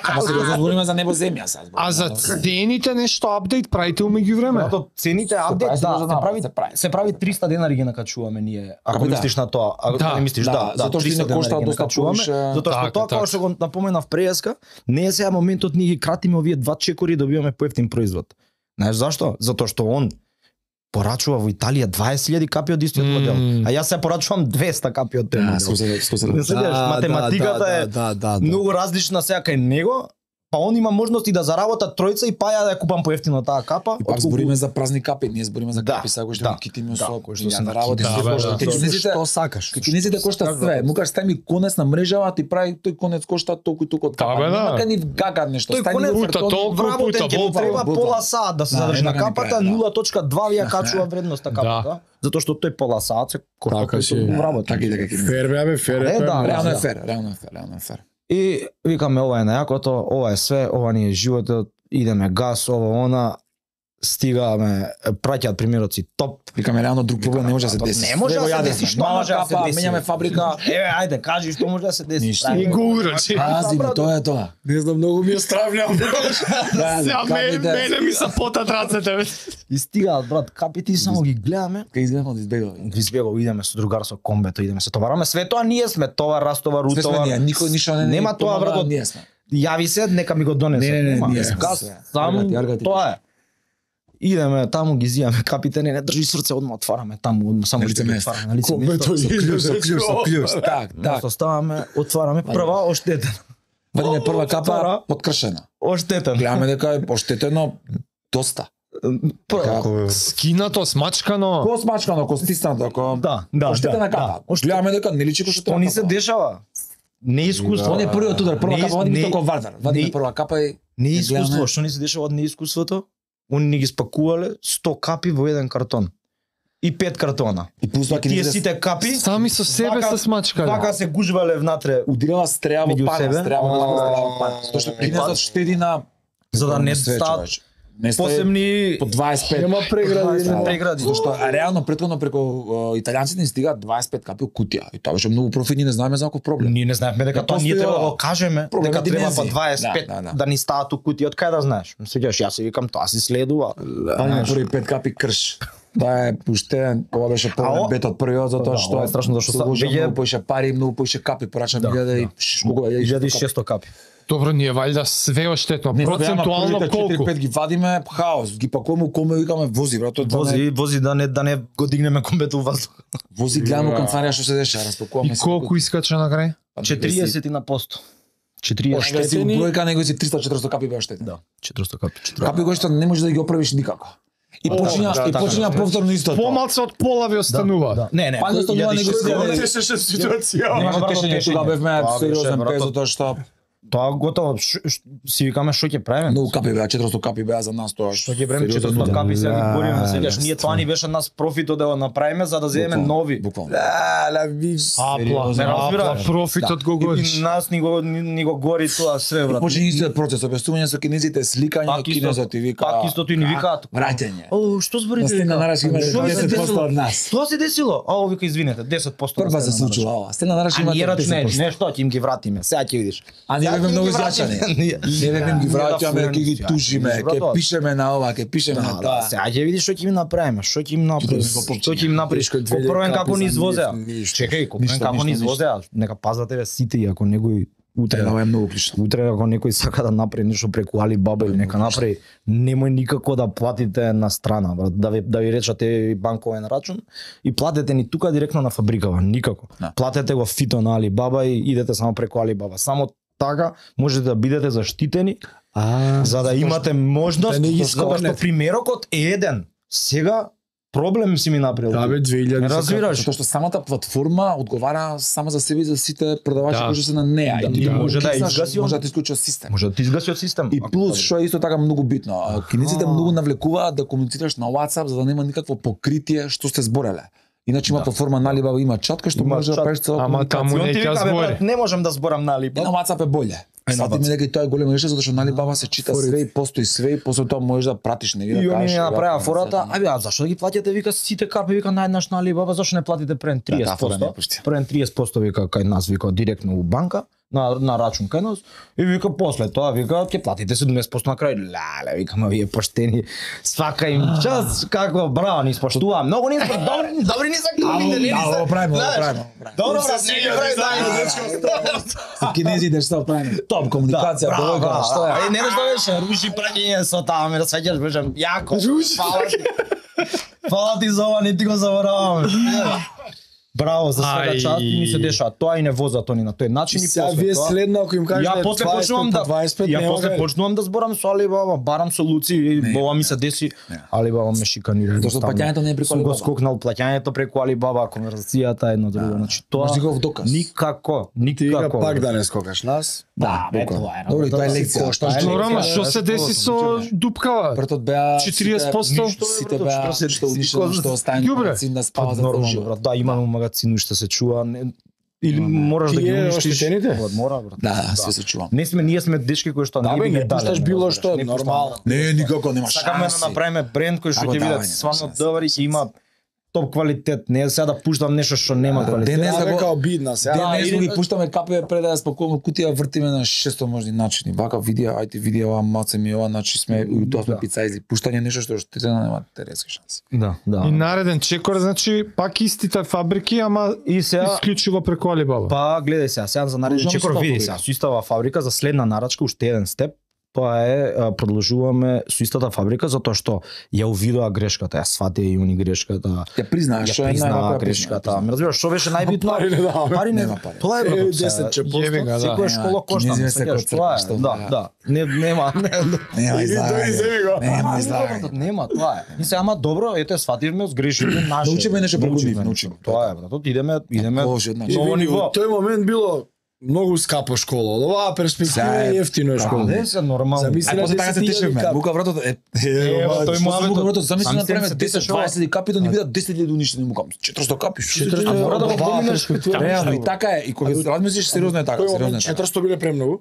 Ама сериозно збориме за небо земја сега. А за цените нешто апдейт правите у меѓувреме? Брато, цените прави, апдейт, се да, може се да прави, се прави. се прави триста денари ги накачуваме ние. Ако Како да? мислиш на тоа, ако Да, не мислиш, да, да, да, затоа што и триста не кошта денари ги доста накачуваме, повише. затоа што Така, тоа така. како што го напоменав преска, не е сега моментот ние ги кратиме овие два чекори и добиваме поевтин производ. Знаеш зашто? Затоа што он порачува во Италија дваесет илјади капи од истиот Мм. модел, а јас се порачувам двеста капи од тој Да, модел. сто се сто се Не се деш, математиката да, е да, да, да. многу различна сега кај него, па он има можности да заработа тројца и па ја да ја купам поевтино таа капа. И пак отколку- збориме за празни капи, ние збориме за Да, капи, сега кои што да, ги китиме да, со кои што што се се на работи, китиме. се Да, кошта. да, Кај кинезите Што сакаш? Кај кинезите кошта све. Му кажеш, стај ми конец на мрежава, ти прави тој конец кошта толку и толку од капа. Да, бе, да. Нема кај ни гага нешто. Тој Стај конец ни пута картон, толку, вработен пута ќе Ќе му буквално, треба буквално. пола саат да се Да, задржи на нема да ни капата, прави, да. нула точка два ја качува вредноста капата, Да. затоа што тој пола саат се кошта Така кој си. што го вработи. Така и така ќе. Фер бе, бе, фер Е, е. да, тоа е Реално е да. фер, реално е фер, реално е фер. И викаме ова е најакото, ова е све, ова ни е животот, идеме газ, ова она, стигаме, праќаат примероци топ. Викаме реално друг проблем не може да се Брато, деси. не може Све да го се јадевме. деси, што Мала може да се капа, деси? Менјаме фабрика. Еве, ајде, кажи што може да се деси. Ништо. Правиме- И го урочи. Пази, брато. тоа е тоа. Не знам, многу ми е стрављам. Да, Сега ме- капите. мене ми се потат рацете. бе. И стигаат, брат, капите и само ги гледаме. Кај изгледам од избегал. Ги избегал, идеме со другар со комбето, идеме се товараме. Све тоа ние сме товар, растовар, Све сме утовар. ние, никој ништо не Нема тоа, помага, брато. Ние сме. Јави се, нека ми го донесе. Не, не, не, Нема. ние сме Газ, све. сам, Аргати, аргати тоа е. Идеме таму, ги зијаме капите, не, не држи срце, одма отвараме таму, одма само На што лице ги место. отвараме на лице Комбето место. и Клюш, со клюш, со клюш. Так, так. Така, ставаме, отвараме, прва оштетен. Вадиме прва капа Втора. подкршена. Оштетен. Гледаме дека е оштетено доста. Прва. Скинато, смачкано. Ко смачкано, ко стиснато, ко Да, да, оштетена да, капа. да. Гледаме дека не личи ко што Што треба. ни се капа. дешава? Неискуство. Он е првиот удар, прва Не- капа, вадиме не- тоа ко Вардар. Вадиме не- прва капа и Неискуство, гледаме. што ни се дешава од неискуството? Они ни ги спакувале сто капи во еден картон. И пет картона. и пустоа Тие кинезите сите капи Сами со себе Вака- се смачкале. така се гужвале внатре, удирала стреа во Меѓу пана, себе. стреа во А, пана, стреа во пана. Тоа што и кинезот пат. штеди на за да не све, стаат човече. Не сте посебни по дваесет и пет. Нема прегради, дваесет нема. прегради. Зашто а, реално претходно преку а, италијанците ни стигаат дваесет и пет капи кутија. И тоа беше многу профитни, не знаеме за каков проблем. Ние не знаевме дека Не тоа ние постои треба да ова. го кажеме, Проблем дека е треба по димензија. дваесет и пет Да, да, да. да ни стават у кутија, од кај да знаеш? Сеќаш јас си викам тоа си следува. Па први пет капи крш. Тоа е пуштен, ова беше А, полен о- бет од првиот затоа Да, што ова е страшно, зашто се са- вложи веќе- многу поише пари, многу поише капи, порачам Да, илјада и да. колку е илјада и шесто капи. Добро, ние валјда све оштетно. Не, Процентуално колку? четири пет ги вадиме, хаос, ги пакуваме у коме, викаме вози, брато, да не- Вози, вози да не да не го дигнеме комбето у воздух. вози, гледаме у канцарија што се деша, распакуваме И колку искача на крај? четириесет на посто. четириесет. Оштетени. Оштетени бројка него си триста четиристо капи беа оштетени. Да, четиристо капи. Капи кои што не можеш да ги оправиш никако. И почиња да, и така, почиња така. повторно истото. Помалку од пола ви останува. Да. Не, не, Па не останува, него се Тешеше ситуација. Нема брато, тешење, тешење. тога бевме Тоа беше, сериозен брато. пез затоа што Тоа готово, ш, ш, си викаме што ќе правиме? многу капи беа, четиристо капи беа за нас тоа. Што ќе правиме сериозен четиристо удар. капи сега ги бориме, Да, сеќаш да, ние тоа ни беше нас профитот да го направиме за да земеме Буквално, нови. Буквално. Да, ла ви. Апла, Сериозно, апла, разбираш? профитот го И гориш. нас ни го ни, ни го гори тоа све, брат. Почиња истиот процес, објаснување со кинезите, сликање, Пак исто- кинезот и вика. пак истото и ни викаат. Враќање. О, што зборите? На стена нараш има Што ви се десет десило? проценти од нас. Што се десило? А, о, вика извинете, десет проценти. Прва се случува ова. Стена нараш А има ние рачне, десет проценти. не што ќе им ги вратиме. Сега ќе видиш. А ние Сега бевме ќе им многу ги вратиме. изјачани. Ние- Ние бевме ги Ние да враќаме, ќе ги фурираме, тужиме, ја, ќе брат, пишеме на ова, ќе пишеме на Да, тоа. сега ќе видиш што ќе им направиме, што ќе им направиме, Ќе го што ќе им направиш. Тешко е две Копровен капи како за ни нив, извозеа. ништо. Чекај, копровен Ништо, како ни ништо, извозеа. Нека пазат еве сите и ако некој утре Ова е многу клучно. утре ако некој сака да направи нешто преку Алибаба или нека направи, немој никако да платите на страна, брат, да ви да ви речате банковен рачун и платете ни тука директно на фабрикава, никако. Да. Платете го фито на Алибаба и идете само преку Алибаба. Само така можете да бидете заштитени А, за да имате можност, да не ги затоа што скопнете. примерокот е еден. Сега проблем си ми направил. Да бе две илјади. Не разбираш? Затоа што самата платформа одговара само за себе и за сите продавачи Да. кои се на неа. Да, И ти да. го Може да кликнаш, изгаси он. може да ти исклучи од систем. Може да ти изгаси од систем. И плюс, што е исто така многу битно, а, кинезите А. многу навлекуваат да комуницираш на WhatsApp за да нема никакво покритие што сте збореле. Иначе има Да. платформа на Alibaba, има чат кај што Има може да чат. правиш цела Ама комуникација. таму И он не ти ќе вика, бе, збори. брат, не можам да зборам на И на Алибаба. WhatsApp е боле. Е, на Сватиме WhatsApp. дека и тоа е големо нешто затоа што на Alibaba се чита све и постои све и после тоа можеш да пратиш не да И они кажеш, ми направија вака, фората, сета, аби а зашто да ги платите вика сите капи вика наеднаш на Алибаба, зашто не платите прен таа триесет фора не ја проценти? пушти. Прен триесет проценти вика кај нас вика директно у банка на на рачун кај нас и вика после тоа вика ќе платите седумдесет проценти на крај. Леле, викаме вие поштени. Свака им час како браво ни испоштува. Многу ни испоштува. Добри, добри ни се капите, не ни Да, се. ово правиме, ово Знаеш, правиме. ово правиме. Добро, брат, не ги прави дај. Со кинезите што правиме? Топ комуникација, браво, доволга, што е? Е, не што беше, руши праќање со таа, ме расваќаш, беше јако. Фала ти. Фала ти за ова, не ти го забораваме. Браво, за света Ај. част и ни се дешава. Тоа и не возат они на тој начин и Сега после вие тоа. следно ако им кажете Ја после почнувам да дваесет пет, ја нема после кај. почнувам да зборам со Алибаба, барам со Луци и Не, ова ми се не, деси. не. Алибаба ме шиканира. Зашто едноставно. плаќањето не е преку Сум го Alibaba. скокнал плаќањето преку Алибаба, конверзацијата едно друго. Значи тоа Можеш никаков доказ. никако, Ти вика никако. пак да не скокаш нас. Да, бе, буквално. тоа е. Добро, и тоа е си лекција. кошта, Тоа е Добро, ама лекција. што се деси со дупкава? Првотот беа четириесет проценти? сите- сите Што, беа што се што деси? унишено, што остане Ѓубре. магазин да спава за Нормално, цел брат. живот. Да, имаме магазин уште се чува. Не- Или мораш да ги Тие уништиш. оштетените? Брат, Мора, брат. Да, да, све се чува. Не сме, ние сме дечки кои што Да, не бе, би ги не дале, пушташ не било разбираш, што, не пуштаме. нормално. Не, никако нема Сакаме да шанси. направиме бренд кој што Како ќе давање, биде нема свано шанси. добар и ќе има топ квалитет. Не е сега да пуштам нешто што нема Да, квалитет. денес Да, да бе, го- као обидна сега. Денес или- го ги пуштаме капе пред да ја спакуваме кутија, вртиме на шесто можни начини. Вака видео, ајде видео, ова маце ми ова, значи сме и тоа сме Да. пицајзи. Пуштање нешто што штетено нема теретски шанси. Да, да. И нареден чекор, значи пак истите фабрики, ама И сега исклучиво преку Алибаба. па гледај сега, сега за нареден Продолжуваме чекор со таа види фабрика. сега, со истава фабрика за следна нарачка уште еден степ. Тоа е а, продолжуваме со истата фабрика затоа што ја увидоа грешката, ја сватија и они грешката. Ја признаеш што Ја е признаа највака грешката. Ме разбираш што беше најбитно? Пари не даваме. Пари не, Нема пари. тоа е Е, брат. десет чепосто. Јеби га, да. Секоја школа Нема, кошта, кинезиве се сеќаш, кој тоа е. црква, Да, што да. Не нема. Нема излагање. Нема излагање. Нема, тоа е. И се ама добро, ете свативме, сгрешивме наше. Научиме нешто преку Научивме нив, нешто. научиме. Тоа е, брат. Идеме, идеме Боже, значи. ново И види, ниво. во тој момент било многу скапо школа. Од оваа перспектива Сега е е- ефтино е Да, школа. Не се нормално. Замисли- Ај после така се десет илјади тешевме. капи. Бука вратот е. Ево, тој Што муабетот. бука вратот, замисли Сам да себе направиме се десет тешува. дваесет капи да ни видат десет илјади уништени мукам. четиристо капи. што се четиристо дешава? мора да го оваа поминеш. перспектива. Реално и така е. И кога се размислиш сериозно е така, Кој сериозно е момент така. четиристо биле премногу?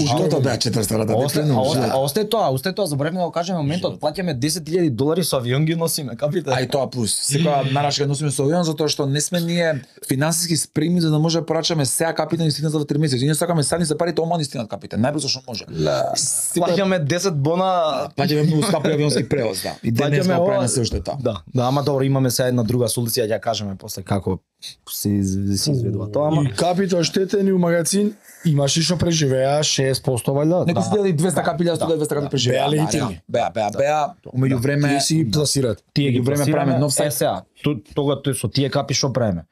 Ушто беа четиристотини А осте- а осте- а да. осте тоа, осте тоа, заборавме да го кажеме моментот, плаќаме десет илјади долари со авион ги носиме, капите. А и тоа плюс. Секоја нарачка носиме со авион затоа што не сме ние финансиски спремни за да може да порачаме сега капите ни стигнат за три месеци. Ние сакаме сега ни се парите ома ни стигнат капите, најбрзо што може. Секоја Плаќаме десет бона. плаќаме многу скапи авионски превоз, да. И денес Плаќаме го ова- правиме се уште тоа. Да, да, ама добро, имаме сега една друга солуција, ќе ја кажеме после како се из- се изведува тоа, ама И капите оштетени у магазин, имаш и што преживеа шест проценти валјда. Некои си дели двесте капи, илјада сто двесте капи преживеа. Беа Да, легитимни. Беа, беа, беа. Меѓу време Тие си ги пласират. тие ги Меѓу време пласираме, правиме нов е сајт. сега, то- тога тој со тие капи што правиме?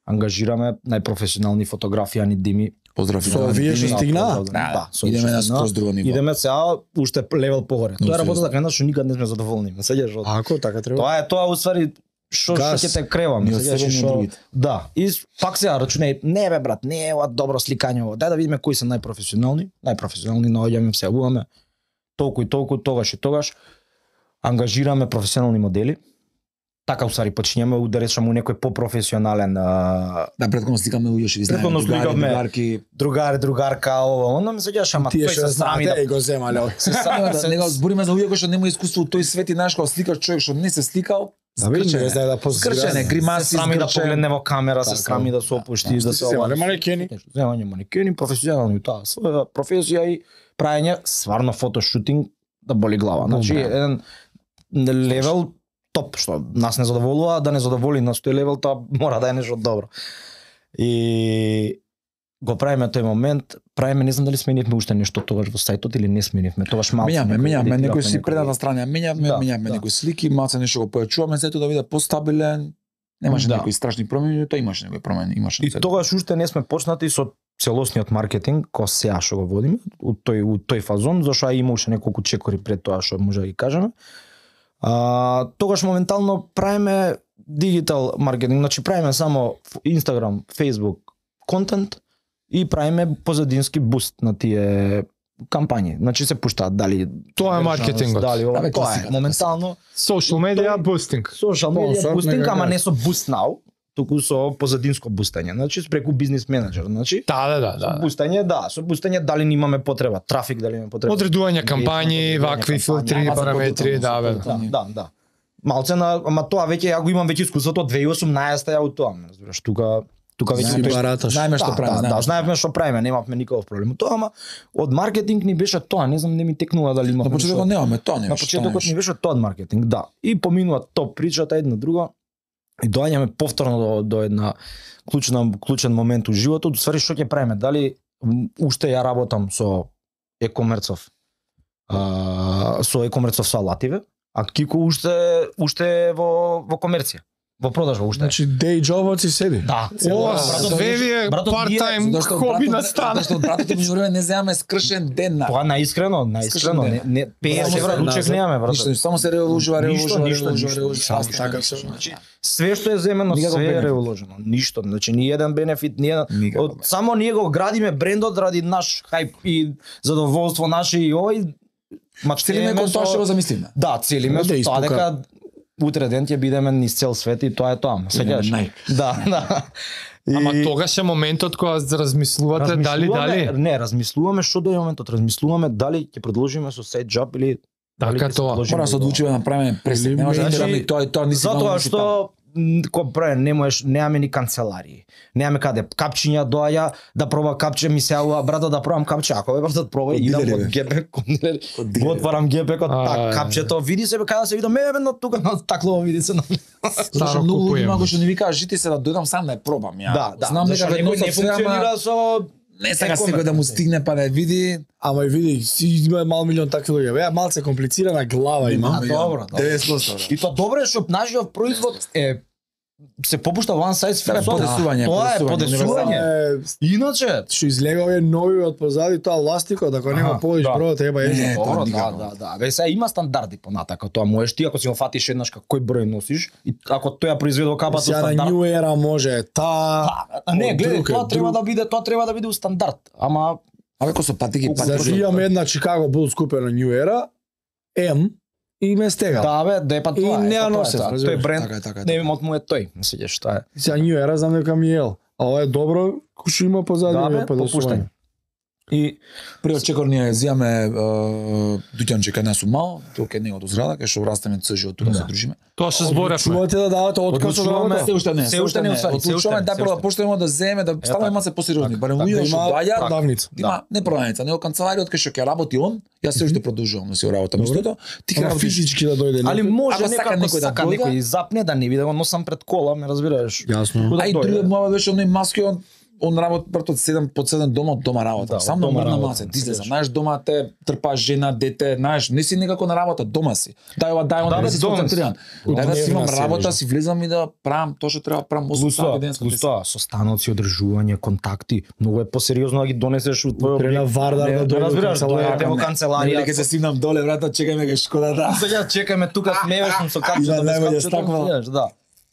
Ангажираме најпрофесионални фотографијани дими. Поздрави. Со овие што Да, стигнаа? да, да, со Идеме овие на што скроз стигнаа. друго ниво. Идеме сега уште левел погоре. Тоа е работа сериозно. дека една што никад не сме задоволни. Ме сеќаш од Ако така треба. тоа е тоа уствари што што Газ. ќе те кревам, Ни од сеќаш себе, ни од што другите. да. И с- пак сега рачунај, не бе брат, не е ова добро сликање ово. Дај да видиме кои се најпрофесионални, најпрофесионални наоѓаме се јавуваме толку и толку тогаш и тогаш ангажираме професионални модели. Така усари почињаме да речеме у некој попрофесионален а, Да, предходно сликаме луѓе што ги знаеме, Предходно другари, сликавме. другарки. другар, другарка, ова, она ме сеќаш, ама Тие тој што се срами знаете да и го земале. се Само срами да не го да збориме за луѓе кои што нема искуство у тој свет и знаеш кога сликаш човек што не се сликал, Да види, не знае да позира. скрчене, се гримаси, срами да скрчен. погледне во камера, се Така, срами да се опушти, да, да се се земале ова. манекени. Земање манекени, професионални тоа, своја професија и праење стварно фотошутинг да боли глава. Значи Добре. еден левел топ што нас не задоволува, да не задоволи нас тој левел, тоа мора да е нешто добро. И го правиме тој момент, правиме, не знам дали сменивме уште нешто тогаш во сајтот или не сменивме, тогаш малку. Менјаме, некои менјаме, едитиравме некои си некои- предната страна, менјаме, Да, менјаме да. некои слики, малце нешто го појачуваме, сето да биде постабилен. Немаше Да. некои страшни промени, тоа имаше некои промени, имаше. И тогаш уште не сме почнати со целосниот маркетинг, кој сега што го водиме, у тој у тој фазон, зашто има уште неколку чекори пред тоа што може да ги кажеме. А, тогаш моментално правиме дигитал маркетинг, значи правиме само Instagram, Facebook контент и правиме позадински буст на тие кампањи. Значи се пуштаат дали Тоа е маркетингот. Дали ова, Да, бе, тоа е класиката, моментално Social media Тој- boosting. social media Спонсор, бустинг, нека ама кажа. не со boost now, туку со позадинско бустање. Значи преку бизнис менеджер, значи Да, да, да, Со да. бустање, да, со бустање дали ни имаме потреба, трафик дали имаме потреба. Одредување кампањи, Одредување вакви кампањи, филтри, ама за параметри, да, бе. Да, да, да. Малце на, ама тоа веќе ја го имам веќе искуството од две илјади и осумнаесета ја у тоа, ме разбираш, тука тука веќе Знаеш, беше- бараташ. Знаеме што да, правиме, да, знаеме. да, знаевме што правиме, немавме никаков проблем. Тоа, ама од маркетинг ни беше тоа, не знам, не ми текнува дали имавме. На почетокот нешто- немаме тоа, На немаше. почетокот ни беше тоа од маркетинг, да. И поминува топ причата една друга и доаѓаме повторно до, до една клучна клучен момент у животот, ствари што ќе правиме? Дали м, уште ја работам со e-комерцов, а, со e-комерцов со алативе, а Кико уште уште е во во комерција, во продажба уште. е. Значи day jobот си седи. Да, Ова братот, све ви е братот, ние- part-time Зашто хоби братот- на страна. Зашто од братот меѓу време не земаме скршен ден на. Тоа наискрено, наискрено, не, не пееш Само евра се ручек назад. немаме, брат. Ништо, само се реуложува, Ништо, реуложува, ништо, реуложува, ништо, реуложува. ништо. Астра, Така ништо, се- значи, Све што е земено, Никаков све е бенефит. реуложено. Ништо, значи ни еден бенефит, ни еден. Никаков Од, бенефит. само ние го градиме брендот ради наш хајп и задоволство наше и овој. Целиме кон тоа што го замислиме. Да, целиме Да со тоа испука. дека утре ден ќе бидеме низ цел свет и тоа е тоа. Сеќаш? Најк. Да, да. И- Ама тогаш е моментот кога размислувате дали размислуваме- дали. Не, размислуваме што до моментот, размислуваме дали ќе продолжиме со сајд джоб или дали Така ќе се тоа. продолжиме Мора да се во- одлучиме да направиме пресек. Или Не може да значи, тераме и тоа и тоа ни Затоа што м, кој прави не можеш, немаме ни канцеларии. Немаме каде капчиња доаѓа да проба капче, ми се јавува брато да пробам капче, ако бе братот пробај Од идам дилери, од бе. ГП кон дилери. Од дилери. Го отварам ГП кон А, так капчето, види се бе каде се видам, ме бе на тука на таклово види се на. Зашто Старо многу луѓе купуjem. има кои што не ви кажа жити се да дојдам сам да ја пробам ја. Да, да. Знам дека зашто веднаш некој не се, ама функционира со не сака e-commerce. секој да му стигне па да ја види. Ама и види, си има мал милион такви луѓе. Беа малце комплицирана глава има. А, добро, добро. деветдесет проценти. И тоа добро е што нашиот производ е се попушта one size Тоа е fits all. подесување, Тоа е подесување, подесување. Е, Иначе, Што излега овие нови од позади тоа ластикот, ако нема Аха, полиш да. број треба Не, е. тоа добро, да, никако. да, да. Ве сега има стандарди понатака, тоа можеш ти ако си го фатиш еднаш кој број носиш и ако тој ја произведува капата Сега на стандард. New Era може та. А не, од гледај, друг е, тоа треба друг. да биде, тоа треба да биде у стандард. Ама Абе кој со патики, Зашто патики. имаме една Chicago Bulls купена New Era М и ме стегал. да бе, да е па И тоа. е, не ја па тоа е носев, тоа. разбираш. Тој бренд, Така е, така е, не така. имот му е тој, не сеќаш тоа е. Сега New Era знам дека ми е ел. А ова е добро, кој што има позади Да овие бе, подесување. попуштање. И Пред чекор ние зијаме дуќанче кај нас у мал, тоа кај него до зграда, кај што растеме цежи од тука се дружиме. Тоа што зборевме. Чувате да давате отказ од работа? Се уште не, се уште не, уствари, се уште Одлучуваме не, да се прво уште да не. почнеме да земеме, да ставаме така. малце посериозни, барем Да луѓе што има доаѓаат, продавница. да има не продавница, него канцеларија кај што ќе работи он, јас се уште продолжувам да си работам истото. Ти ќе Ама работиш физички да дојде. али може Ако сака некако некој да сака дојде? некој запне да не биде, го носам пред кола, ме разбираш. Јасно. Да А и дојде. другиот моја беше оној маски, он он работи брат од седам под седам дома, од дома работа. Да, Сам од да дома мрна работа, маце, ти се се знаеш дома те трпаш жена, дете, знаеш, не си некако на работа, дома си. Дај ова, дај Да, она, бе, не си дома си. сконцентриран. Дај да си имам Дневна си работа, нешто. си влезам и да правам тоа што треба правам осум сати ден. Плюс тоа, состаноци, одржување, контакти, многу е посериозно да ги донесеш од твој Крена Вардар да дојде во разбираш, канцеларија. дојдете во Нели канцеларија. ќе се симнам доле, брата, чекај ме кај школата. Сега чекаме тука смеешно со Има капчето, без најбоље капчето, стаква. знаеш, да.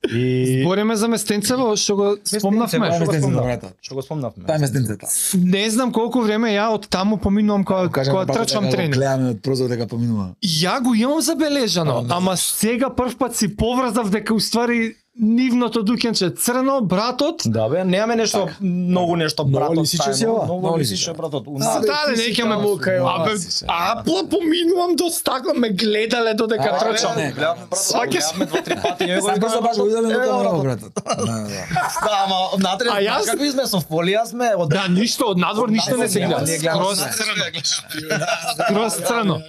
И Збориме за местенцево што го спомнавме. Местенцево, Што го местенцето, спомнавме? брата. Што го спомнавме? Тај местенцето. Не знам колку време ја од таму поминувам кога кога трчам тренинг. Гледаме од прозор дека поминува. Ја го имам забележано, ама сега прв пат си поврзав дека уствари нивното дуќенче црно, братот. Да бе, немаме нешто многу нешто Многу братот. лисиче си тајно, ова? Многу Многу лисиче лисиче. братот. У А, нас- да, ти не си ќаме таму кај ова Абе, си се. а пла поминувам до стакло, ме гледале додека А, трчам. не, не. Гледавме братот, Сваќаш? гледавме два-три пати, ја го Сака викаме, се баш го видиме е, дека братот. не братот. Да, да. Да, ама внатре, А јас- знаеш како изме со фолија сме, од Да, ништо од надвор ништо не се гледа. Ние гледаме Скроз се. црно. Скроз црно.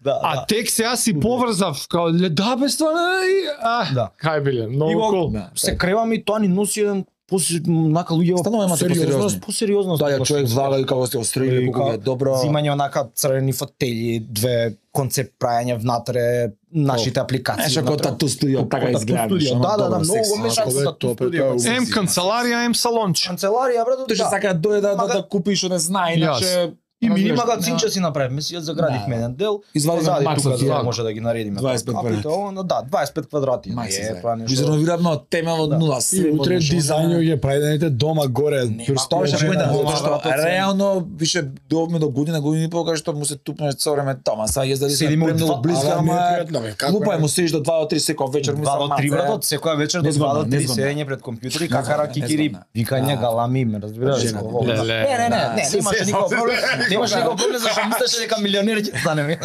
Да, А да. тек сега си поврзав, као ле да бе стварно, и а, Да. кај биле, И многу го- кул. Да. Се креваме и тоа ни носи еден поси нака луѓе Станува имате посериозни. посериозност. Да, ја човек влага и како сте острели, колку е добро. Зимање онака црвени фотели, две концепт прајање внатре, нашите апликации. Знаеш, како внатре. тату студио, Како така тату изгледа. студио, Да, да, да, многу го мешам Ако со бе, тату тоа, студио. тоа е Ем канцеларија, ем салонче. Канцеларија, брат, Тој што сака да дојде да, да, да купи што не знае, иначе И ми разбираш, магазинче си направивме, си ја заградивме Да. еден дел. Извадиме позади макс тука од за да тоа. може да ги наредиме. дваесет пет Капите, квадрати. оно, да, дваесет пет квадрати. Макси Е, се. тоа нешто. Изреновиравме од тема од нула. И све утре можно. дизајнот ги прајдените дома горе. Тоа што Жена, појде, дома, затоа што брат, реално више довме до година, година и пол, кај што му се тупнеш цело време тома. Сега јас дали се Седиме премногу два- близко, ама ама непријатно, бе, како глупа е не? му седиш до два до три секој вечер, му два до три братот, секоја вечер до два до три незгодно. седење пред компјутери, какара, Незгодно, кикири, незгодно. викање, Да. галами, ме разбираш? Жена, О, леле. Не, не, не, не, Се немаше сесам никаков се. проблем. Немаше никаков проблем зашто мислеше дека милионер ќе станеме.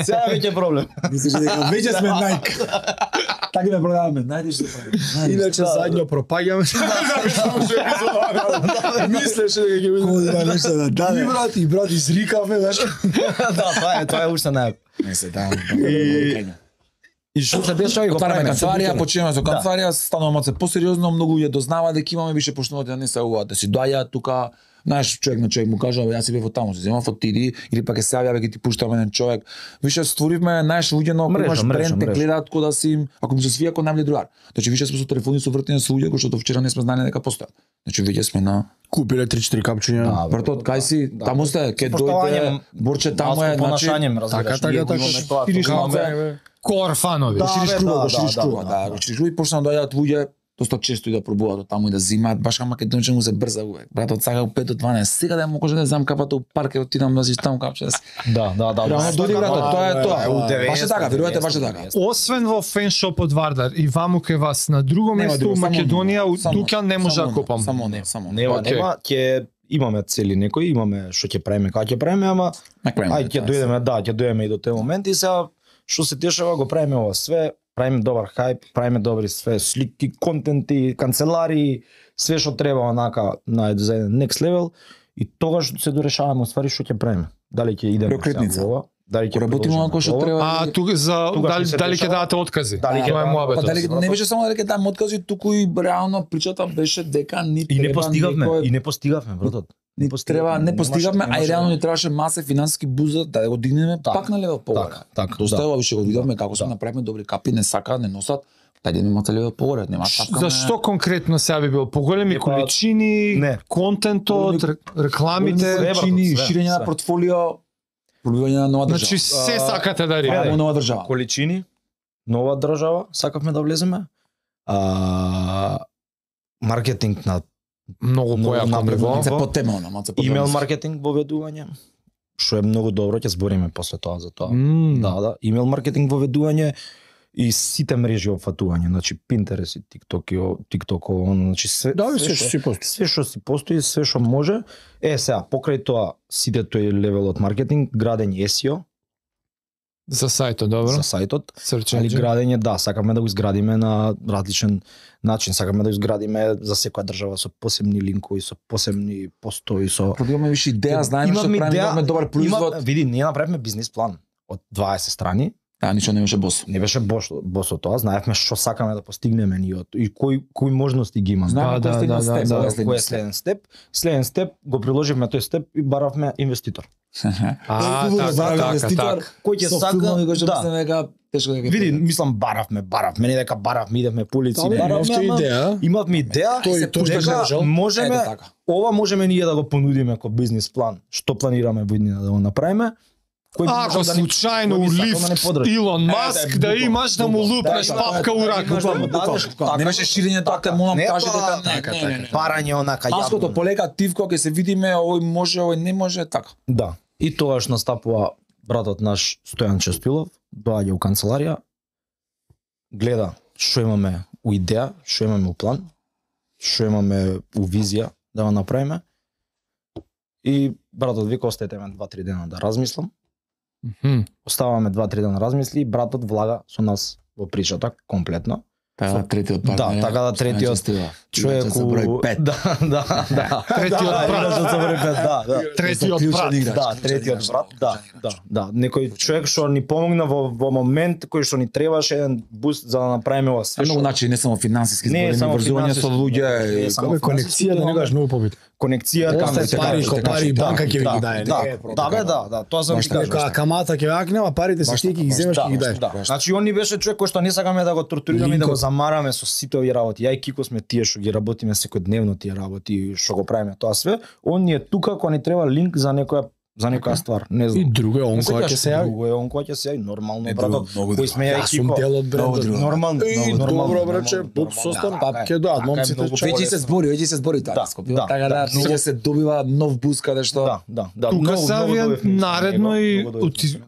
Сега веќе е проблем. Мислиш дека веќе сме Nike. Така ме продаваме, најдеш се прави. Иначе задњо пропаѓаме. Мислеше дека ќе Кој биде. да нешто да И даде. брат, и брат изрикавме, знаеш. Да, тоа е, тоа е уште најак. Не се да. И што се беше овој го Отвараме правиме? канцеларија, почнеме со Да. канцеларија, станува малце посериозно, многу луѓе дознаваат дека имаме више почнуваат да не се уваа, да си доаѓаат тука, знаеш, човек на човек му кажа, јас си бев од таму, се земам фотиди или пак е се јавја ќе ти пуштаме еден човек. Више створивме, знаеш, луѓе на Мрежа, имаш мрежа, бренд, те мрежа. гледаат кој да си им, ако ми се свија кој најмли другар. Значи више сме со телефони со вртење со луѓе кои што до вчера не сме знаеле дека постојат. Значи веќе сме на Купиле три-четири капчиња. Да, Братот, кај си, таму сте, ке дојде, Поштованjem, Борче таму е, значи, понашање, ме разбираш. така, така, ние го така, имаме тоа, шириш тоа малце. имаме. Кор фанови. Да, го шириш бе, круга, да, го шириш да, круга, да, да, да. го шириш круга и почнаа да доаѓаат луѓе доста често и да пробуваат од таму и да зимаат, баш кај македонче му се брза увек. Братот сака у пет до дванаесет, сега да му кажа да зам капата у парк и отидам да си таму капче. Да, да, да. Реално дојде братот, тоа е тоа. у деветдесет, Баш е така, верувате, баш е така. Освен во феншоп од Вардар и ваму ке вас на друго Нема место друго, у само Македонија, оно, у само- дуќан не може само да оно, купам. Само оно, само. оно. Нема, Окей. нема, ќе имаме цели некои, имаме што ќе правиме, како ќе правиме, ама Накрај. ај ќе дојдеме, да, ќе дојдеме и до тој момент и сега што се дешава, го правиме ова све, правиме добар хајп, правиме добри све слики, контенти, канцеларии, све што треба онака на за еден next level и тогаш се дорешаваме уствари што ќе правиме. Дали ќе идеме Преокретница. сега во ова, дали ќе Работиме продолжиме онако што во ова, треба. А тука за Тука дали ќе се дали ќе дешава? дадете откази? Дали ќе Тоа е дадат- мојабето. Па дали брато. не беше само дека дам откази, туку и реално причата беше дека ни И не треба постигавме, некој- и не постигавме, братот. ни треба, не немаше- постигавме, а и немаше- реално ни требаше масе финансиски буза да го дигнеме Така, пак на левел погоре. Така, така. Доста да. ова више го видовме како сме да. направиме добри капи, не сака, не носат. Тај ден имате левел погоре, нема шапка. Зашто конкретно сега би било поголеми Не, па, количини, не. контентот, ре- рекламите, Све, брато, чини, све, ширење на све. портфолио, пробивање на нова значи држава. се А, сакате да Правиме риме. нова држава. Количини, нова држава, сакавме да влеземе. А, маркетинг на Многу Многу појако напредно. ниво. Малце по тема, она, малце по имейл тема. маркетинг воведување, што е многу добро, ќе збориме после тоа за тоа. М, Да, да, имейл маркетинг воведување и сите мрежи опфатување, значи Pinterest и TikTok и о- TikTok, он, значи све Да, све се што- си постои. све што си постои, све што може. Е, сега, покрај тоа, сите тој левел од маркетинг, градење ес и о За сајтот, добро. за сајтот, Search али engine. градење, да, сакаме да го изградиме на различен начин, сакаме да го изградиме за секоја држава со посебни линкови, со посебни постои, со Прво имаме више идеја, знаеме што Имаме правиме, идеја, имаме добар производ. Има, види, ние направивме бизнис план од дваесет страни. А, ништо не беше бос. Не беше босо, босо тоа, знаевме што сакаме да постигнеме ние од- и кои кои можности ги имаме. Знаеме Да, кој е да, следен да, степ, да, кој Кој е е следен следен степ. степ? Следен степ го приложивме тој степ и баравме инвеститор. А, Хубаво, така, бараме така, инвеститор, така. Кој ќе со сака, филмови кои што да. мислиме дека тешко дека. Види, мислам баравме, баравме, не дека баравме, идевме по улици, Али баравме, имавте ама идеја. имавме идеја, Тој- се тој што дека можел. можеме, Ето така. ова можеме ние да го понудиме како бизнис план, што планираме во иднина да го направиме. Кој би Ако можел да ни- случајно кој би у сакал да ни лифт подржи? Илон Е, Маск да, да буквално, имаш да му буквално. лупнеш Да, да, папка да, у да, рака. имаш да му Буквално, дадеш буквално. така. Не беше ширење тоа, те молам, Не кажи тоа, дека не, така, не, така. не, не. Парање онака Маското јавно. полека тивко ќе се видиме, овој може, овој не може, така. Да. И тогаш настапува братот наш Стојан Честилов, доаѓа у канцеларија, гледа што имаме у идеја, што имаме у план, што имаме у визија да го направиме. И братот вика остајте ме два-три дена да размислам. Мгм. Оставаме два-три дена размисли и братот влага со нас во причата комплетно. Така да третиот Да, партнер. така да третиот човек со број у- пет. Да, да, да. Третиот Да, брат. играчот со број пет, да, да. Третиот Клучен брат. играч, Да, клучен третиот играч, брат, да, клучен да, играч. да. Некој човек што ни помогна во во момент кој што ни требаше еден буст за да направиме ова све. Се многу што- начини, не само финансиски Не е збори, само но врзување со финансиски, луѓе. не е и- само Како конекцијата некогаш многу побитна. конекцијата, Камо се се пари, кажа, ко се пари, кажа, да, банка ќе ви да, ги даде, Да, не е да, бе, да, да, тоа сам Баш ти така, кажам. Дека камата ќе вака нема, парите се Баш ти така, ги баш земеш Да, и ги даеш. да. Значи он ни беше човек кој што не сакаме да го тортурираме и да го замараме со сите овие работи. Ја и Кико сме тие што ги работиме секојдневно тие работи, што го правиме тоа све. Он ни е тука кога ни треба линк за некоја за некоја ствар, не И знам. друго е он Не кој секогаш ќе се јави. Друго е он кој ќе се јави, нормално Е, братот. друго, многу Кој друго. сме ја и Јас сум Кико. дел од Многу брендот. друго. Нормално, И много нормално, добро, нормално, браче, нормално. состан, Да, пак така ќе е. доаат Така е, момците многу чекаат. Веќе се збори, веќе се збори Да, така скоп. да, Така да, да, многу многу- се добива нов буст каде што Да, да, да. Тука Многу, се многу авија добив мислење наредно него, и многу добив оти- мислење.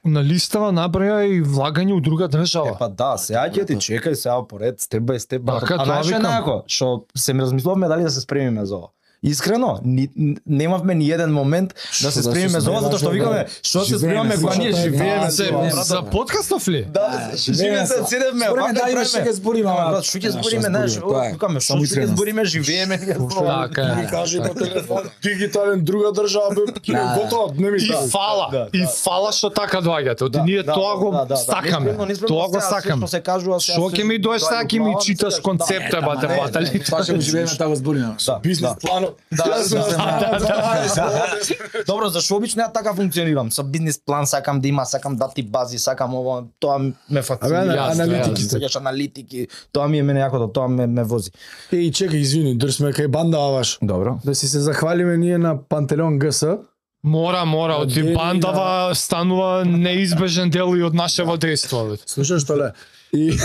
на листава направија и влагање у друга Е, држава. па да, сега ќе ти чекај сега поред, степ бај степ. Така, а тоа знаеш што е викам. најако? Што се размислувавме дали да се спремиме за ова. Искрено, ни, немавме ни еден момент да се Што да спремиме се за ова, затоа што спремаш, викаме, што се спремаме кога ние слушате, живееме да, За, тоа, брат. за подкастов ли? Да, живееме се, седевме, Збориме, вака да, имаш правиме. ќе збориме, Ама, ама, брат, што ќе да, збориме, што знаеш, збориме, тоа е. викаме, што Само ќе искреност. збориме, живееме, ние збориме. Така е. Ми кажи по телефон, дигитален друга држава, бе, ќе Да. готово, не ми И кажи. фала, Да, и да. фала што така доаѓате. Оти ние тоа го сакаме. Тоа го сакаме. Што се кажува сега. Што ќе ми доеш сега ќе ми читаш концепта бате батали. Тоа ќе го живееме, така го збориме. Да, Бизнес да. планов. Да, Јас сум да, на Добро, зашо обично ја така функционирам? Со бизнис план сакам да има, сакам дати бази, сакам ово, тоа ме фасцинира. Абе, Јасно, аналитики, јасно. сакаш аналитики, тоа ми е мене јакото, тоа ме ме вози. Еј, чекај, извини, држ сме кај банда ваш. Добро. Да си се захвалиме ние на Пантелеон ГС. Мора, мора, оти Дели бандава станува неизбежен дел и од нашево дејство. бе. Слушаш што ле? И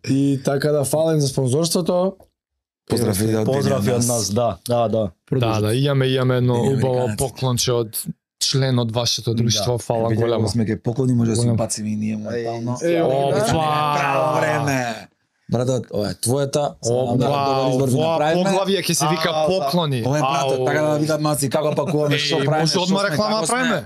И така да фален за спонзорството. Поздрав и од Поздрави денес. од нас, да, да, да. Да, да, имаме имаме едно Имаме убаво американец. поклонче од член од вашето друштво, фала Видео големо. сме ке поклони, може да се Големо. бациме и ние моментално. Е, Опа! Право време. Братот, ова е твојата. Опа, добар избор ви ова направиме. поглавје ќе се вика А, да. поклони. Ова е братот, Ау. така да видат маци како пакуваме, што Еј, правиме. може што одма сме, реклама како сме. правиме?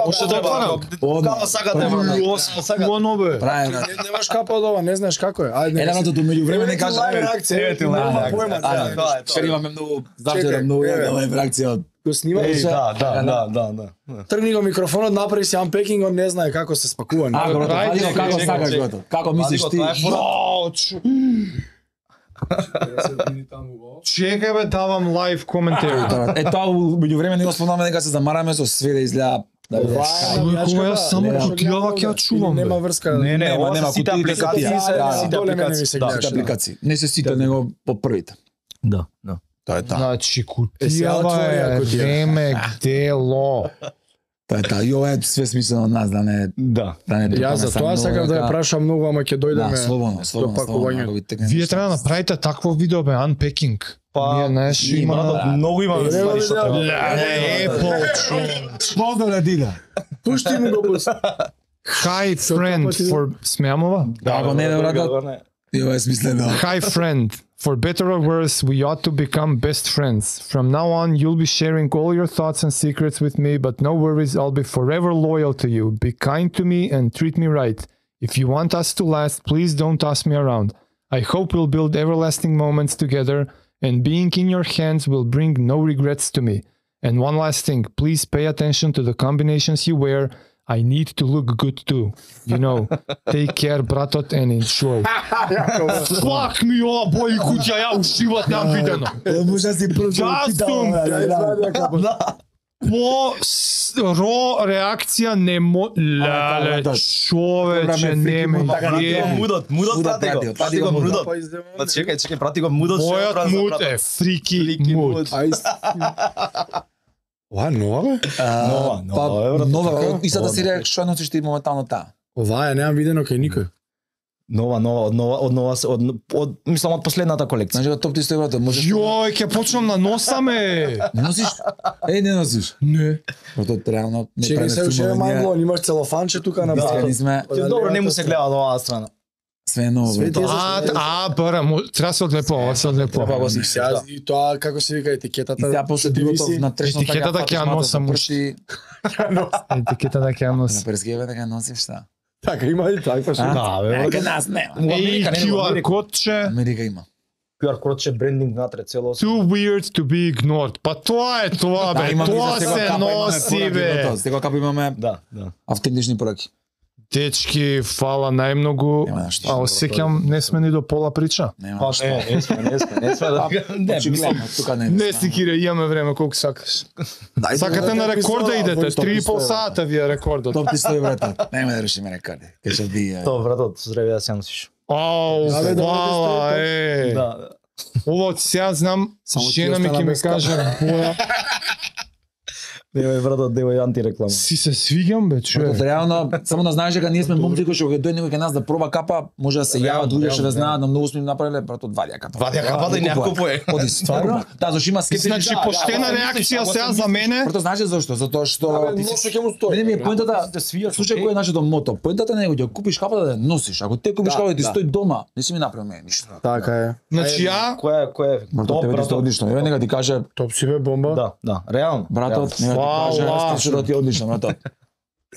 Може да отворам? Одма. Као сакате, Јас, куано бе. Правиме. Не- Немаш капа од ова, не знаеш како е. Ајде. Еле на тоа меѓу време не кажа. Лајв реакција. Еве ти лајв Нема реакција. појма, Да, да. тоа е, тоа Вчера е. имаме многу, Чекај, завчера многу еве. јавна реакција од Го снимаш? Еј, да, да, да, да, да. Тргни го микрофонот, направи си unpacking, он не знае како се спакува. А, не? бро, Ајде, вади го чекај, како чекај, сакаш чекај. го. Како мислиш Вади ти? го, тоа е фора. Јао, чу- Чекај бе, давам лайв коментари. Е тоа меѓу време не го спомнаме дека се замараме со све да изгледа. Да биде Ова е скај. Ама навијачка, кога јас да. само Нема кутијава што ќе ја гледам, чувам, или Нема бе. врска. Не, не, Нема, ова нема, се сите кутиите се апликации, тие. се Да, сите доле мене ми апликации. се Да, гледаш. Сите апликации. Не се сите, него по првите. да, да. Тоа е тоа. Значи, Е, сега кутијава отвори ја е кутија. реме дело. Тоа е тоа. И ова е све смислено од нас, да не Да. да не Јас за тоа сакам да ја прашам многу, ама ќе Да, дојдеме слободно, до слободно, слободно. пакувањето. ако ви текне Вие нешто. треба да направите такво видео бе, unpacking. Ние, знаеш, и има- брат, многу има Е, ствари што видео. треба. Не, Apple, човек. Спомна на Дина. Пушти му го пусти. Hi friend for смеамова? Да, го не е братот. Ја е смислено. Hi friend, for better or worse, we ought to become best friends. From now on, you'll be sharing all your thoughts and secrets with me, but no worries, I'll be forever loyal to you. Be kind to me and treat me right. If you want us to last, please don't toss me around. I hope we'll build everlasting moments together, and being in your hands will bring no regrets to me. And one last thing, please pay attention to the combinations you wear. I need to look good too. You know, take care, bratot, and enjoy. Fuck me, ова бои куќа, ја ушиват нам видено. Може си Јастум! По с- ро реакција не мо... Леле, човече, нема идеја. Мудот, мудот прати го. Прати го мудот. Па чекај, чекај, прати го мудот. Мојот мут е фрики мут. Ова нова бе? Нова, нова, е, брат. Нова, истата серија што носиш ти моментално таа. Ова е немам видено кај никој. Нова, нова, од нова, од нова, се- од, од, мислам од последната колекција. Значи, топ ти стои брате, можеш... Јој, ќе почнам на носаме. Не носиш? Е, не носиш. Не. Брато, реално... не Чекај правиме се уште филмови, ние- мајмлон, имаш целофанче тука на Искрени база. сме, Добро, не му се гледа од оваа страна. све е ново. Све брато. ти- А, а, бара, мо- треба се одлепува, се одлепува. Треба го И си. сега и тоа како се вика етикетата. И сега после ти другото виси. на трешната Етикетата ќе ја носам уште. Етикета да ќе ја На носи. перскеве дека носиш šta? Така има и таква што. Да, бе, Е, брат. кај нас нема. Во Ей, Америка, не, во Q R Америка. кодче. Америка има. Q R код че брендинг натре цело. Too weird to be ignored. Па тоа е тоа, бе. имаме Тоа за секоја се капа, имаме носи, пораки, бе. брато. Секоја капа имаме Да, да. автентични пораки. Дечки, фала најмногу. Нема нешто. А осеќам, не сме ни до пола прича. Нема. Па не, не сме, не сме, не сме да. Не, мислам. Очигледно, тука не. Не си кире, имаме време колку сакаш. Дај, Сакате на рекорд да идете, топ три и пол стои, сата ви е рекордот. Топ ти стои, брате. Нема да решиме рекорди. Ке ќе би. То, братот, здраве да се носиш. Ау, Абе, да, фала, да, е. Да, да. Ова од сега знам, Само ти жена ми остана ќе ми без капа. каже, боја, Девој, братот, девој антиреклама. си се свиѓам, бе, Брато, човек. реално, само да знаеш дека ние сме момци кои што ќе дојде некој кај нас да проба капа, може да се јават луѓе што ве знаат, на многу сме им направиле, брато, вадија капа. Вадија капа да и не купува. Оди, стварно? Да, зашто има скептични. Значи, поштена реакција сега за мене. Брато, знаеш зашто? Затоа што Абе, ти си ношо ќе му стои. Не, не, ми е поентата, Да свијаш, слушај окей. кој е нашето мото. Поентата не е да купиш капа да ја носиш. Ако те купиш Да, капа да ти да. стои дома, не си ми направил мене ништо. Така е. Значи ја, Кој е, кој е? Брато, тебе ти стои одлично. Еве нека ти каже, Топ си бе бомба. Да, да, реално. брато, нека ти Фала. каже, што ти е одлично, брато.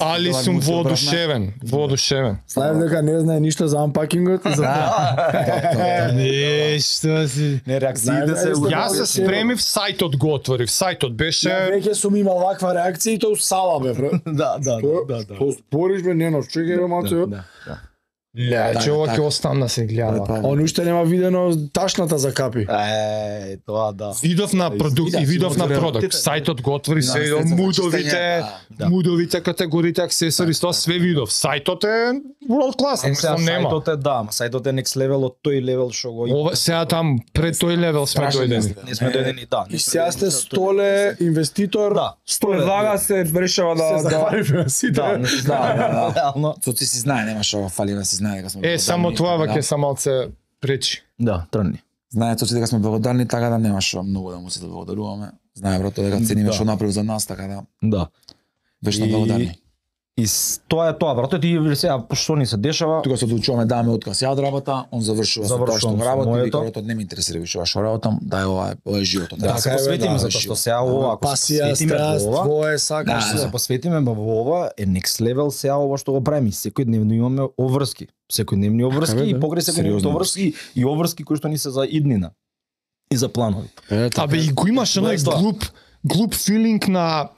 али Тоа сум му се воодушевен, воодушевен. Знаеш дека не знае ништо за анпакингот и за тоа. Нешто си. Не, реакциите се... Знаеш, Јас се спремив, сајтот го отворив. Сајтот Ја беше веќе сум имал ваква реакција и тоа у сала бе, бро. Да, да, Тоа- да, да. Тоа спориш бе, не нос, чекај бе малце. Да, да. Леќе, ова така. ќе остана да се гледа. Он уште нема видено ташната за капи. Е, тоа да. Видов на продукт и видов на продукт. Сајтот го отвори се, Да, видов за мудовите, чистење, да. мудовите категориите, аксесори, тоа све видов. Сајтот е world class, Е, сега мислам нема. сајтот е, да, ама сајтот е next level од тој левел што го има. Ова сега там пред тој левел сме Страшно дојдени. мислам. Не сме дојдени, да. И сега сте столе инвеститор. Да, столе влага се решава се захваливме на сите. Да, не да, реално. Со ти си знае, нема што фали да си знае дека сме Е, само благодарни, тоа да. ваќе са малце пречи. Да, трни. Знае тоа дека сме благодарни, така да нема што многу да му се благодаруваме. Знае брато дека цениме Да. што направи за нас, така да Да. вечно И- благодарни. И с- тоа е тоа, брато, ти сега што ни се дешава? Тука се одлучуваме да даме отказ ја од работа, он завршува со тоа што Завршувам го со работи, моето. вика брато не ме интересира више ова што работам, дај ова е ова е животот. Да, се е, бе, посветиме да, затоа што сега ова, ако се Пасија, посветиме страст, во ова, твое, сакаш. Да, ако се. се посветиме во ова, е next level сега ова што го правиме. Секојдневно имаме обврски. Секојдневни обврски Така, и да. покрај секојдневни Сериозни обврски и обврски кои што ни се за иднина и за планови. Е, така. Абе и го имаш Тоа е оној тоа. глуп, глуп филинг на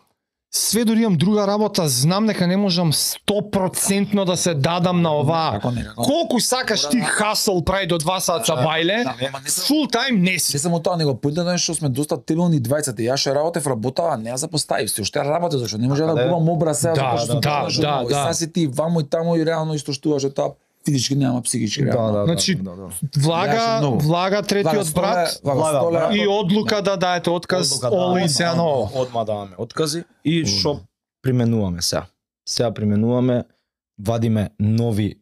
све дори имам друга работа, знам дека не можам сто процентно да се дадам на оваа. Како не, како не. Колку сакаш ти хасл прави до два сата бајле, Да, ама не сам- фул тајм не си. Не само тоа, него поинтата е што сме доста тилни двајцата. Јас ше работев работа, а не ја запоставив се. Уште работев зашто не може да Каде? губам образ сега Да, затоа што да, тоа што да, ново. И да. сега си ти вамо и тамо и реално исто штуваш од тоа физички нема психички реално. Значи, да, да. Влага, Јаше многу. влага третиот брат влага Влага, столе, и одлука да даете отказ Одлука, да, Оли одма, се ново. Одма даваме откази и што применуваме сега. Сега применуваме, вадиме нови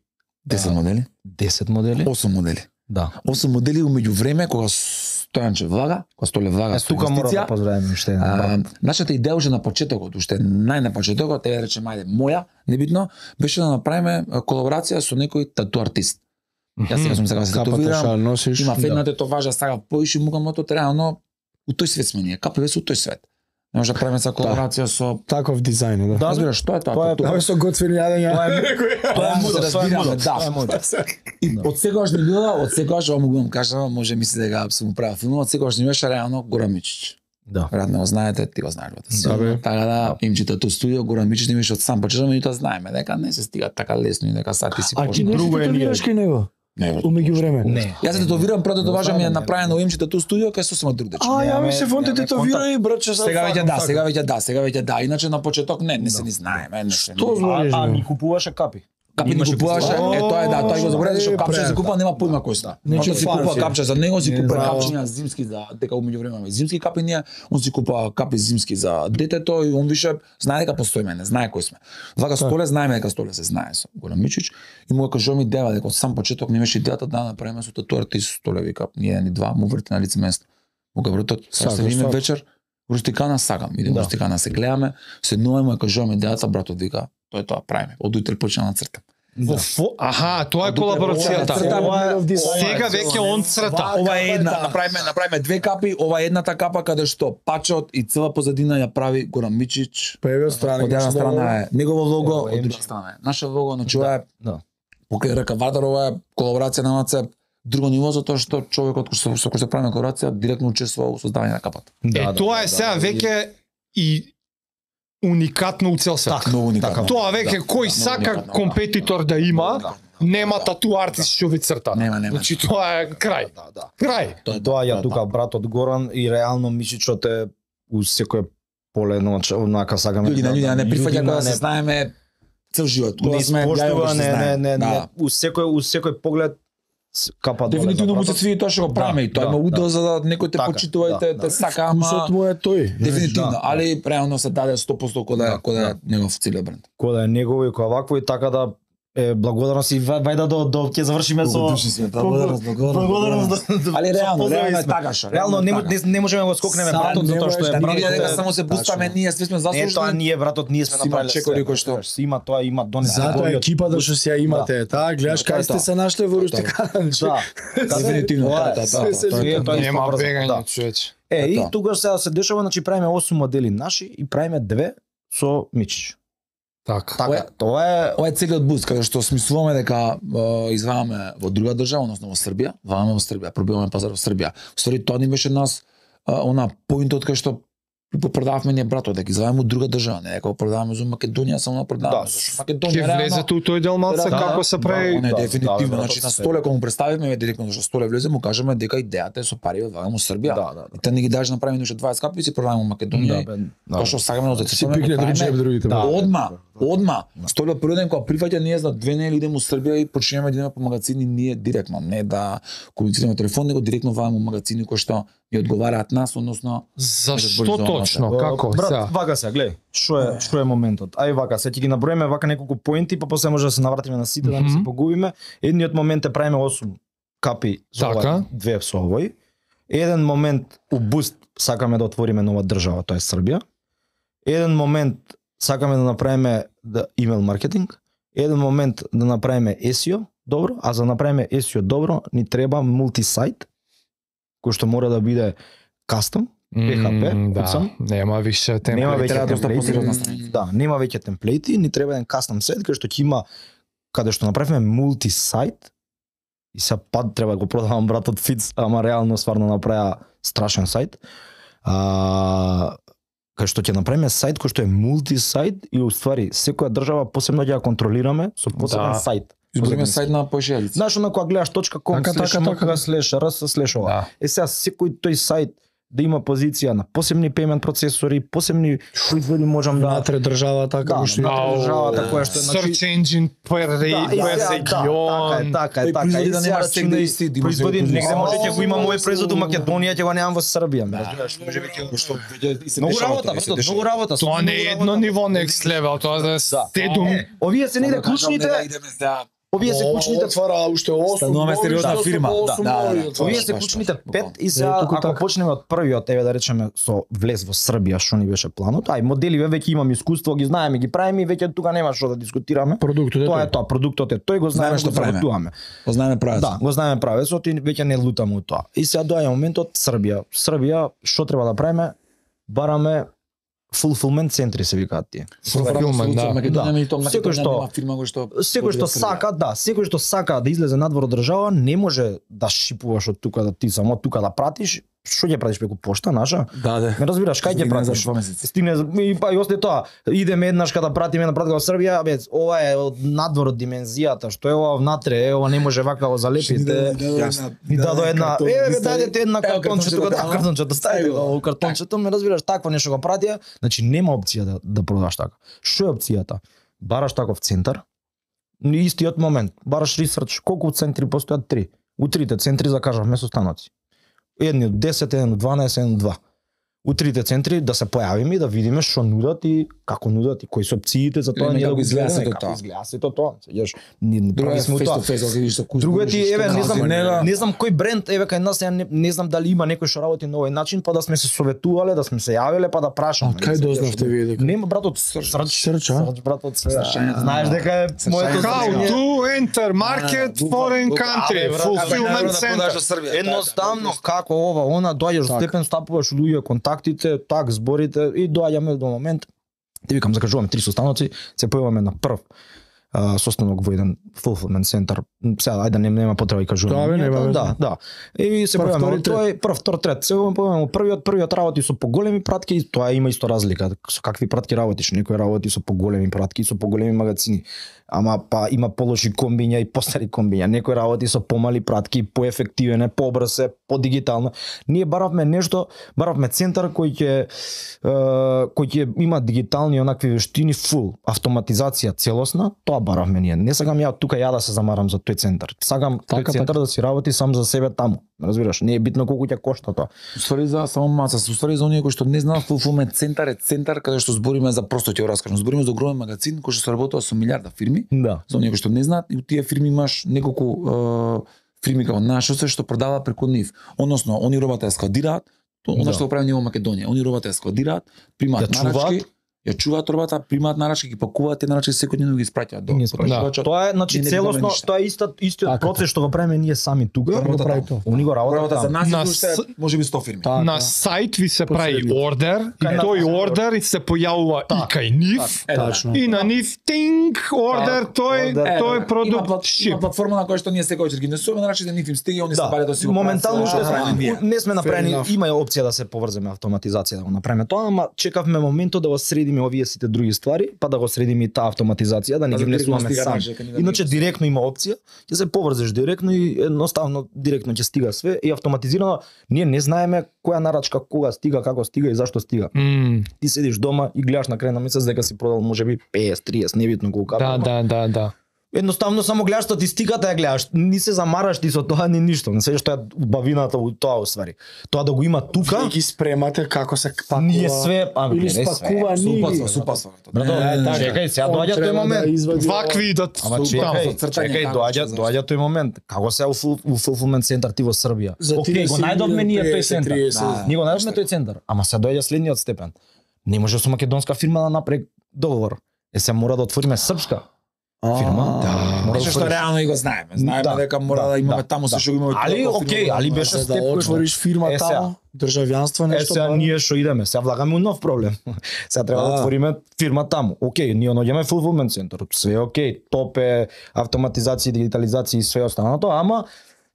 десет модели, десет модели. осум модели. Да. осум модели умеѓу време кога Стојанче влага, кога Столе влага Е, со тука мора да инвестиција. поздравиме уште еден. А, брат. нашата идеја уште на почетокот, уште нај на почетокот, е рече мајде моја, небитно, беше да направиме колаборација со некој тату артист. Јас сега сум сега да се Капата татуирам. шал носиш. Има една тетоважа сага поиши мука мото реално у тој свет сме ние. Капи веќе у тој свет. Не може да правиме са колаборација со Таков дизајн, да. Да, разбираш, што е тоа? Тоа е- Тоа Тоа е со готвени јадења. Тоа е мудро, тоа е мудро, да. тоа е мудро. И од секогаш не била, од секогаш ова могу да кажам, може мисли дека сум правил филм, од секогаш не беше реално Горан Мичич. Да. Веројатно го знаете, ти го знаеш бате. Да, бе. Така да, имчите ту студио Горан Мичич не беше од сам почеток, меѓутоа знаеме дека не се стига така лесно и дека сад ти си А ти почнеш. не друго е се ние. татуираш кај него? Не, бе. У меѓувреме. Не. Јас се тетовирам, прво тетоважа ми е Не, направено у имчите ту студио кај сосема друг дечко. А, ја Немаме- ми се фонте немаме тетовирај, браче, Сега веќе да, сега веќе да, сега веќе да. Иначе на почеток не, не се ни знаеме, не се. Што А, збориш, а бе? ни купуваше капи. Капи ни Имаше купуваше, купуваше. е тоа е да, тоа го забораве што Е, капче се пред, купува, нема појма кој сте. Значи, Он си купува фарси. капче за него, си Не купува знам. капчиња зимски за дека у меѓувреме зимски капи ние, он си купува капи зимски за детето и он више знае дека постоиме, не знае кој сме. Вака Столе знаеме дека Столе се знае со Горан Мичич и му кажува ми идеја дека од сам почеток не имаше идејата да направиме со тату артист Столе вика, ни еден и два, му врти на лице место. Му га вртот, Сакам, се видиме сакам. вечер, Рустикана сакам, идеме Да. Рустикана се гледаме, седнуваме и кажуваме идејата, братот вика, тоа е тоа, правиме. Од утре почна на цртам. Во фо- Аха, тоа е колаборацијата. Цртам. Сега веќе он црта. Ова е една, да. направиме, направиме две капи, ова е едната капа каде што пачот и цела позадина ја прави Горан Мичич. Па еве страна. Од една страна е негово лого, Ево, од Емче. друга страна е наша лого, значи ова е Да. покрај река Вардар, ова е колаборација на МАЦЕП, друго ниво затоа што човекот кој со со кој се прави колаборација директно учествува во создавање на капата. Е, тоа е сега веќе и уникатно у цел свет. Така. Многу уникатно. Тоа веќе Да, кој да, сака многу уникатно, компетитор да има, Да. нема тату артист што ви црта. Нема, нема. Значи тоа е крај. Да, да. Крај. Тоа е Тоа ја тоа е тука братот Горан и реално Мичичот е у секој поле ноќ, онака сакаме. Луѓе на луѓе не прифаќа Луѓе кога не- се знаеме цел живот. не Кога сме испоштува, не, не, не, не, Да. у секој у секој поглед с- капа доле. Дефинитивно за му се братот. свиди тоа што го правиме и тоа да, има удел да. за да некој те Така, почитува и да, те да. те сака, ама Вкусот му е тој. дефинитивно, Да, али реално се даде сто проценти кога Да, кога да. негов целиот бренд. Кој да е негово и кој вакво и така да е благодарност и ва- вајда до до ќе завршиме со благодарност, благодарност. Али реално, Поздрави реално е сме. така што. Реално не, така. не, не можеме да го скокнеме Сам братот не затоа што можеш е да братот. види дека е- само се бустаме ние, сме сме Не, тоа заслужени. ние братот ние сме Си има направиле чекори све, кои што- разбираш, Има тоа, има донесе. Затоа голиот- екипата што си ја имате, таа гледаш Тоа е кај сте тоа. се нашле во Рустикана. Да. Дефинитивно, Тоа е, тоа е, се- тоа е, се- тоа е, се- тоа е Нема поврзано, бегање, да. човече. Е, и Тоа. тогаш сега се дешава, значи правиме осум модели наши и правиме две со Мичич. Така. Така, тоа е Ова е целиот буст каде што смислуваме дека е, извадаме во друга држава, односно во Србија, вадаме во Србија, пробиваме пазар во Србија. Ствари тоа ни беше нас е, она поинтот кај што го продававме ние братот, дека извадаме од друга држава, не дека го продаваме за Македонија, само да продаваме. Да. Зашто Македонија Ќе реално- влезете у тој дел малце Да, како да, се да, прави. Не, Да, дефинитивно, да, значи да, на све. столе кога му представивме директно што столе влезе, му кажеме дека идејата е со пари од вадаме во Србија. Да, да, И те не ги даш направи уште дваесет капи и си продаваме во Македонија. Да, бе, да. Тоа што сакаме да Си пикне друг джеб другите. Да. Одма, одма. Столе првиот ден кога прифаќа ние за две недели идеме во Србија и почнеме да идеме по магазини ние директно, не да комуницираме телефон, него директно вадаме магазини кои што ни одговараат нас, односно Зашто точно? Како? Брат, Сега. вака се, гледај, што е што е моментот. Ај вака, се ќе ги наброиме вака неколку поинти, па после може да се навратиме на сите да не се Мгм. погубиме. Едниот момент е правиме осум капи со Така. ова, две со овој. Еден момент у буст сакаме да отвориме нова држава, тоа е Србија. Еден момент сакаме да направиме да имейл маркетинг. Еден момент да направиме ес и о добро, а за да направиме ес и о добро ни треба мултисайт кој што мора да биде кастом, пе ха пе, М, да, куцам. нема више Нема темплейт. веќе треба доста посериозна темплејти. страница. Да, нема веќе темплејти, ни треба еден кастом сайт кај што ќе има каде што направиме мулти сайт. И се пат треба да го продавам братот Фиц, ама реално стварно направи страшен сайт. А, кај што ќе направиме сайт кој што е мулти сайт и уствари секоја држава посебно ќе ја контролираме со посебен Да. сайт. избориме сайт на поешелица. Знаеш, оно кога гледаш .com, Така, слеш така, МК, така. слеш РС, слеш ова. Да. Е сега секој тој сайт да има позиција на посебни пеймент процесори, посебни производи можам да Внатре државата, Да, како што да. Ау, државата која што е, значи- Search engine per Да, rate, и per сега, регион. Да, така е, Тој така е. производи И да сега нема рачунај, секој исти, да има производи секој негде производ. може ќе го имам овој Ау, производ у Македонија, ќе го немам во Србија. ме разбираш? Може веќе кој што веќе се Многу дешава работа, тоа, се брато, дешава. многу работа. Тоа не е многу едно работа. ниво next level, тоа да Да. стедум. Е, Овие се негде Да кажам, клучните. нека идеме сега Овие се клучните отвара уште осум. Стануваме сериозна фирма. Да, да, да. Овие се Баш, клучните баш, пет и сега Е, туку ако така. почнеме од првиот, еве да речеме со влез во Србија, што ни беше планот, ај моделиве веќе имаме искуство, ги знаеме, ги правиме и веќе тука нема што да дискутираме. Продуктот е Тоа е тој. тоа, продуктот е тој, го знаеме Знаеме што што правиме. правиме. Го знаеме правец. Да, го знаеме правецот и веќе не лутаме од тоа. И сега доаѓа моментот Србија. Србија што треба да правиме? Бараме fulfillment центри се викаат тие. Fulfillment, да. Македонија Да. и тоа Секој Македонија што- нема фирма кој што Секој што сака, да, секој што сака да излезе надвор од држава, не може да шипуваш од тука да ти само тука да пратиш. Што ќе пратиш преку пошта наша? Да, да. Ме разбираш, кај ќе Стигне за пратиш? два месеци. Стигне и па и осте тоа. Идеме еднаш када пратиме една пратка во Србија, бе, ова е од надвор од димензијата, што е ова внатре, е ова не може вака го залепите. Ни дадо една, е, бе, дајдете една Ево картонче тука, да, картончето ставите во картончето, ме разбираш, такво нешто го пратија, значи нема опција да да продаш така. Што е опцијата? Бараш таков центар, ни истиот момент, бараш ресерч, колку центри постојат? Три. У трите центри закажавме состаноци. Едни од десет, еден од дванаесет, еден од два. У трите центри да се појавиме и да видиме што нудат и како нудат и кои се опциите за тоа Или ние да како го изгледа изгледаме, сето како тоа. изгледа сето тоа. Сеќаш, ние не Друго е прави сме face тоа. to face, ако видиш со куст. Друго е ти, еве, не знам, Нега. не знам кој бренд, еве кај нас, ја не, не знам дали има некој што работи на овој начин, па да сме се советувале, да сме се јавиле, па да прашаме. Од кај дознавте вие дека? Нема братот Срч. Срч, а? Срч братот се. Срчањето. Знаеш дека е моето How знаење. to enter market foreign country, Абе, брат, fulfillment абе, center. Едноставно како ова, она доаѓаш до степен, стапуваш луѓе, контактите, так зборите и доаѓаме до момент. Ти викам закажуваме три состаноци, се појаваме на прв а, состанок во еден fulfillment центар. Сега ајде не нема потреба да кажуваме. Да, бе, нема веза. Да, да. И се Прв, појаваме втори, во тој прв, втор, трет. Се појаваме во првиот, првиот работи со поголеми пратки и тоа има исто разлика. Со какви пратки работиш? Некој работи со поголеми пратки, со поголеми магазини. Ама па има полоши комбиња и постари комбиња. Некој работи со помали пратки, поефективен е, побрз е, подигитално. Ние баравме нешто, баравме центар кој ќе е, кој ќе има дигитални онакви вештини фул, автоматизација целосна, тоа баравме ние. Не сакам ја тука ја да се замарам за тој центар. Сакам тој Така, центар да си работи сам за себе таму. Разбираш, не е битно колку ќе кошта тоа. Уствари за само маца, уствари за оние кои што не знаат, fulfillment центар е центар каде што збориме за просто ќе го раскажам. Збориме за огромен магазин кој што се работува со милиарда фирми. Да. За оние кои што не знаат, и у тие фирми имаш неколку е, фирми како нашите што продаваат преку нив. Односно, они робата ја складираат, тоа она Да. што го правиме ние во Македонија. Они робата ја складираат, примаат Ја нарачки, чуваат. ја чуваат робата, примаат нарачки, ги пакуваат те нарачки секојдневно ги испраќаат до Ги испраќаат. потрошачот. Тоа е значи Ние не добиваме целосно, ништо. тоа е истот истиот Така. процес што го правиме ние сами тука. Работа го прави таму. тоа. Они го работат Робата за таму. нас На е уште с- можеби сто фирми. Така. На сајт ви се прави ордер и Кај тој нас. ордер се појавува и кај нив. Е, да. Тачно. И на нив тинг ордер тој ордер. Е, тој да, продукт има, плат, шип. има платформа на која што ние секој вечер ги несуваме, значи да нив им стига, они се Да, баре да си го моментално прават, уште се правиме ние. сме не сме направени, enough. има опција да се поврземе автоматизација да го направиме тоа, ама чекавме моментот да го средиме овие сите други ствари, па да го средиме и таа автоматизација, да не Па ги да директно внесуваме стига сами. наше, кај нив да Иначе ги директно има опција, ќе се поврзеш директно и едноставно директно ќе стига све и автоматизирано ние не знаеме која нарачка кога стига, како стига и зашто стига. М, Ти седиш дома и гледаш на крај на месец дека си продал можеби песет, триесет, небитно колку. Да, да, да, да. Едноставно само гледаш статистиката, ја гледаш, ни се замараш ти со тоа ни ништо. Не се што е убавината у тоа усвари. Тоа да го има тука, Вие ги спремате како се пакува. ние све, а или не све. спакува ние. Супасва, супасва. Брато, Не, така. чекај, сега Он доаѓа тој треба момент. да извади Вакви идат Ама таму. чекај, за цртање, чекај, како доаѓа, ќе доаѓа тој момент. Како се у фул- у fulfillment центар ти во Србија? За Океј, го триесет најдовме ние тој триесет, центар. триесет. Да. Ние го најдовме тој центар, ама се доаѓа следниот степен. Не може со македонска фирма да направи договор. Е се мора да отвориме српска фирма. Да. Мора Нешто што отвориш. реално и го знаеме. Знаеме Да, дека мора да, да имаме да, таму се да. што го имаме. Али, толку окей, фирма, али да, беше да, Да степ кој што- отвориш фирма Е, сега. таму, државјанство Е, нешто. сега па- ние што идеме, сега влагаме у нов проблем. Сега треба да Да. отвориме фирма таму. Океј, ние наоѓаме fulfillment центар, све е океј, топ е автоматизација, дигитализација и све останато, ама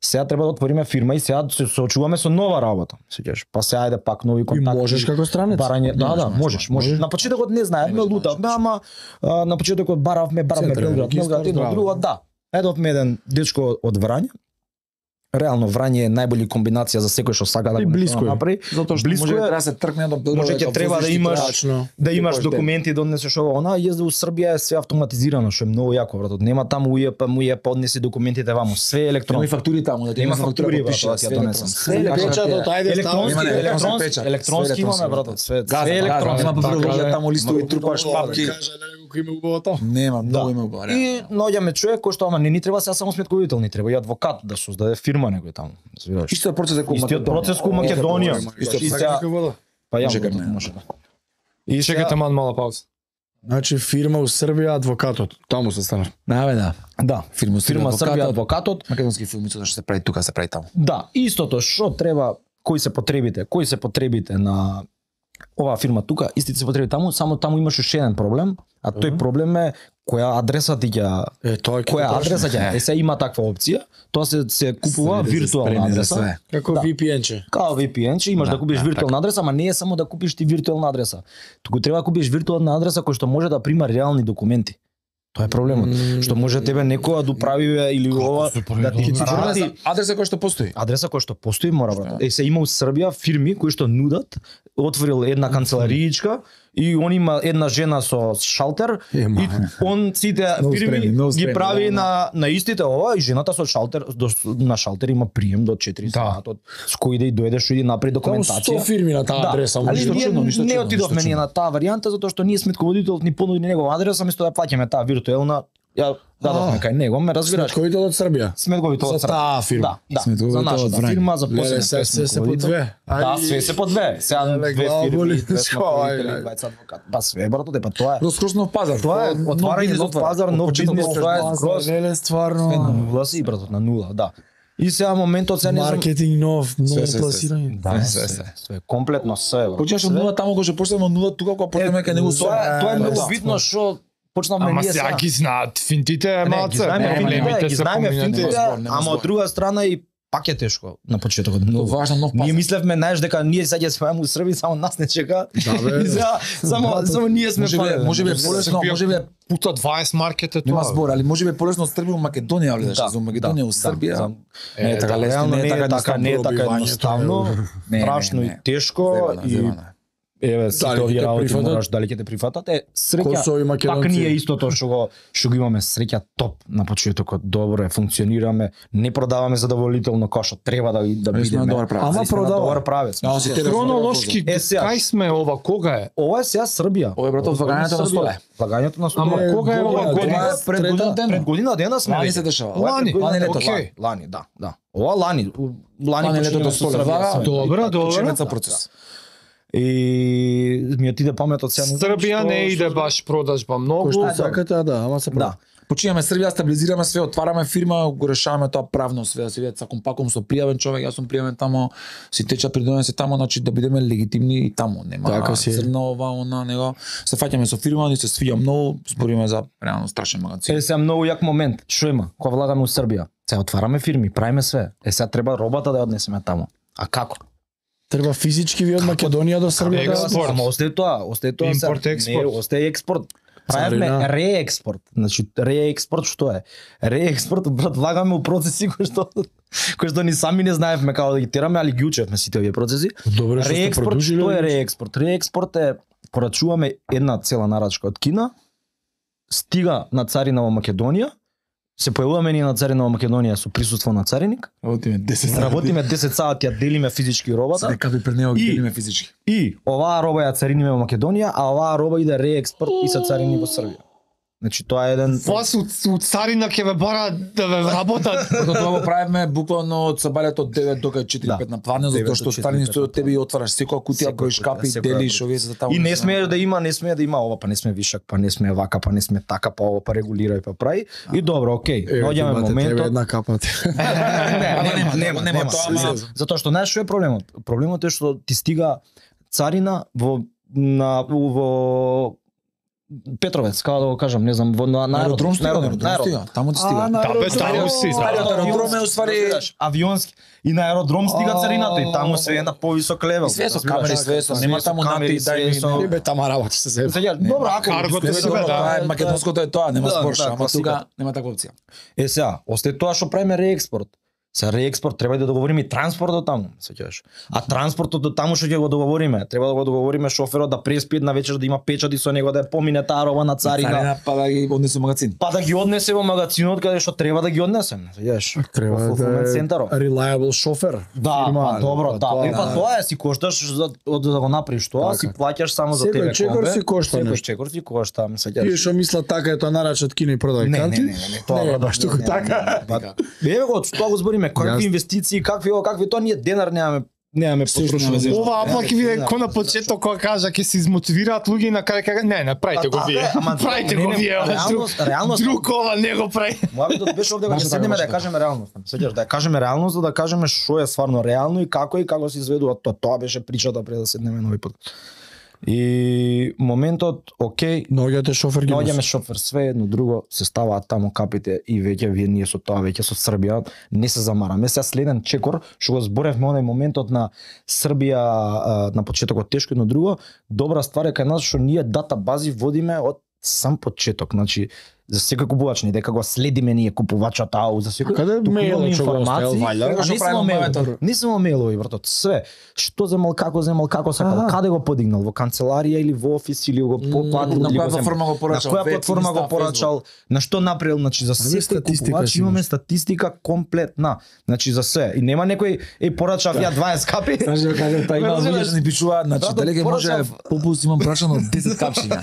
сега треба да отвориме фирма и сега се соочуваме со нова работа. Сеќаш, па сега ајде пак нови И контакти. можеш како странец. Барање, да, да, можеш, можеш, можеш. На почетокот не знаевме, Можеш, лутавме, ама а, на почетокот баравме, баравме Центар, Белград, регистар, Белград, едно здраво. друго, да. Едовме еден дечко од Врање. Реално Врање е најбољи комбинација за секој што сака да И го близко е. направи. Затоа што Близко може е. да треба да се тркне до Белград. Може ќе дека треба да возиш, ти имаш- требаш- Тачно. Да имаш Кој документи, да однесеш ова, она, језда у Србија е све автоматизирано, што е многу јако, братот. Нема таму ујепа, му ја поднеси документите ваму, све е Има и електронно. фактури таму, да ти Има има фактура фактури, потпише, брат, да ти ја донесам. Све Све електронски. Печатот, ајде, Електронски, Има не, електронски електронски, печат. електронски Све имаме, електронски, брат, све, Газа, све газа, електронски. има Така, папировија да. таму листови, трупаш Да папки. кажа, да не го Колку има убаво тоа? Нема, многу Да. има убаво. И наоѓаме човек кој што ама не ни треба сега само сметковител, ни треба и адвокат да создаде фирма некој таму. Разбираш? Истиот процес е кој Истиот процес кој Македонија. Истиот И процес. сега- Па ја Може може, кај мене. може. да. И Чекате мал мала пауза. Значи фирма у Србија, адвокатот. Таму се стана. Да, бе, да. да, Фирма фирма Србија, Србија адвокатот. адвокатот. Македонски филми што се прави тука, се прави таму. Да, истото што треба, кои се потребите, кои се потребите на оваа фирма тука, истите се потреби таму, само таму имаш уште еден проблем, а тој проблем е која адреса ти ќе Е, тоа е која адреса ќе. Е се има таква опција, тоа се се купува виртуелна адреса. Како Да. ви пи ен-че. Као ви пи ен, че имаш да, Да, купиш да, виртуелна адреса, ама не е само да купиш ти виртуелна адреса. Туку треба да купиш виртуелна адреса која што може да прима реални документи. Тоа е проблемот. Мм. Што може тебе некоја да управи или ова да ти Адреса, врати адреса која што постои. адреса која што постои мора брат. Е се има у Србија фирми кои што нудат, отворил една канцелариичка и он има една жена со шалтер Е, и ма. он сите Многу фирми спремни, многу ги спремни, прави да, на на истите ова и жената со шалтер до, на шалтер има прием до четири Да. сатот с кој да и дојдеш и направи Таму документација. сто фирми на таа Да, адреса. али ништо ние чудно, ништо не чудно, отидовме ништо ние чудно. на таа варијанта затоа што ние сметководителот ни понуди негова адреса, место да плаќаме таа виртуелна, ја дадовме кај него, ме разбираш. Сметковител од Србија. Сметковител За таа фирма. Да, да. За Сметковител нашата од Врања. фирма, за Леле, посебен се се се по две. Да, све се по две. Сега Леле, две глава боли. фирми, две Ај, сметковители, ај. двајца адвокат. Па све брато, па тоа е. Скроз нов пазар. Тоа е Нов отварање бизнес нов отвара. пазар, Од нов почеток бизнес, до тоа е крај. скроз Леле, на стварно. нула си брато, на нула, да. И сега моментот сега не знам. Маркетинг нов, ново Све, све, све. пласирање. Да, Све, све, све. све, комплетно све. брато. Почнеш од нула таму кога ќе почнеме од нула тука кога почнеме кај него со. Тоа е- тоа е Да, многу да. битно што почнавме Ама ние сега сега. ги знаат финтите Не, ги малце. знаеме не, финтите, проблемите ги се знаеме поминати. финтите, Нема збор, нема ама збор. од друга страна и пак е тешко на почетокот. Тоа Многу. важно нов Ние пазар. мислевме знаеш дека ние сега ќе спееме у Србија, само нас не чека. Да, бе. И сега само само ние сме Може би, фалеле. може би е полесно, Србија може би е- пута дваесет маркет е нема тоа. збор, али може би е полесно од Србија у Македонија, али да, за Македонија у Србија. за- Не е така лесно, Реално не е така така, не е така пробивањето, едноставно, Не, не, страшно не, и не. тешко Зебано, и зебано. еве сите Дали ќе овие те работи прифатат? мораш дали ќе те прифатат. Е, Косово и среќа, македонци. пак ние истото што го што го имаме среќа топ на почетокот, добро е, функционираме, не продаваме задоволително кој што треба да да Али сме на бидеме. добар правец. Ама Ама продава продава. добар правец. Да, си тебе Хронолошки, Е, сега. кај сме ова, кога е? Ова е сега Србија. Ова е, брато, влагањето на столе. Влагањето на столе. Ама Е, кога е ова година, година? Ова е пред година дена. Пред година дена сме. Лани веќе. се дешава. Ова е Лани, пред година лани дена. лето, окей. Лани, да, да. Ова лани, у- лани Лани почнеме летото со столе. Србија, Влага, со- Добро, добро. Почнеца процес. И ми отиде паметот сега. не знам Србија што- не иде што- баш продажба многу. Кој што да. сакате, да, ама се Да. Починеме Србија, стабилизираме све, отвараме фирма, го решаваме тоа правно све, да се видат саком паком со пријавен човек, јас сум пријавен тамо, си теча придонен се тамо, значи да бидеме легитимни и тамо, нема Така си е. црно ова, она, него. Се фаќаме со фирма, ни се свиѓа многу, збориме за реално страшен магазин. Е, сега многу јак момент. Што има? Кога влагаме у Србија? Сега отвараме фирми, правиме све. Е, сега треба робата да ја однесеме тамо. А како? Треба физички ви од Македонија до Србија да Експорт. Ама остае тоа, остае тоа. сега. Импорт, експорт. Не, остае експорт. Правиме Царина. реекспорт. Значи реекспорт што е? Реекспорт брат влагаме у процеси кои што кои што ни сами не знаевме како да ги тераме, али ги учевме сите овие процеси. Добре, што сте Реекспорт, продолжиле. што е реекспорт? Реекспорт е порачуваме една цела нарачка од Кина, стига на царина во Македонија, се појавуваме ние на царина во Македонија со присуство на цариник, Работиме десет работиме десет сати, ја делиме физички робата Се капи пред него ги И- делиме физички. и оваа роба ја цариниме во Македонија, а оваа роба иде реекспорт и се царини во Србија. Значи тоа е еден Вас у, у царина ќе ве бара да ве работат. Потоа тоа го правиме буквално од сабалето од девет до четири пет Да. на плане, затоа девет што до четири старини пет стои на од тебе и отвараш секоја кутија, Секоја броиш капи, кутија, секоја делиш кутија. овие за таму. И не смее да има, не смее да има ова, па не смее вишак, па не смее вака, па не смее така, па ова, па регулирај, па прави. И добро, окей. Наоѓаме моментот. една капа. Не, Ама нема, нема, нема, нема, тоа, нема. ама- Затоа што знаеш што е проблемот? Проблемот е што ти стига царина во на во Петровец, како да го кажам, не знам, во на На аеродром стига, на аеродром стига, таму ти стига. Да, бе, таму си, да. Аеродром е уствари авионски и на аеродром стига А, царината и таму се е на повисок левел. И све со разбираш? камери, све со, нема со таму камери, нати, дај све ми, со- не. Бе, тама работи се се. Сега, добро, ако Каргото Не, си, добро, да. тоа е македонското е тоа, нема Да, спор, да, ама класика. тука нема таква опција. Е сега, остае тоа што правиме реекспорт. Се реекспорт треба да договориме и транспортот таму, сеќаваш. А транспортот до таму што ќе го договориме, треба да го договориме шоферот да преспи една вечер да има печати со него да ја помине таа роба на царина. Царина па да ги однесе во магазин. Па да ги однесе во магазинот каде што треба да ги однесем, сеќаваш. Треба Во да fulfillment е центарот. reliable шофер. Да, фирма, па добро, да. тоа Е, е. па тоа е, си кошташ за од да го направиш тоа, си плаќаш само за Секој тебе чекор комбе. си кошта Секој нешто. чекор си кошта, ме Тие сеќаваш. што мислат така е тоа нарачат кино и продај Не, не, канти. не, не, не, тоа Не, брат, баш туку не, не, така. не, не, не. Еве го, што го збориме, какви инвестиции, какви о, какви тоа ние денар немаме, немаме Се што потрушено. немаме. Ова апак виде ко на почеток кога кажа ќе се измотивираат луѓе и на крај кажа не, не правите го вие. Ама Правите не, го не, вие. ова, реалност- друг- реалност- Друг ова не го прави. Мојавитот беше овде кога ќе Баш седнеме така, да ја баш кажеме реалност. Сеќаш да ја кажеме реалност, за да кажеме што е стварно реално и како и како се изведува тоа. Тоа беше причата пред да седнеме нови пат. И моментот, окей, Наоѓате шофер ги наоѓаме носи. шофер, све едно друго, се ставаат таму капите и веќе вие ние со тоа веќе со Србија не се замараме. Сега следен чекор што го зборевме онај моментот на Србија а, на почетокот тешко, едно друго, добра ствар е кај нас што ние дата бази водиме од сам почеток, значи за секој купувач не дека го следиме ние купувачот ау за секој. Каде туку мејлот имаме што го информации, оставил, ваљда? а Што не прави само мејлови, моментот? не само мејлови, братот, све. Што земал, како земал, како сакал, Аха. каде го подигнал, во канцеларија или во офис или го платил на или која го земал. платформа го порачал, На која веб, платформа Инста, го порачал, на што направил, значи за Ами секој статистика купувач си имаме имаш. статистика комплетна. Значи за се. И нема некој е порачав ја дваесет капи. Знаеш дека кажа па има Разбираш? луѓе што ни пишуваат, значи Брато, дали ќе може порачав- попус имам прашано десет капчиња.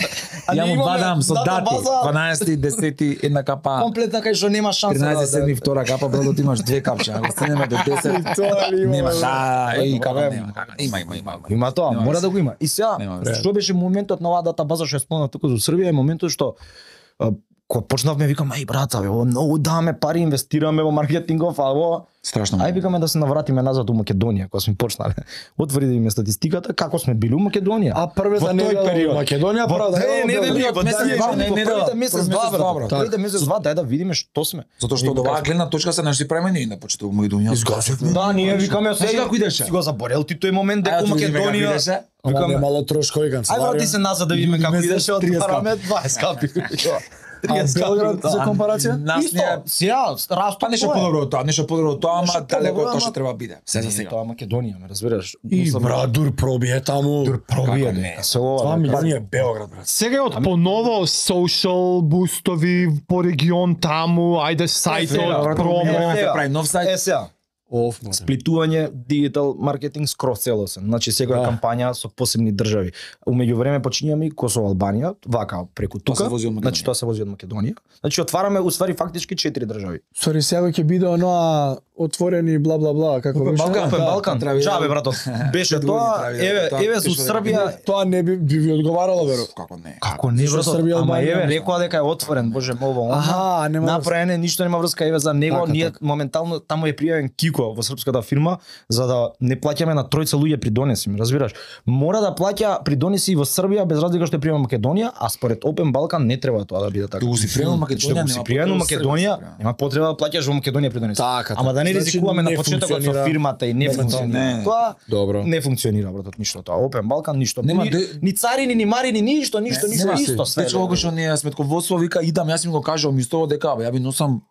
А Ја ние му имаме бадам со дата дати, база. дванаесети, десети, една капа. Комплетна кај што нема шанса. тринаесет да- седми втора капа, брато ти имаш две капчиња. Ако стигнеме до десет, Тоа ли има, нема. бе? Да, еј Ето, како бе. нема. како- Има, има, има. Има тоа, Нема мора врска. да го има. И сега, Нема врска. што беше моментот на оваа дата база што ја спомнав туку за Србија, е моментот што а, кога почнавме викам ај брата, бе, ово многу даваме пари, инвестираме во маркетингов, а во Страшно. ај викаме да се навратиме назад у Македонија, кога сме почнале. Отвори да име статистиката како сме били у Македонија. А првата Во тој недела период. во Македонија Во- прва да не, не, не, не, во месец тие два, години, не, во не, првите да, месец прв два, месец два, брат. брат. Првите месец два, дај да видиме што сме. Затоа што од оваа гледна точка се наши премени на почеток Македонија. Изгасивме. Да, ние викаме Знаеш како идеше? Си го заборел ти тој момент дека Ајде, у да видиме како Македонија. идеше. Ама Викаме, немало трошкови ај канцеларија. врати се назад да видиме како Месец идеше, триесет отвараме дваесет капи. А триесет капи, Белград да. за компарација? Нас Исто, ние сега, растот па нешто тоа е. подобро од тоа, нешто подобро од тоа, ама Нешто далеко подобро, од тоа што ама- треба биде. Се за Не, сега. Тоа е Македонија, ме разбираш. И Мислам, брат, дур пробие таму. дур пробија, Како не? дека се ова. два дека- милиони е Белград, брат. Сега е од поново social бустови по регион таму, ајде Сега, сајтот, брат, промо. време се сега. прави нов сајт. Е сега, Оф, може. сплитување дигитал маркетинг скроз целосен. Значи секоја Да. кампања со посебни држави. У меѓувреме почињаме и Косово, Албанија, вака преку Тоа тука. се вози од Македонија. Значи тоа се вози од Македонија. Значи отвараме уствари фактички четири држави. Сори, сега ќе биде оноа отворени бла бла бла, како Опен беше? Балкан. Опен Да, Балкан, треба да- џабе братот. Беше Пет години тоа, треба да- еве, тоа еве пише со дека Србија. Тоа не би, би ви одговарало, веро. Како не? Како не Со брато, Србија, ама Албанија, еве нешто. рекоа дека е отворен, боже мово, оно. Аха, нема Направен е, ништо нема врска, еве за него, Така, ние така. моментално таму е пријавен Кико во српската фирма за да не плаќаме на тројца луѓе придонеси, ме разбираш? Мора да плаќа придонеси и во Србија без разлика што е пријава Македонија, а според Опен Балкан не треба тоа да биде така. Да го си приема Македонија, Што го си нема пријавен во потреба Македонија, Србија. нема потреба да плаќаш во Македонија придонеси. Така, Ама да не значи, ризикуваме на не почетокот со функционира. фирмата и не Не функционира. функционира. Тоа Добро. не функционира братот ништо тоа. Опен Балкан ништо. Нема Ни, де- ни царини, ни марини, ништо, ништо, Не, ништо, нема исто све. Дечко кога што ние сметководство вика идам, јас им го кажувам исто дека бе, ја би носам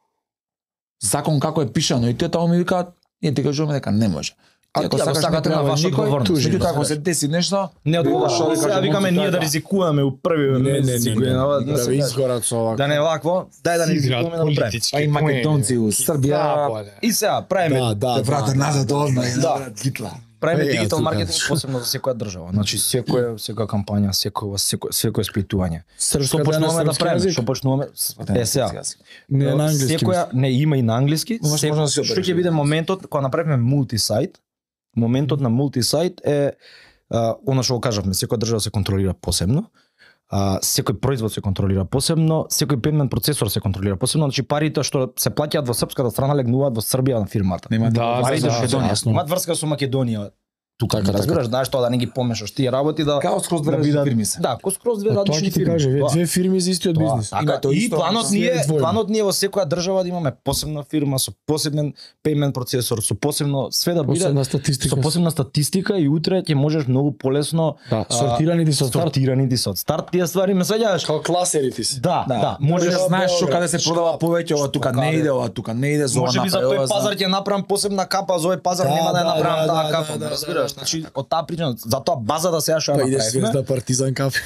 закон како е пишано и тие таму ми викаат, ние ти кажуваме дека не може. А Ти тие го сакате на ваша одговорност. Меѓутоа ако се деси нешто, Не одговара. Што да Сега кажем, викаме ние да така. ризикуваме у први Не, не, месеци не, година, не, да да се ви каже. изгорат со овако. Да не вакво, дај да не Играат ризикуваме да го правиме. политички па и македонци у Србија, И сега правиме Да, да, врата назад одма, Да. Гитла. правиме Е, дигитал јас маркетинг посебно за секоја држава. Значи секоја секоја кампања, секој секој секој испитување. Српска Што да е на почнуваме да српски правиме? јазик? Што почнуваме? Е сега. Не е на англиски. Секоја не има и на англиски. Имаш Се- можда да си Што обереш. ќе биде моментот кога направиме мултисајт? Моментот на мултисајт е а, она што го кажавме, секоја држава се контролира посебно. А, секој производ се контролира посебно, секој пеймент процесор се контролира посебно, значи парите што се плаќаат во српската страна легнуваат во Србија на фирмата. Нема Да, парите да, што да, Македонија. јасно. Имаат врска со Македонија. тука, Така, разбираш, така. знаеш тоа да не ги помешаш тие работи да Као скроз две да различни бидат- фирми се. Да, ко скроз две Тоа различни ќе ти фирми. каже, Тоа- две фирми за истиот Тоа, бизнис. Така, Има тоа и исто, планот се ни е, двојно. планот ни е во секоја држава да имаме посебна фирма со посебен payment процесор, со посебно све да биде Посебна со статистика. посебна статистика и утре ќе можеш многу полесно Да, а, сортирани ти со старт. сортирани ти со старт тие ствари ме сеќаваш. Као класерите си. Да, да, Да, можеш можеш да знаеш што Белград, каде се продава повеќе, ова тука не каде. иде, ова тука не иде, за ова Може би за направи тој ова, за- пазар ќе направам посебна капа, за овој пазар Да, нема да ја да, направам да, таа да, капа, да, ме да, разбираш? да, Значи од таа причина, затоа базата сега што ја Па иде направивме. Звезда Партизан кафе.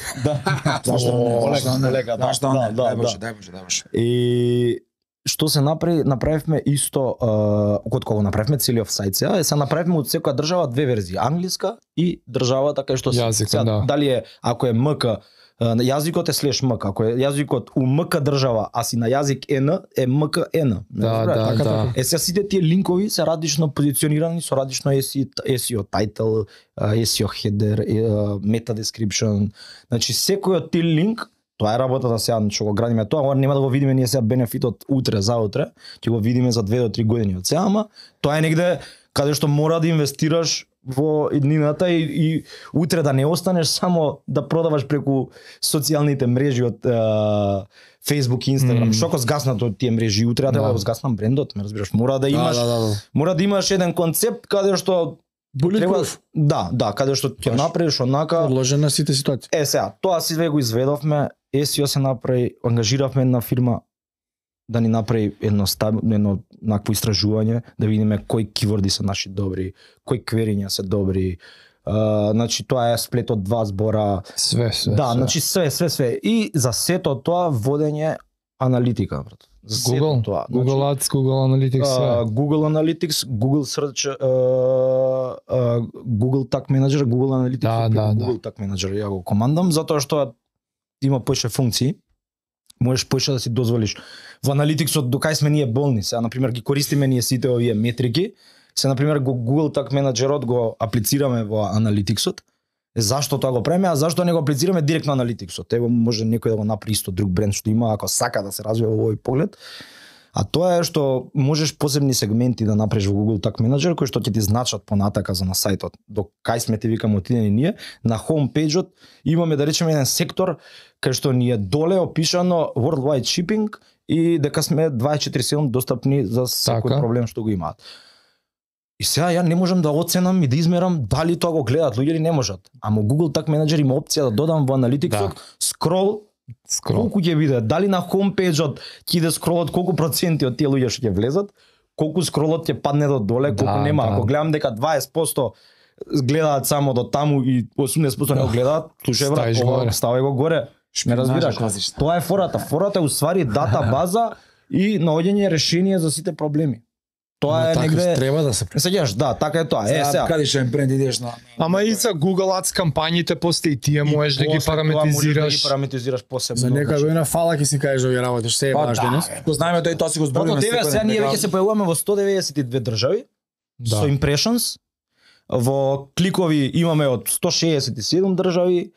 Зашто не? О, Зашто не? лека, да, Зашто не? да, Дај да, Боже, да. дај Боже, дај Боже. И што се направи, направивме исто, uh, кога го направивме целиот сајт сега, е се направивме од секоја држава две верзии, англиска и државата кај што се- Јазикот, сега, да. дали е ако е МК, uh, јазикот е слеш МК, ако е јазикот у МК држава, а си на јазик Н, е МК Н. Да, да, да. Е сега сите тие линкови се различно позиционирани со различно ес и о title, ес и о header, е, meta description. Значи секој од тие линк, тоа е работата сега што го градиме тоа, ова нема да го видиме ние сега бенефитот утре заутре, ќе го видиме за две до три години од сега, ама тоа е негде каде што мора да инвестираш во иднината и, и утре да не останеш само да продаваш преку социјалните мрежи од е, Facebook и Instagram. Мм. Што ако згаснат од тие мрежи утре, да, Да. да го згаснам брендот, ме разбираш, мора да имаш Да, да, да. мора да имаш еден концепт каде што треба Bulletproof. да, да, каде што ќе Баш. направиш онака. Подложен на сите ситуации. Е сега, тоа си ве го изведовме, ес и о се направи, ангажиравме една фирма да ни направи едно стабилно, едно накво истражување, да видиме кои киворди се наши добри, кои квериња се добри. Uh, значи тоа е сплет од два збора. Све, све. Да, све. значи све, све, све. И за сето тоа водење аналитика, брат. За сето Google, тоа. Google Ads, Google Analytics, све. Uh, Google Analytics, Google Search, uh, uh, Google Tag Manager, Google Analytics, Да, и да, Google Tag Manager ја го командам затоа што има поише функции. Можеш поише да си дозволиш. Во Analyticsот до кај сме ние болни, сега на пример ги користиме ние сите овие метрики. Се на пример го Google Tag Managerот го аплицираме во Analyticsот. Е, зашто тоа го правиме, а зашто не го аплицираме директно на Analyticsот? Ево може некој да го направи исто друг бренд што има ако сака да се развива во овој поглед. А тоа е што можеш посебни сегменти да направиш во Google Tag Manager кои што ќе ти значат понатака за на сајтот. До кај сме ти викам отидени ние, на homepage-от имаме да речеме еден сектор кај што ни е доле опишано worldwide shipping и дека сме дваесет и четири седум достапни за секој Така. проблем што го имаат. И сега ја не можам да оценам и да измерам дали тоа го гледаат луѓе или не можат. Ама Google Tag Manager има опција да додам во Analyticsот Да. скрол Скрол. колку ќе биде, дали на homepage-от ќе иде скролот, колку проценти од тие луѓе што ќе влезат, колку скролот ќе падне до доле, колку Да, нема. да. Ако гледам дека дваесет проценти гледаат само до таму и осумдесет проценти не го гледаат, слушај брат, Ставиш ова, горе. ставај го горе. Не разбираш. класична. Тоа е фората. Фората е уствари дата база и наоѓање решение за сите проблеми. Тоа е Така негде треба да се Не сеќаш, да, така е тоа. Е, Сега, сега. каде ќе бренд идеш на... Ама и за Google Ads кампањите после и тие можеш да ги После тоа можеш да параметризираш. ги параметризираш посебно. За некоја значи. година фала ќе си кажеш овие работи, што се е Па баш да, денес. бе, го знаеме тој, тоа си го Брато, збориме тебе сега ние дека- веќе се појавуваме во сто деветдесет и две држави Да. со impressions. Во кликови имаме од сто шеесет и седум држави.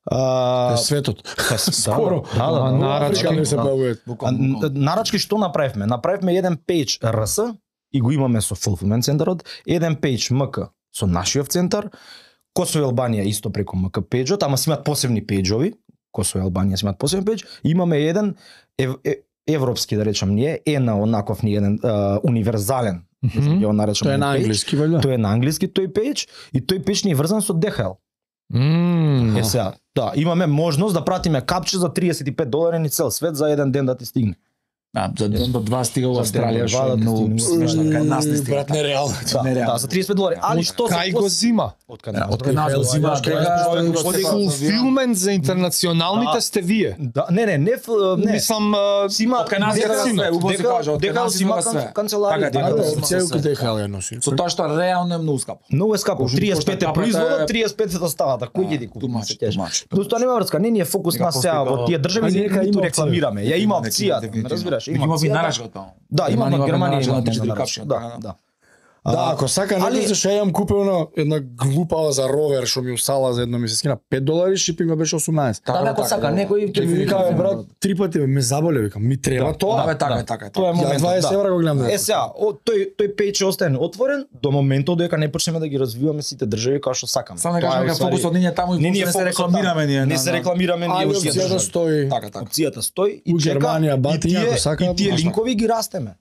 А, Е светот. да, скоро. Да, да, А, да. нарачки? Африка не се Да. појавуваат. А, Буквално, н- буквално. нарачки што направивме? Направивме еден пејдж ар ес и го имаме со Fulfillment центарот, еден пејдж ем ка со нашиот центар, Косово и Албанија исто преку ем ка пејџот, ама си имаат посебни пејџови, Косово и Албанија си имаат посебен пејдж, имаме еден ев, е, европски да речам ние, ена онаков ни еден а, универзален, Мгм. ја го наречам Тоа е еден на пејдж. англиски, валја? Тој е на англиски тој пејдж и тој пејдж ни е врзан со ди ейч ел. Мм. Е сега, да, имаме можност да пратиме капче за триесет и пет долари ни цел свет за еден ден да ти стигне. Да, за ден до два стига во За Австралија, ден до што два е да ти многу стигне. смешно, кај нас не стига. Брат, нереално. Да, Нереално. да, за триесет и пет долари. Али што Кај го зима? Од кај нас? Од кај нас го зима, Од кај кај нас нас постои го Оди стефа- Фулфилмент за интернационалните Да. сте вие. Да, не, не, не, ф- не. Мислам, а, Си има Од кај нас дека- има све, убаво се дека- каже, од кај дека нас си има има све. канцеларија. Така, дека Да, да, да, да. Целку ди ейч ел ја носи. Со тоа што реално е многу скапо. Многу е скапо. Кошто триесет и пет е капата е- производот, триесет и пет е доставата. Кој ќе ти купи? Тумач, се кажеш? тумач. Но тоа нема врска, не ни е фокус Нека на сега постои во тие држави, А не нека ниту има опција. рекламираме. Ја има Нека опцијата, ме дефинитивно. разбираш? Има ви опцијата. нарачка таму. Да, има Има на нива Германија, нарачка има на три-четири на капчи, Да, така, да. Да, ако сака али- некој што ја имам купено една глупава за ровер што ми усала за едно ми се скина пет долари, шипинг беше осумнаесет. Да, ако сака некој Ќе ми вика, бе, брат, три пати бе, ме заболе, викам, ми треба тоа. Да, бе, така да. е, така е. Тоа е така. Ја моментот, дваесет да. евра го гледам. Е сега, о, тој тој пејдж ќе остане отворен до моментот дека не почнеме да ги развиваме сите држави како што сакаме. Само да Тоа е кажеме дека уствари- фокусот не е таму и Не, ние не се фокусот рекламираме таму. ние. Не на- се на- рекламираме ние Али уште опцијата држави. стои. Така, така. Опцијата стои и У чека Германија, и бати, тие, ако сака, и тие можна. линкови ги растеме.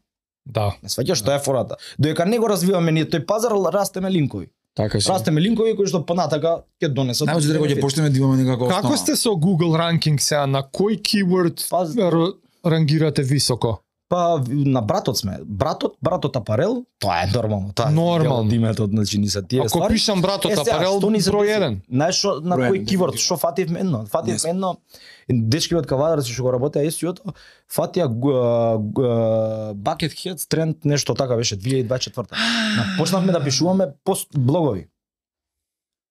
Да. Не сваќаш што е фората. Додека не го развиваме ние тој пазар, растеме линкови. Така си. Растеме линкови кои што понатака ќе донесат. Најмногу дека ќе почнеме да имаме некако Како основа. сте со Google ranking сега, на кој keyword Паз- р- рангирате високо? Па на братот сме. Братот, братот апарел, тоа е нормално. Тоа е Нормално. дел од името, значи ни се тие Ако ствари. пишам братот Е, сега, апарел, што ни се број деси? еден. Знаеш што на Број кој еден, кивор, дефинитивно. што фативме едно? Фативме Јесно. едно дечки од кавадарци што го работеа ЕС-ото, фатија Bucket Heads тренд нешто така беше две илјади и дваесет и четврта. Почнавме да пишуваме пост блогови.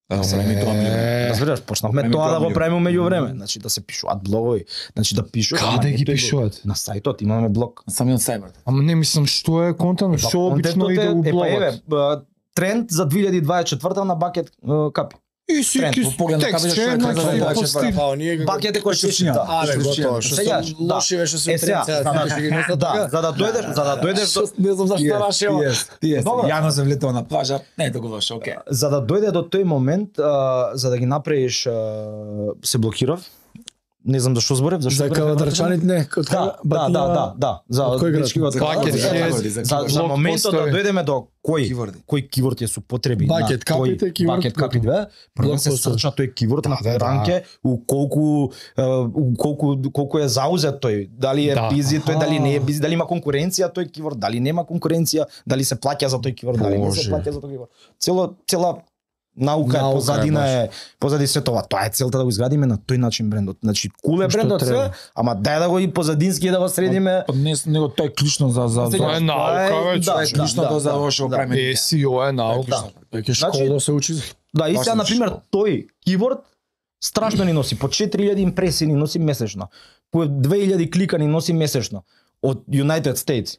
Да, се ми тоа ми е. Разбираш, почнавме Време тоа да го промија. правиме меѓу време, значи да се пишуваат блогови, значи да пишуваш. ама Каде не ги тој блог. пишуваат? На сајтот имаме блог. Самиот сајбер. Ама не мислам што е контент, Па, што обично контентот иде е- у е, па, еве, блогот. ба, тренд за две илјади и дваесет и четврта на Bucket е, капи. И си тренд, ки по поглед на текст, кабелот, што е че, тренд за значи, дваесет и постив. четврта. Па, оние како- Bucket е кој се Исклучија. чита. А, бе, готово, што Сега, се да. лоши беше со Е, сега, тренд, за да- сега, ги несат Да, така. за да дојдеш, за да дојдеш до Што- Не знам зашто рашева. Тие, Добро. Јано се влетува на плажа, не е толку лошо, окей. за да дојде до тој момент, а, за да ги направиш, а, се блокирав. Не знам зашто зборев, зашто За зборев, кавадарчаните не, од Да, кога- да, да, Батија- да, да, за Од кој град? дечки од За Кавадар. Bucket За- Heads, за, за, за блог моментот да постои. дојдеме до кој Киворди. кој киворд е супотреби Bucket на тој капите, киворд, Bucket капи две, прво се постои. срча тој киворд на Да, да, ранке, у колку е, у колку колку е заузет тој, дали е Да. бизи тој, дали не е Аха. бизи, дали има конкуренција тој киворд, дали нема конкуренција, дали се плаќа за тој киворд, дали не се Боже. плаќа за тој киворд. Цело цела наука, Наука е е, позадина баш. е позади се тоа. Тоа е целта да го изградиме на тој начин брендот. Значи кул е Што брендот треба. се, ама дај да го и позадински да го средиме. Па не, него тоа е клучно за за за Тоа е наука, Тоа е- веќе. да, тоа е клучно тоа за да, ово што го да. правиме. Е С И О е наука. Да. Веќе Значи- школа се учи. Да, и Баш сега, не на пример, што. тој киворд страшно ни носи, по четири илјади импресии ни носи месечно, по две илјади клика ни носи месечно од United States.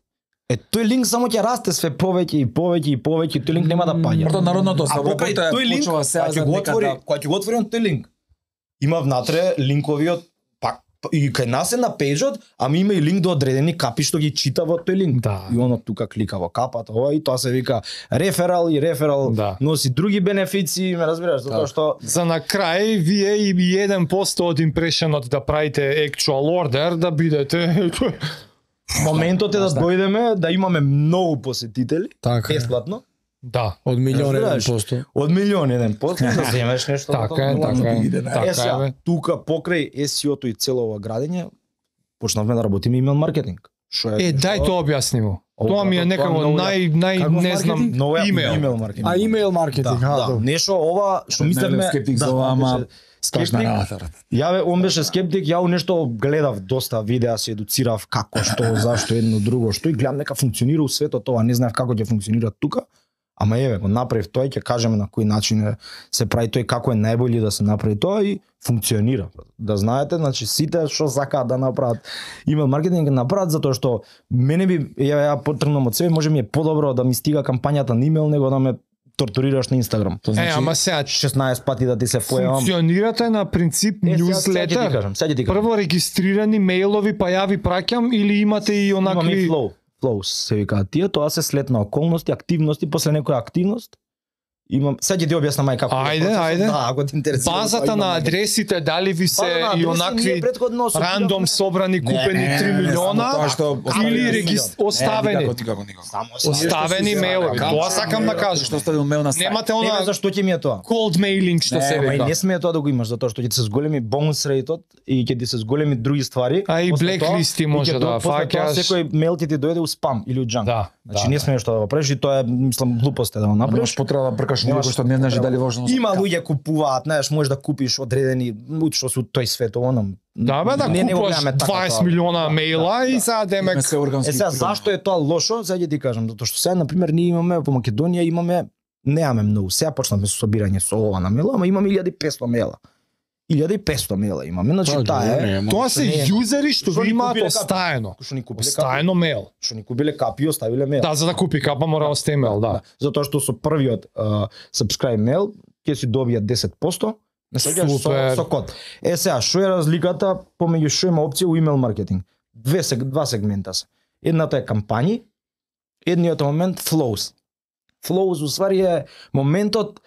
Е, тој линк само ќе расте све повеќе и повеќе и повеќе, тој линк нема да паѓа. Прото народното А покрај слободата тој линк, почува сега кога ќе за го отвори, некада. кога ќе го отвори он тој линк, има внатре линковиот пак и кај нас е на пејџот, ама има и линк до одредени капи што ги чита во тој линк. Да. И оно тука клика во капата, ова и тоа се вика реферал и реферал Да. носи други бенефиции, ме разбираш, затоа што За на крај, вие и еден посто од импрешенот да правите actual order, да бидете... моментот е да дојдеме, да имаме многу посетители, Така е. бесплатно, Да. Од милион еден Разбираш? посто. од милион еден посто, да земеш нешто. Така е, така е. Е, Е, Така е, сега, бе. тука покрај Ес И О-то и цело ова градење, почнавме да работиме имейл маркетинг. Што Е, дај тоа објасни му. Ова, Тоа ми е тоа некако многу нај нај Каков не знам маркетинг? Ново е имейл. имейл маркетинг. А имейл маркетинг, да, а, да, добро. нешто ова што Не, мислевме, не, скептик да, за ова, ама беше Страшна скептик. работа, брат. Ја бе, он беше скептик, ја у нешто гледав доста видеа, се едуцирав како, што, зашто, едно, друго, што и гледам нека функционира у светот ова, не знаев како ќе функционира тука, ама еве, го направив тоа и ќе кажеме на кој начин е, се прави тој, како е најбољи да се направи тоа и функционира. Да знаете, значи сите што сакаат да направат имейл маркетинг да направат затоа што мене би ја ја потргнам од себе, може ми е подобро да ми стига кампањата на имейл него да ме тортурираш на Инстаграм. Тоа Е, значи ама сега шеснаесет пати да ти се појавам. функционирате на принцип Е, сега- сега ќе ти newsletter. кажам, сега ќе ти кажам. Прво регистрирани мејлови, па ја ви праќам или имате и Имаме и онакви flow. Flow се викаат тие, тоа се след на околности, активности, после некоја активност. Имам, сега ќе ти објаснам мај како. е Ајде, процесот. ајде. Да, ако те интересира. базата тоа на имам. адресите, дали ви се База на и адреси, ние онакви претходно собиравме- рандом собрани купени не, три не, милиона само тоа што или оставени- регис... Не, оставени? никако, никако, никако. Само Оставени Нешто што си мејлови. сакам. Тоа сакам да кажам. Што оставил мејл на сајт. Немате Не, она бе, зашто ќе ми е тоа? cold mailing што Не, се Ама и вика. не смее тоа да го имаш, затоа што ќе ти се зголеми бонус рейтот и ќе ти се зголеми други ствари. А и После blacklist тоа- може и ќе да тоа- после тоа фаќаш. Секој мејл ти ти дојде у спам или у джанк. Да, Значи да, не да. смееш тоа да го правиш и тоа е, мислам, глупост е да го Немаш направиш. потреба да пркаш Немаш некој што не знаеш дали важно. Има луѓе купуваат, знаеш, можеш да купиш одредени луѓе што се у тој свет, оном. Да, бе, да Не, не го купуваш гледаме така дваесет тоа. милиона Да, мејла да, и да. сега демек се органски. Е сега зашто е тоа лошо? Сега ќе ти кажам, затоа што сега на пример ние имаме во Македонија имаме немаме многу. Сега почнавме со собирање со ова на мејла, ама имаме илјада и петсто мејла. илјада и петсто мела имаме, значи Па, таа добро, е. не, Тоа се не е. јузери што Што го ни имаат купиле остаено. Што ни купиле капи, Остаено мейл. што ни купиле капи и оставиле мел. Да, за да купи капа мора да остане мейл, да. Затоа што со првиот uh, subscribe mail ќе си добија десет посто. Не сеќаш со, Супер. со код. Е сега, што е разликата помеѓу што има опција у имейл маркетинг? Две сег, два сегмента се. Едната е кампањи, едниот е момент flows. Flows уствари е моментот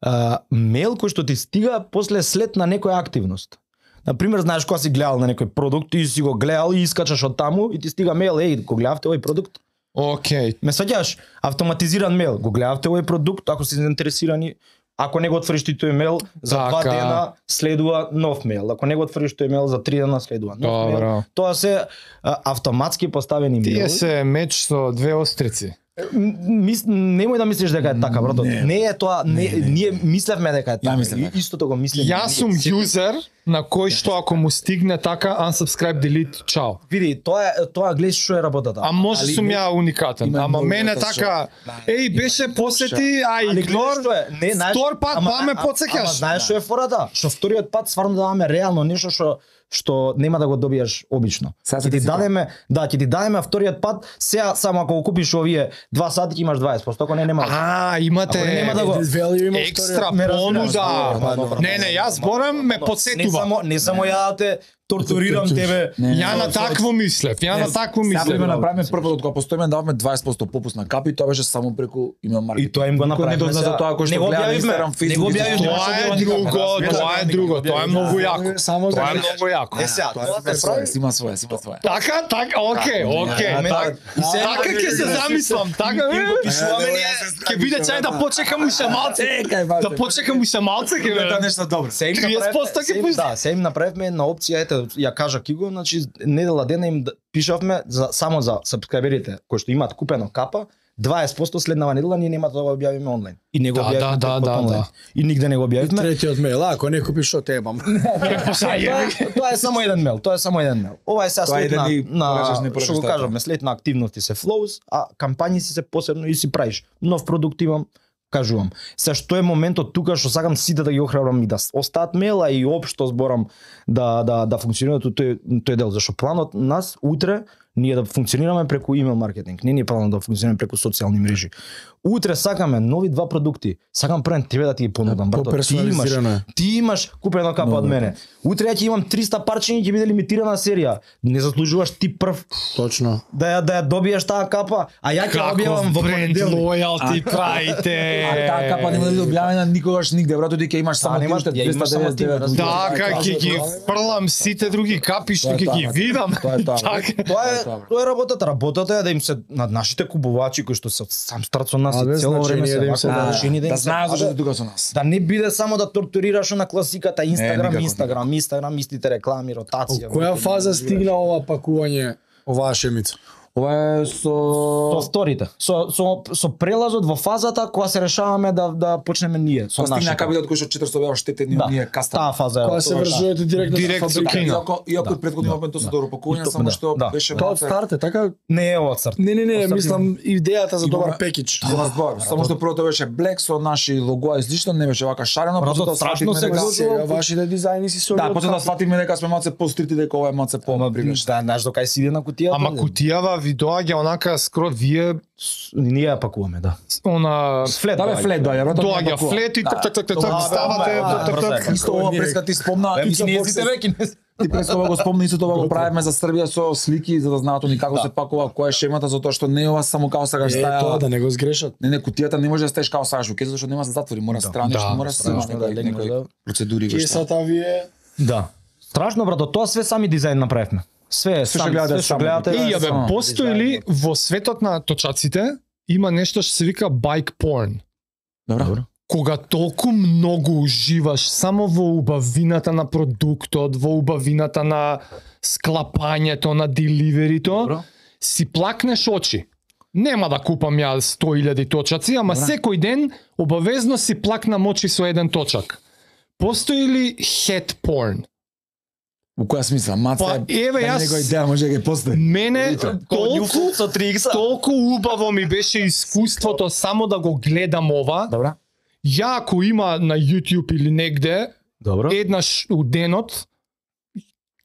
а, мейл кој што ти стига после след на некоја активност. Например, знаеш кога си гледал на некој продукт, ти си го гледал и искачаш од таму и ти стига мейл, еј, го гледавте овој продукт? Океј. Ме сеќаш, автоматизиран мейл, го гледавте овој продукт, ако си заинтересирани, ако не го отвориш ти тој мейл, за два Така. дена следува нов мейл. Ако не го отвориш тој мейл, за три дена следува нов Добро. мейл. Тоа се а, автоматски поставени Тие мејлови. се меч со две острици. Мис, немој да мислиш дека е така, брато. Не. Не е тоа, не, Не, не. ние мислевме дека е така. мислев И- така. Истото го мислиме. Јас сум јузер на кој што ако му стигне така unsubscribe delete чао. Види, тоа е тоа гледаш што е работата. А може Али сум не- ја уникатен. има Ама многу мене така што- така, Да. еј беше посети, а Али игнор. гледаш што е, не, знаеш, Втор пат ама- па ме а- потсеќаш. Ама знаеш што е фората? Што вториот пат стварно даваме реално нешто што што нема да го добиеш обично. Сега Ќе се ти ти дадеме, да, ќе ти дадеме вториот пат, сега само ако го купиш овие два сати ќе имаш дваесет посто, ако не нема. А, имате Ако нема да го- Value има екстра вториот. ме разбираш, понуда. добро, добро, Не, не, јас зборам ме Не подсетува. само не само ја да те тортурирам тебе. Не, не, Ја на такво мислев, ја на такво Сега мислев. ме направиме првото кога постоиме даваме дваесет посто попуст на капи, тоа беше само преку имейл маркетинг. И тоа им го Никој направивме. не дозна за сега. тоа кој Не што го гледа на објавивме, Instagram, не Facebook. го и објавивме. тоа. Тоа е Тоа друго, не тоа е друго, тоа е многу јако. Само за Тоа е многу јако. Е сега, Тоа тоа е се прави. своје, има своје, има своје. Така, така, окей, окей. Аме, так- и сега- Така ќе се замислам, така Им го е. пишуваме ние. Ќе биде чај да почекам уште малце. Чекај, Да почекам уште малце ќе да биде. нешто добро. Се им триесет посто направивме, се ќе им- пусти. да, се им направивме една опција, ете, ја кажа Киго, значи недела дена им д- пишавме за само за сабскрайберите кои што имаат купено капа, дваесет посто следнава недела ние нема да го објавиме онлайн. И не го Да, објавивме да, преку да, онлайн. да. И нигде не го објавивме. Третиот мейл, а, ако не купиш што те ебам. Тоа е- Тоа е само еден мейл, тоа е само еден мейл. Ова е сега Тоа е след да на, ни на порачаш, не порачаш што го така. кажавме, след на активности се flows, а кампањи си се посебно и си правиш. Нов продукт имам, кажувам. Се што е моментот тука што сакам сите да ги охрабрам и да остаат мела и општо зборам да да да функционира тој тој дел, зашто планот нас утре ние да функционираме преку имейл маркетинг, не ни е планот да функционираме преку социјални мрежи. Утре сакаме нови два продукти. Сакам прен тебе да ти ги понудам, брато. Ти имаш, Поперсонализирано е. ти имаш купено капа од мене. Утре ја ќе имам триста парчиња и ќе биде лимитирана серија. Не заслужуваш ти прв Точно. да ја да ја добиеш таа капа, а ја ќе објавам во бренд понеделник. лојалти правите. А таа капа нема да биде објавена никогаш нигде, брато, ти ќе имаш само нема- ти уште ја имаш само ти, двеста деветдесет девет. Така ќе ги фрлам сите други капи што Тоа е ќе тоа, ги брате. видам. Тоа е тоа, Така. Тоа е Тоа е тоа е работата. Работата е да им се над нашите купувачи кои што се од сам старт со нас А, и без цело време значење се да им се вака да- решени да им Да се знаат зашто даде. се тука со нас. Да не биде само да тортурираш на класиката Инстаграм, никако, Инстаграм, Инстаграм, истите реклами, ротација. Која фаза стигна ова пакување, оваа шемица? Ова е Со со вторите. Со со со прелазот во фазата кога се решаваме да да почнеме ние со Со стигна нашите. капитал кој што четиристо беа штетени Да, ние кастам. таа фаза е. Кога се тоа, да. врзувате директно Директ со со фабрика? кино. Иако иако Да, и претходни да, моментот со да. добро пакување, И то- само да, што да. беше Тоа од малце- старт е така? Не е од старт. Не, не, не, Од старт мислам идејата за добар Имаме- пекидж. Нема збор, само што првото беше блек со наши логоа и слично, не беше вака шарено, Брато, потоа страшно свативме се дека Сега вашите дизајни си со Да, потоа да сватиме дека сме малце пострити, дека ова е малце по Ама привлечено. да, знаеш до кај си иде на кутијата? Ама кутијава ви доаѓа онака скро вие Ние ја пакуваме, да. она Флет. Да бе, доаѓа. флет доаѓа, брато. доаѓа не пакува. флет и Да. так так так так Тоа, так бе, ставате ама, так так брзо е. так. Исто ова преска ти спомна, Бе, исто кинезите процес. бе, кинезите. Ти преска ова го спомни, исто тоа го правиме за Србија со слики за да знаат они како се пакува, која е шемата, затоа што не е ова само како сакаш Е, тоа стаја. да не го згрешат. Не, не, кутијата не може да стаеш како сакаш, ке зашто нема да се затвори, мора страни, Да, што мора да се има страшно да некои легне, некои да. процедури Ке кои што. сата вие Да. Страшно, брато, тоа све сами дизајн направивме. Све, Све што сами, гледате све што само. гледате. Е, ја само бе, постои ли во светот на точаците има нешто што се вика bike porn? Добро. Кога толку многу уживаш само во убавината на продуктот, во убавината на склапањето, на деливерито, Добро. си плакнеш очи. Нема да купам ја сто илјади точаци, ама Добра. секој ден обавезно си плакнам очи со еден точак. Постои ли head porn? Во која смисла? Маца Па, е... еве, да јас- Некој идеја може да ги постои. Мене толку со три икс. толку убаво ми беше искуството само да го гледам ова. Добра. Ја ако има на YouTube или негде, Добро. еднаш у денот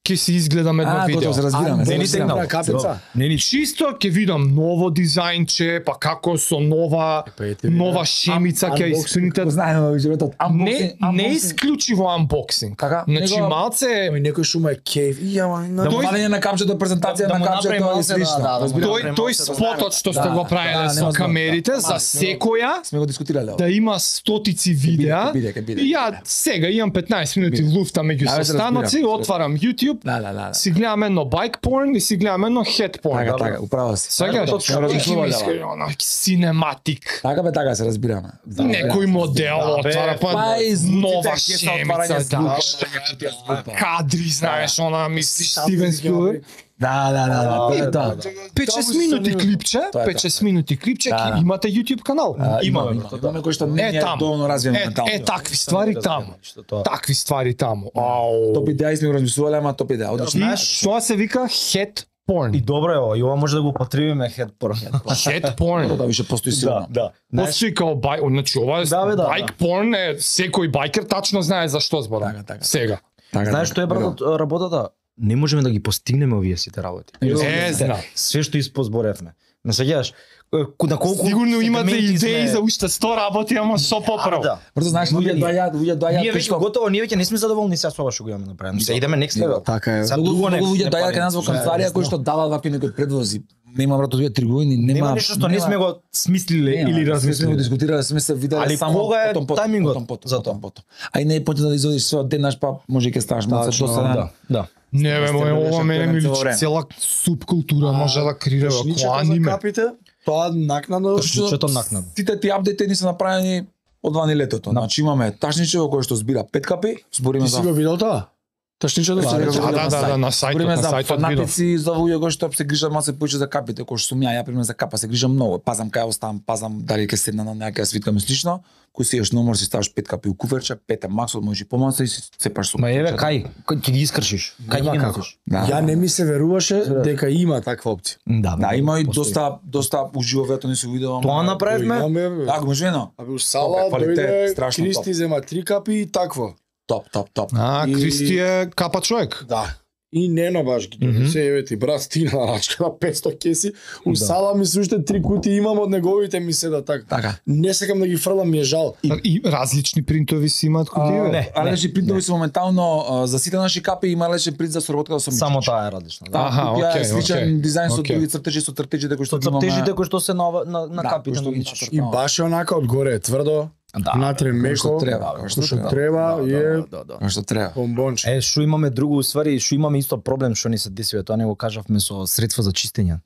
ќе се изгледаме два А, видео. готово се разбираме. не ни се тегнал. разбираме. Капица. Не ни Чисто ќе видам ново дизајнче, па како со нова Па ете ви, нова да. шемица Ан- ќе unboxing, испуните. Знаеме животот. Не не исклучиво unboxing. Така, Значи него- малце Ами некој шума е кејф. И ама на Да му Тој- валење на капчето, презентација Да на му капчето направи и малце, слично. да, да, да. Разбирам. тој тој спотот што сте Да, го да, правиле со нема камерите да. за секоја Сме го дискутирале. да има стотици видеа. Ќе биде, ќе биде. И ја сега имам петнаесет минути Биде. луфта меѓу Да, бе, се состаноци, разбирам. отварам YouTube, Да, да, да. си гледам едно bike porn и си гледам едно head porn. Така, така, управо си. Сега Така, што точно, ќе ми размислувале, иска она cinematic. Така бе, така се разбираме. Некој модел Да, бе, отвара па па и звуците, нова ќе се шемица, отварање да. звука. Кадри, знаеш, она мислиш Стивен Спилберг. Да, да, да, да, да, да. пет-шест минути клипче, Тоа е пет-шест минути клипче, Да, ќе да. имате YouTube канал. Имаме, Имаме. имаме кој што не Е е таму. доволно развиен Е, ментално. е такви ствари таму. Такви ствари таму. Ау. Топ идеја сме го размислувале, ама топ идеја. Одлично. И тоа се вика head porn. И добро е ова, и ова може да го употребиме head porn. Head porn. Да више постои сигурно. да. Постои као бај, значи ова е Да, бе, да, байк порн е секој байкер тачно знае за што зборам. Така, така. Сега. Така, Знаеш така. што е брат работата? Не можеме да ги постигнеме овие сите работи. Е, знам. Све што испозборевме. Не сеќаваш на колку Сигурно имате сегменти идеи сме- за уште сто работи, ама со поправ. Да. Брзо знаеш, луѓе доаѓаат, луѓе доаѓаат Ние кои веќе што готово, ние веќе не сме задоволни сега со ова што го имаме направено. Се идеме next level. Така е. Сега Многу друго многу не- луѓе не доаѓаат пали. кај нас во Се, канцеларија кои есно. што даваат вакви некои предвози. Нема брат две три години, нема. Нема нешто што не сме го смислиле Нема, или сме го размислиле. дискутирале, сме се виделе Али само кога е потом, потом, тајмингот потом, потом, за потом, тоа? потом. А и не е потrebно да изодиш све од денаш, па може и ќе ставаш малку Тачно, досаден. Да, да. Не, бе, мој, ова мене ми Цело личи време. цела субкултура може да креира како Тошничето за аниме. капите, тоа накнадно Тошничето накнадно. Сите ти апдети ни се направени од вани летото. Значи имаме ташничево кој што збира пет капи, збориме Ти за си го видел тоа? Тошничето Да, си да, го Да, видел? да, да, да, на сајтот, Збориме на за сајтот видов. фанатици, за луѓе кои што се грижат малку повеќе за капите, кои што сум ја, ја пример за капа се грижам многу. Пазам кај оставам, пазам дали ќе седна на някоја свитка ми слично. Кој си еш номер си ставаш пет капи у куферче, пет е максот, може и помалку и си сепаш со. Ма еве кај, кај ќе ги искршиш? Кај ќе Нема ги како. носиш? Да. Ја не ми се веруваше дека има таква опција. Да, Да, има и постои. доста доста уживо вето не се видело. Тоа направивме. Имаме, Да, го можено. абе у сала Квалитет, дојде страшно Кристи топ. зема три капи и такво. Топ, топ, топ. А, И- Кристи е капа човек. Да. И Нено баш ги Мгм. се еве ти брат стина на рачка на петсто кеси. У Да. сала ми се уште три кути имам од неговите ми се да така. Така. Не сакам да ги фрлам, ми е жал. И различни принтови си имаат кутиеве. не. Але лечи принтови се моментално а, за сите наши капи има лечен принт за соработка со Само Мичич. таа е различна. Да, Да. Аха, купија е окей, сличен окей. дизајн со Окей. други цртежи, со цртежите кои што Со ги имаме. цртежите кои што се на ова- на на Да, капите кои што на ги Мичич. И баш е онака одгоре е тврдо, Да. внатре Како што меко, треба, како што што треба. треба и е Да, да. Како што треба. бомбонче. Е, што имаме друго уствари, што имаме исто проблем што ни се десива, тоа не го кажавме со средства за чистење.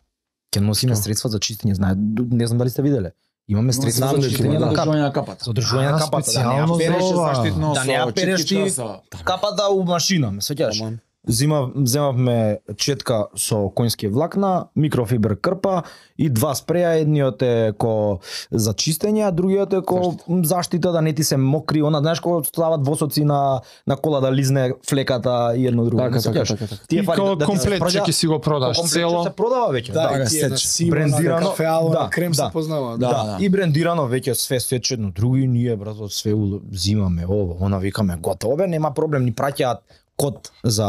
Ќе носиме Што? средства за чистење, знае, не знам дали сте виделе. Имаме средства знам за дека чистење има, на да. капа. Одржување на капата. За одржување на А, капата, да не специјално ја за переш ова. заштитно да не ја со переш ти читичка, со- капата у машина, ме сеќаш? Аман. Зима, земавме четка со конјски влакна, микрофибер крпа и два спреја, едниот е ко за чистење, а другиот е ко заштита да не ти се мокри, она знаеш кога стават восоци на на кола да лизне флеката и едно друго. Така, не така, сеќаш? така, така. Тие И фари као да ти се комплет спраѓа- ќе си го продаш комплет цело. се продава веќе. Да, Да, и тие на сеч. сиво, брендирано, на кафеало, да, на крем да. се познава. Да, Да, да. и брендирано веќе све сечено, други ние брато све у- зимаме ова, она викаме готово бе, нема проблем, ни праќаат код за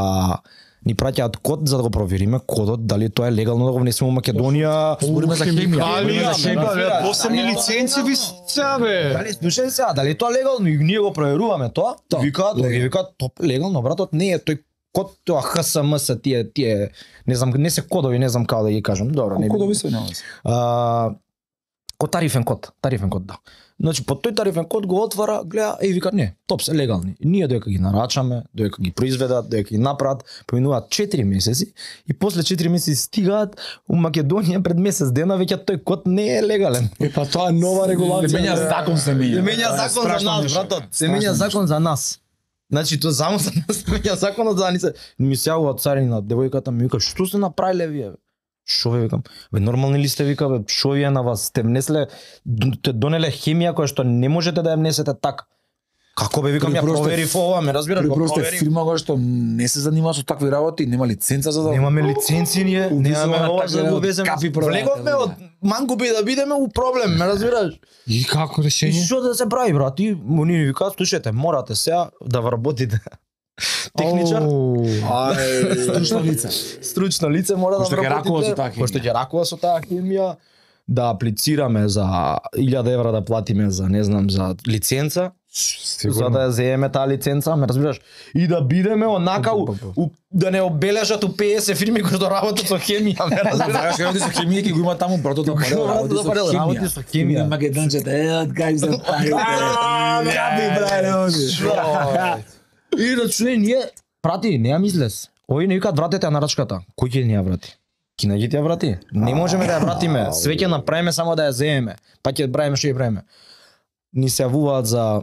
ни праќаат код за да го провериме кодот дали тоа е легално да го внесеме во Македонија. Збориме за хемија. Хемикалија, за бе, хемија. посебни Да. лиценци ви се бе. Дали слушај сега, дали тоа легално и ние го проверуваме тоа? Топ, Викаат, ги легално. викаат топ легално, братот, не е тој код тоа Х С М С тие тие не знам не се кодови, не знам како да ги кажам. Добро, не. Кодови се нема. А, ко тарифен код, тарифен код, да. Значи, по тој тарифен код го отвара, гледа и вика не, топ се легални. Ние доека ги нарачаме, доека ги произведат, доека ги направат, поминуваат четири месеци и после четири месеци стигаат у Македонија пред месец дена веќе тој код не е легален. Е, па тоа е нова регулација. Се менја закон се менја. Се менја Тоа е закон за страшно нас, нешто. братот. Се Страшно менја нешто. закон за нас. Значи тоа само за нас се менја законот за ни се. Ми се јавува царина, девојката ми вика, што се направиле вие? Бе? Шо ве викам? Бе нормални ли сте вика бе? Шо вие на вас сте внесле д- те донеле хемија која што не можете да ја внесете така. Како бе викам ја При просто- проверив ова, ме разбираш, Или го просто е проверив. фирма која што не се занимава со такви работи, нема лиценца за да Немаме лиценци ние, немаме Увизуваме ова за да така, го веземе. капи продавате, Влеговме од мангуби да бидеме у проблем, ме разбираш? И како И решение? што да се прави, брат? И они ни викаат, слушајте, морате сега да вработите. Техничар, Оу. Ај, стручно лице. стручно лице мора да Кој што ќе ракува со таа вработите. Кој што хемија. ќе ракува со таа хемија, да аплицираме за илјада евра да платиме за, не знам, за лиценца, за да ја земеме таа лиценца, ме разбираш? И да бидеме онака, у, у, да не обележат у петдесет фирми кои што работат со хемија, ме разбираш? Знаеш како со хемија ќе го има таму братот на Парел, Братот на Парел, работи со хемија. Македончета, е, од кај се пари. А, Капи правилно. И да чуе, ние, прати, не ја мислес. Ови не викаат вратете ја нарачката. Кој ќе ни ја врати? Кина ќе ти ја врати? Не можеме да ја вратиме. Све ќе направиме само да ја земеме. Па ќе правиме што ќе правиме. Ни се јавуваат за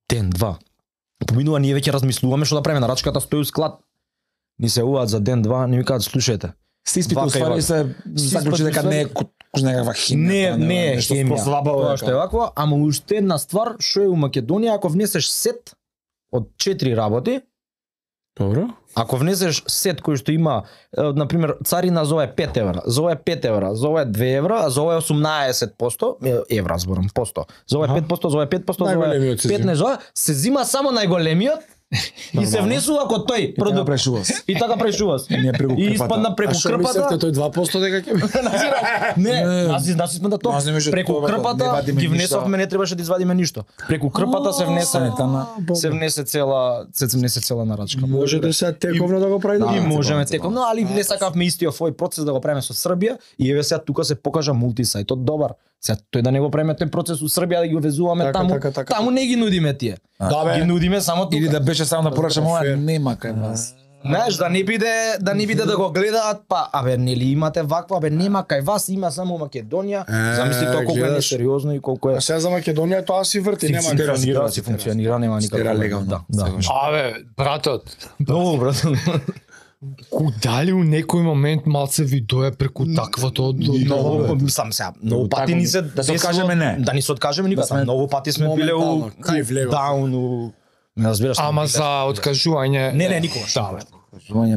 ден, два. Поминува, ние веќе размислуваме што да правиме. Нарачката стои у склад. Ни се јавуваат за ден, два, ни викаат слушајте. Се испити Вака и уствари вака. се заклучи дека не е кој некаква хемија. Не, тоа не е нешто хемија. слабо Тоа е што е вакво, ама уште една ствар што е у Македонија, ако внесеш сет од четири работи, Добро. ако внесеш сет кој што има, е, например, царина за ова е пет евра, за ова е пет евра, за ова е две евра, а за ова е осумнаесет посто, е, евра зборам, посто. За ова е пет посто, за ова е пет посто, за ова е Најголемиот се зема. петнаесет, за ова се зима само најголемиот и се внесува како тој Така продукт. прешува. И така прешува. Ние преку И крпата. испадна преку А што мислевте крпата. тој два посто дека ќе Назираш? Не, нас нас испадна тоа. Нас не беше Преку тоа, не крпата вадиме ги ништо. внесовме, не требаше да извадиме ништо. Преку крпата се внесе Санитарна. се внесе цела се внесе цела нарачка. можете се тековно да го правите? И Да, можеме цекам, теком, но али не сакавме истиот овој процес да го правиме со Србија и еве сега тука се покажа мултисајтот добар. Сега тој да не го правиме тој процес у Србија да ги везуваме Така, таму, така, така, таму не ги нудиме тие. Да, бе. Ги нудиме само Или тука. да беше само да порачам ова, фер. нема кај вас. Знаеш, да не биде да не биде да го гледаат, па абе нели имате ваква, абе нема кај вас, има само Македонија. Е, Замисли тоа колку е гледаш. несериозно и колку е А сега за Македонија тоа си врти, нема Функционира, функционира, си си функционира, нема никакво. Стера легално. Да, да. Секогаш. Абе, братот, Много брат. ку дали у некој момент малце ви дое преку таквото од Многу, мислам сега, многу пати Тако, ни се да се десило- откажеме, не. Да ни се откажеме никога. Да сме Многу пати сме биле у моментално, кај влегов. даун, у не разбираш. Ама сме за откажување. Не, не, никогаш. Да, бе.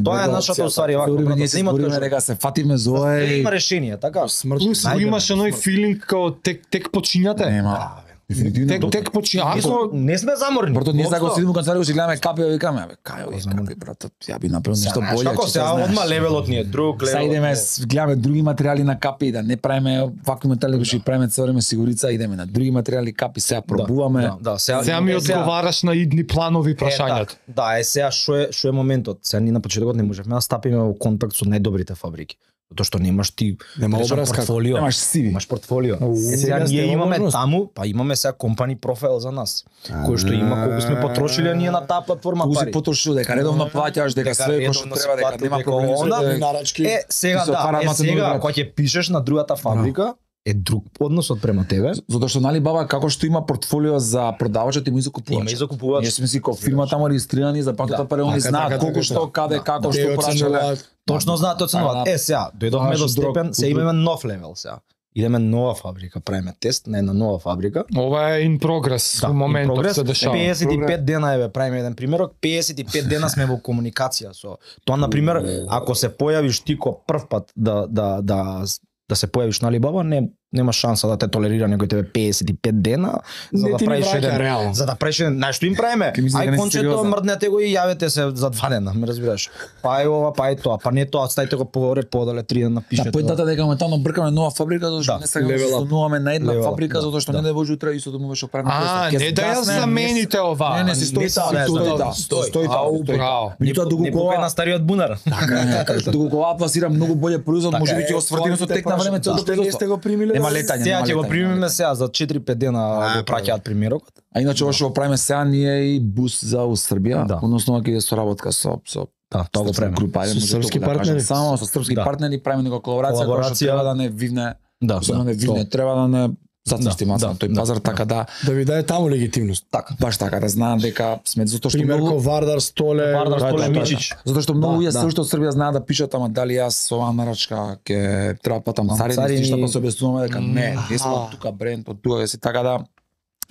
Тоа е нашата уствари вака, Време брат, ние да се има збориме откажување. дека се фатиме за ова биле. и Има решение, така? смрт. Плюс Најде, имаш оној филинг као тек тек почињате. нема. Дефинитивно. Тек тек почињате. Ние сме не сме заморни. Брато, ние сега го Уопшто. седиме у канцеларија и си гледаме капи, и викаме, абе, кај овие капи, брато, ја би направил нешто Знаеш боле. како че сега знаеш. одма левелот ни е друг, Сега левелот. идеме, ни е- с- гледаме други материјали на капи, да не правиме вакви материјали кои што ги правиме цело време сигурица, идеме на други материјали капи, сега пробуваме. Да, да, сега Сега ми е, сега- одговараш на идни планови Е, прашањата. да, да, е сега што е што е моментот. Сега ние на почетокот не можевме да стапиме во контакт со најдобрите фабрики. Затоа што немаш ти Нема речам, образ како. портфолио. Немаш сиви. Имаш портфолио. Уу, Е, сега сега сте ние во имаме можност. таму, па имаме сега компани профайл за нас. Кој што има колку сме потрошиле ние на таа платформа Колку си пари. потрошил, дека редовно плаќаш, дека Дека све кој што редовно треба, се дека плати, нема дека проблеми со она- тоа. нарачки. Е, сега Ти се да, отвара е едната сега друга. кога ќе пишеш на другата фабрика, е друг односот према тебе. Затоа што нали баба како што има портфолио за продавачот има и за купувачот. Има и за купувач. Ние сме си како фирма таму регистрирани за патата Да. пари, они Така, знаат така, колку така, што, така. каде, како, што Те прашале. оценуваат. Точно знаат оценуваат. Да. Е сега, дојдовме Тоа до е друг- степен, се имаме нов левел сега. Идеме нова фабрика, правиме тест на една нова фабрика. Ова е in progress Да, во моментот прогрес, се дешава. педесет и пет дена еве правиме еден примерок, педесет и пет дена сме во комуникација со тоа на пример, ако се појавиш ти ко прв пат да да да да се појавиш на Алибаба, не нема шанса да те толерира некој тебе педесет и пет дена за Не да ти ни правиш враќа еден реално. за да правиш еден, знаеш што им правиме? Ке мисли дека Ај не си кончето сериозен. мрднете го и јавете се за два дена, ме разбираш. Па е ова, па е тоа, па не тоа, стајте го погоре подале три дена Да, пишете. поентата дека моментално бркаме нова фабрика, затоа што Да, не сакаме да level се up. стануваме на една Level up, фабрика, да, затоа што да. не да може утре исто да му беше правиме. А, не да ја замените ова. Не, не, си стои Не, таа, не, стои не, таа, не, стои стои. таа. Ау, браво. Меѓутоа не доколку покај на стариот бунар. Така е, така, доколку ова пласира многу боле производ, Така може би е, ќе го свртиме со тек на време целото Што не сте производство. го примиле? Нема летање, Сега нема ќе го летање, примиме нема сега за четири-пет дена го праќаат примерокот. А иначе ова што го правиме сега ние е и бус за у Србија, Да. односно ќе е соработка со со Да, тоа го правиме. група, ајде, Со може српски толку да кажам. партнери? Само со српски Да. партнери правиме нека колаборација која што Колаборација. треба да не вивне, Да, особено не вивне, тоа. треба да не зацрсти Да, маца да, на тој да, пазар, да. така да, Да ви даде таму легитимност. Така. баш така да знаат дека сме затоа што Пример многу ко Вардар, Столе, Вардар, Да, Столе, да, да. Мичич. Затоа што многу Да, јас да. се уште од Србија знаат да пишат, ама дали јас со оваа нарачка ќе треба платам Ам, царини, царини. што па се објаснуваме дека не, не сме Аха. од тука бренд, од тука си така да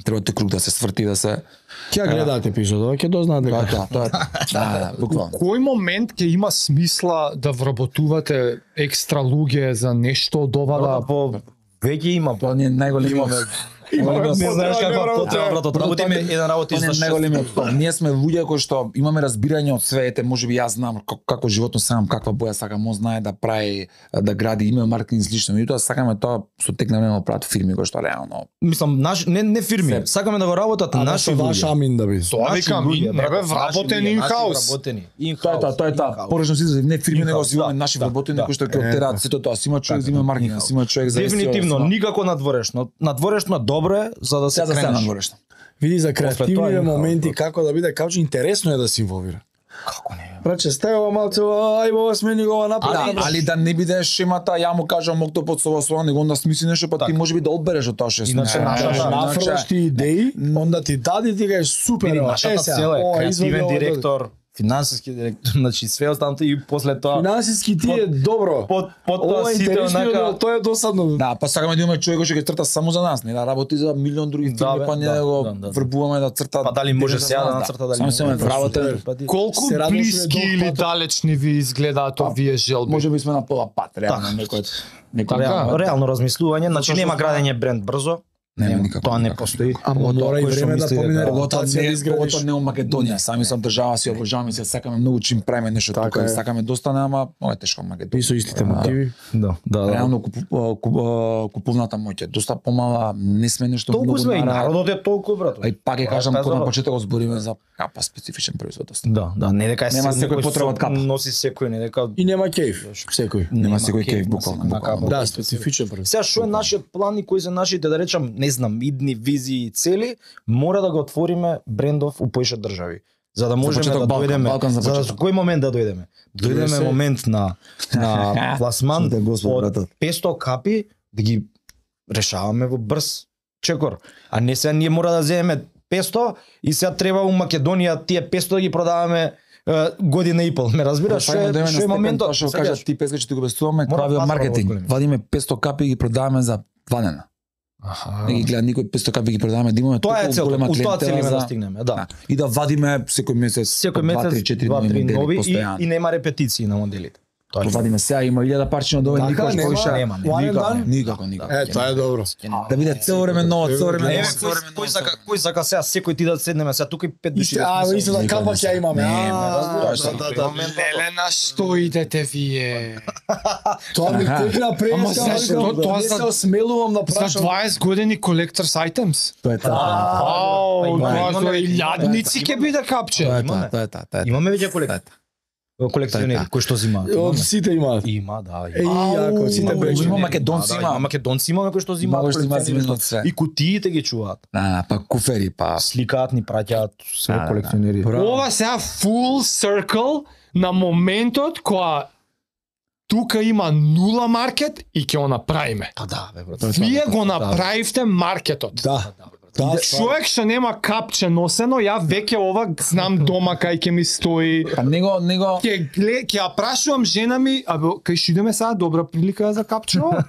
Треба те круг да се сврти, да се Ќе ја гледаат епизодот, ќе дознаат Тоа дека е тоа, тоа е. Да, да, буквално. Кој момент ќе има смисла да вработувате екстра луѓе за нешто од ова да по веќе има. Тоа не е најголемиот. Не знаеш каква потреба, брат, работиме еден работи Тоа за не е шест. најголемиот тоа. Ние сме луѓе кои што имаме разбирање од свете, можеби јас знам како, како животно сам, каква боја сакам, он знае да прави, да гради име маркетинг слично. Меѓутоа сакаме тоа со тек на време да прават фирми кои што реално. Мислам, наш не не фирми, Се. сакаме да го работат наши ваш луѓе. амин да би. Тоа Наши викам, луѓе, не брат, бе наши вработен луѓе, in-house. наши вработени. Тоа е тоа, тоа е тоа. Поречно си за не фирми него In-house, си имаме да, наши да, вработени да. кои што ќе Е, оттераат сето тоа. Си има човек за Така, име маркетинг, in-house. си има човек за Дефинитивно, никако надворешно. Надворешно е добро е за да се Сега за сега кренеш. надворешно. Види за тоа креативните е моменти in-house, како да биде каучи интересно е да се инволвира. Како не? Браче, стајува малце, ај ова смени го ова напред. Али, али да не биде шемата, ја му кажам октопод со вас, него онда смисли нешто, па ти можеби да одбереш од тоа што Иначе наша- Ако нафрлаш ти идеи, онда ти дади ти кажеш супер, Види, ова, нашата е сега, цел е ова, извади креативен ова, директор, финансиски директор, значи све останато и после тоа Финансиски ти е добро. под под Ова тоа е сите интересно, онака но тоа е досадно. Да, па сакаме да имаме човек кој ќе црта само за нас, не да работи за милион други Да, фирми, бе, па ние да, да го да, да. врбуваме да црта. па дали може за сега да нас, нацрта дали Само се ме вработен. колку Се радвам што блиски е или долг пат. далечни ви изгледаат овие желби? Може би сме на пола пат, реално некој некој Реално, реално размислување, значи Затоа што нема сме- градење бренд брзо. Нема никако. Тоа не никако. постои. Ама Поготово мора и кој што време да мисли помине дека- Поготоа репутација да не, изградиш. поготоа не у Македонија, сами сам држава си обожаваме се, сакаме многу чим правиме нешто Така тука, е. сакаме доста, ама много е тешко во И Македонија. со истите мотиви. Да, да, да. Реално купу, куп, куповната моќ е доста помала, не сме нешто Толку многу сме и нара. народот е толку, брат. А и пак ќе Тоа е кажам, таа кога на забава. почетокот збориме за капа специфичен производ. доста. Да, да, не дека Нема се- секој некој потреба од со- капа. Носи секој, не дека И нема кејф, секој. Нема секој кејф кејф, на буквално, секој- на буквално. капа. Да, специфичен производ. Сега што е нашиот план и кои се нашите, да речам, не знам, идни визии и цели, мора да го отвориме брендов у поише држави. За да можеме почеток да Балкан, дојдеме, Балкан за за да почеток. кој момент да дојдеме? Дојдеме се- момент на на пласман Те Господ, од братот. петсто капи да ги решаваме во брз чекор. А не сега ние мора да земеме петсто и сега треба у Македонија тие петсто да ги продаваме е, година и пол. Ме разбираш што Фајно да е, име што е на моментот? степен, тоа што Сакаш? кажа ти песка че ти го обесуваме, Мора правиот платформа маркетинг. одголеми. Вадиме петсто капи и ги продаваме за два дена. Аха. Не ги гледа никој петсто капи ги продаваме, да имаме Тоа е толку целта, голема у тоа клиентела целиме да за- стигнеме, да. Да. И да вадиме секој месец Секој месец два три четири два нови три модели нови и, постојано. и нема репетиции на моделите. Тоа е. Вадиме сега има илјада парчиња од овој Така, никош нема? повише. Нема, нема. One and Никако, done? никако, никако. Е, тоа е добро. Да биде цело време ново, цело време Еве ново, кој цело време кој ново. сака кој сака сега секој ти да седнеме сега тука и пет души. Исто, а, исто да капа ќе имаме. Не, А, не, разбираш, да, да, да. Леле, на што идете вие? Тоа ми Аха. текна Ама преска, зашто? викам, Тоа не за- се осмелувам да За прашам. дваесет години collectors items? Тоа е тоа. Ау, па имаме, тоа имаме, за имаме, илјадници ќе биде капче. Тоа е Имаме. тоа, тоа е тоа, тоа е тоа. Имаме веќе колек... колекционери Така. кои што земаат. Од Имаме. сите имаат. Има, да. Еј, ако сите Ау, бречи. има македонци, Да, да, има. има македонци имаме кои што земаат. Има кои што земаат колекционери, земено што- све. И кутиите ги чуваат. Да, па куфери, па Сликаат ни праќаат све Да, да, да. колекционери. Ова сега full circle на моментот кога тука има нула маркет и ќе го направиме. Па да, бе, брат. Вие го Да. направивте маркетот. Да. Да, Човек што нема капче носено, ја веќе ова знам дома кај ќе ми стои. па него него Ќе гле, ќе ја прашувам жена ми, а бе, кај што идеме сега, добра прилика за капче ова?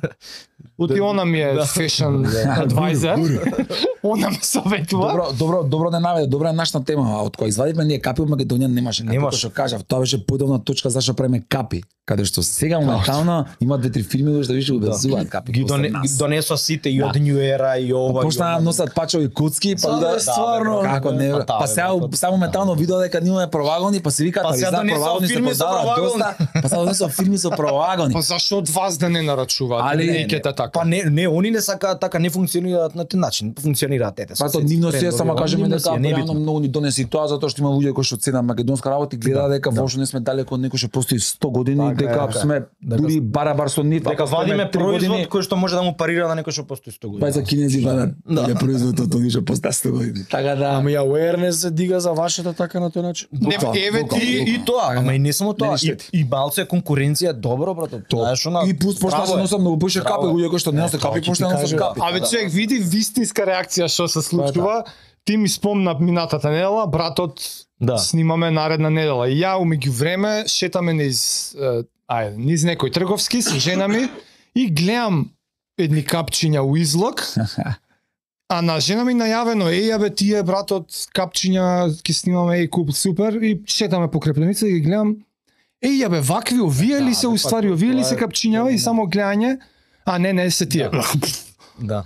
Оти она ми е fashion advisor. Она ме советува. Добро, добро, добро да наведе, добра е нашата тема. А од која извадивме ние капи од Македонија немаше. Како Немаше. што кажав, тоа беше подобна точка зашто правиме капи, каде што сега моментално има две три фирми кои што више обезуваат капи. Ги после доне, нас. ги донесоа сите и од New Era и ова. Почна да и ова. носат пачови куцки, па Сега да е стварно. како не. Па да, Па бе, сега брат. само моментално видоа дека имаме провагони, па се викаат Па па сега за донесоа провагони се фирми со продаваат провагони. доста. Па сега донесоа фирми со провагони. Па зашо од вас да не нарачуваат? Али не, не, не. така. Па не, не, они не сакаат така, не функционираат на тој начин. Функционираат ете. Па тоа нивно си е, само кажеме нивно дека си е, не е реално битно. многу ни донеси тоа затоа што има луѓе кои што ценат македонска работа и гледаат дека воопшто не сме далеко од некој што постои сто години, Така е, дека така е. сме Дека- дури барабар со нив, Дека ако сме вадиме три производ години, кој што може да му парира на некој што постои сто години. па и за кинези вадат. Да, производот од што постои сто години. Така да, Ама и awareness се дига за вашата така на тој начин. Не, Буквално, еве буквално. ти И, и тоа, ама и не само тоа, Не и, штети. и малце конкуренција е добро, брато. Тоа е што на и пуст почна Браво се е. носам многу поише Браво капи, е. луѓе кои што не носат тоа капи, ќе ти почна да носат кажам. капи. Абе човек види вистинска реакција што се случува. Ти ми спомна минатата недела, братот Да. снимаме наредна недела. И ја умеѓу време шетаме низ е, ајде, низ некој трговски со жена ми и гледам едни капчиња у излог А на жена ми најавено, еј, абе, тие братот капчиња ќе снимаме, еј, куп, супер, и шетаме по Крепленица и ги гледам, еј, абе, вакви, овие ли се уствари, овие ли се капчињава и само гледање, а не, не се тие. Да.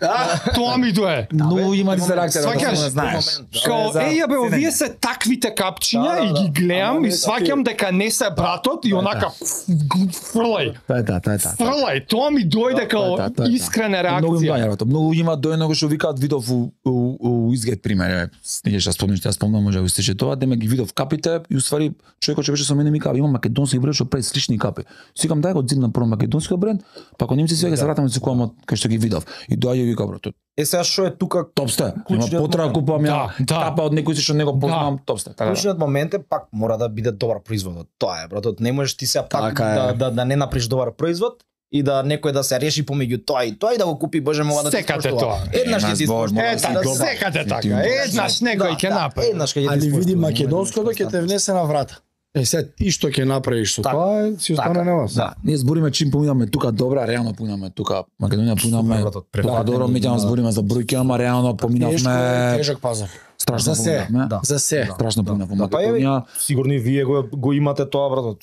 Тоа ми дое. Но има дистракција, Сваќаш? да знаеш. Као, еј, абе, овие се таквите капчиња и ги гледам и сваќам дека не се братот и онака фрлај. Тоа е та, тоа е та. Фрлај, тоа ми дојде као Тоа е та, тоа е та. искрена Многу им реакција. доаѓа, брато. Многу има дојдено што викаат видов у у, у изглед пример, не ќе спомниш, ја спомнам, може да истече тоа, деме ги видов капите и уствари човекот што беше со мене ми кажа, има македонски бренд што прави слични капи. Сикам дај го зимна прво македонски бренд, па кога немци свега се вратам да се купам од кај што ги видов. И доаѓа и вика брато, Е сега што е тука топсте, нема Клучниот потреба момент. купувам ја Да, да. капа од некој што не го познавам, топсте. Така. да. Клучниот момент е пак мора да биде добар производот. Тоа е, брато, не можеш ти се пак Така е. да, да да не направиш добар производ и да некој да се реши помеѓу тоа и тоа и да го купи, боже мога да ти Секате споштува. тоа. Еднаш ќе ти Ема, споштува. збор, Е, да, така, добар. секате така. Ефективно. Еднаш некој ќе направи. Еднаш ќе ти Али види споштува. македонското ќе те внесе на врата. Е, сега ти што ќе направиш со Така. тоа, е, си остане на вас. Да, ние збориме чим поминаме тука добра, реално поминаме тука Македонија поминаме. Супер, брато, Тука префатени, добро меѓутоа да. збориме за бројки, ама реално Тешко е, поминавме тежок пазар. страшно За се, поминавме. да. За се. Страшно поминавме Да, па еве, Македонија. сигурно и вие го го имате тоа, брато.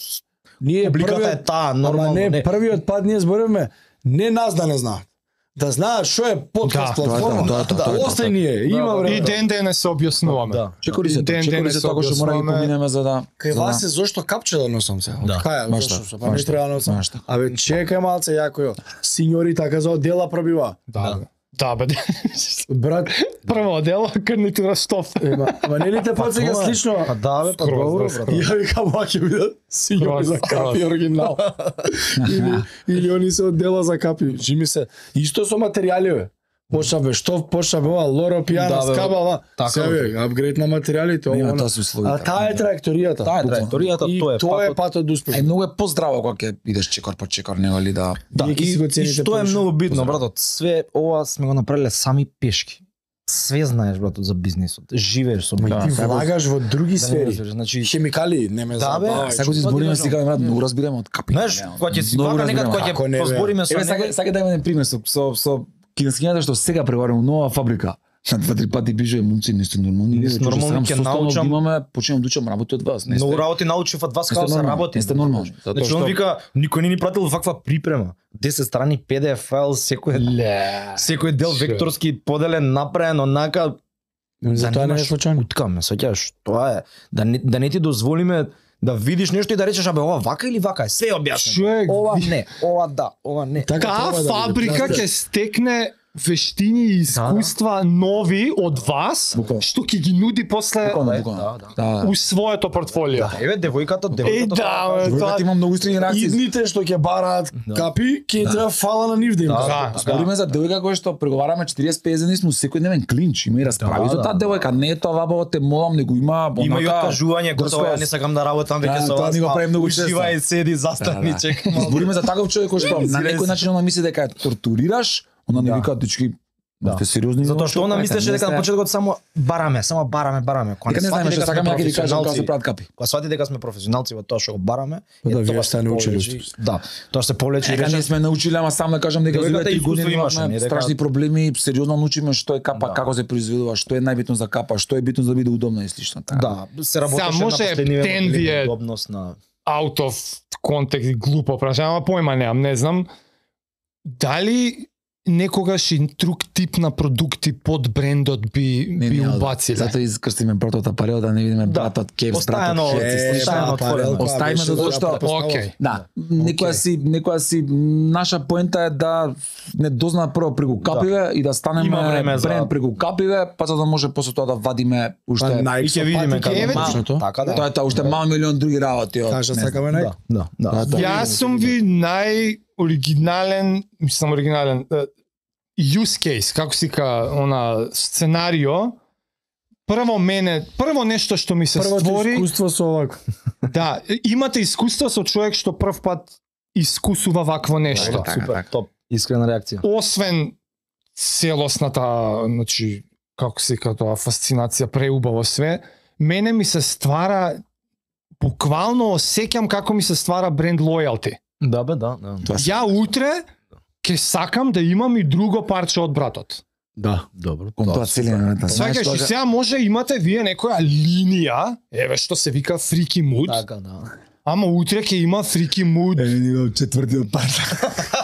Ние Публиката е првиот, таа, ама нормално. не, не. првиот пат ние збориме, не нас да не знаат. Да знаат што е подкаст Да, платформа. тоа е тоа, тоа е тоа, Остај тоа е ние, има да, време. И ден ден се објаснуваме. Да. Чекори се, Ден, чекори ден се се тоа што мора да ги објаснуваме. поминеме за да Кај за вас да- е зошто капче да носам се. Да. Кај, Баш зошто така, се, па не баш треба да така, носам. баш така. Абе, чекај малце јако јо. Синьори така за оддела пробива. Да, бе. Да, бе. Брат, Прво дело, карнитура штоф. ема, ама не ли те подсеќа тоа е. слично? Па да, бе, па Скроз, добро, да, брато. Ја викам, ма ќе бидат синьори Скроз, за капи скроз. оригинал. или, или они се оддела за капи. Жими се. Исто со материјали, бе. Почна бе штоф, почна бе ова лоро пијана, Да, бе, скабала. така, Се бе. бе, апгрейд на материјалите. Нема, ова, тоа она. се условите. А таа е траекторијата. Таа е траекторијата, И тоа е тоа е патот. патот до успех. Е многу е поздраво кога ќе идеш чекор по чекор, него ли да Да, Вие ќе си го и, и цените што е повише. многу битно, братот, све ова сме го направиле сами пешки. Све знаеш, братот, за бизнисот. Живееш со Ти бизнисот. влагаш во други Да не сфери. разбереш, значи, Хемикали, не ме Да, бе. забавај. сега си Што збориме ти си кажам? брат, многу разбираме од капи. знаеш, кога ќе си Многу вака некад разбираме. кога Како не, ќе бе? позбориме со Еве него. сака сака да имаме пример со со со кинескињата што сега преваруваме нова фабрика. На два три пати пише момци не сте нормални. Не ние сте што нормални, сам ќе составно научам- ги имаме, почнувам да учам работи од вас. Не сте. Многу работи научив од вас Не како сте се нормални, работи. не сте нормални. Затоа Значи он што вика, никој не ни пратил ваква припрема. десет страни пи ди еф файл, секој Ле. секој дел Ше. векторски поделен, направен онака. За тоа не е немаш случајно. уткаме, сеќаш, тоа е да не, да не ти дозволиме да видиш нешто и да речеш абе ова вака или вака е, све е објаснето. Човек, Ова не, ова да, ова не. Така Таа треба да биде. фабрика Знаеш, ќе стекне вештини и искуства нови од вас, Буквално. што ќе ги нуди после Буквално, да, буквално. да, Да. у своето портфолио. Еве девојката, Е, девојката. да, бе, Тоа тоа има многу истрени реакции. Идните што ќе бараат Да. капи, ќе треба фала на нив да им Да, дадат. Да, Збориме за девојка која што преговараме четириесет петдесет дни сме секојдневен клинч, има и расправи Да, за да, таа да. девојка, не е тоа вабаво те молам, него има Има и онака- откажување, готово, ја не сакам да работам веќе Да, со тоа вас. ни го па, прави многу често. Уживај, седи, застани, Да, да. чекам. Збориме за таков човек кој што на некој начин она мисли дека ја тортурираш, она не Да. вика дечки, Да. сте сериозни. Затоа во што она правите, мислеше не дека на сте- почетокот само бараме, само бараме, бараме. Кога Дека не знаеме што сакаме, ја ќе ви кажам како се прават капи. Кога свати дека сме професионалци во тоа што го бараме, Па да, е, вие тоа сте се научили повлече- уступ. Да, тоа се повлече и Дека не рече. сме научиле, ама само да кажам дека Девојката за три искуство години имаше, имавме не дека- страшни проблеми, сериозно научиме што е капа, Да. како се произведува, што е најбитно за капа, што е битно за да биде удобно и слично. Така. Да, се работеше Сега, може на последниве тен модели, ви е- удобност на Out of контекст, глупо прашање, ама појма немам, не знам. Дали некогаш и друг тип на продукти под брендот би Не, би не, убациле? Затоа искрстиме братот апарел да не видиме братот Кепс, Постојано- братот Хец и Е, слично. постојано отворено. Оставиме затоа што Океј. Да, некоја си, некоја си наша поента е да не дозна прво преку капиве и да станеме Има време за- бренд преку капиве, па за да може после тоа да вадиме уште Па, и ќе видиме како Еве, мал- точното. така да. тоа е тоа уште мал милион други работи од Кажа не знам. сакаме најк. Да, да, да. Да, Јас сум ви најоригинален, мислам оригинален, е, use case, како си ка, она сценарио. Прво мене, прво нешто што ми се Првото створи, искуство со овако. да, имате искуство со човек што прв пат искусува вакво нешто. Така, Супер, така. топ. Искрена реакција. Освен целосната, значи, како се ка тоа, фасцинација, преубаво све, мене ми се ствара, буквално осеќам како ми се ствара бренд лојалти. Да бе, да, да. Тоа се- Ја утре ќе сакам да имам и друго парче од братот. Да, добро. Кон тоа целиот. Сваќаш, и сега може имате вие некоја линија, еве што се вика freaky mood, Така, да. ама утре ќе има freaky mood, Е, четвртиот пат.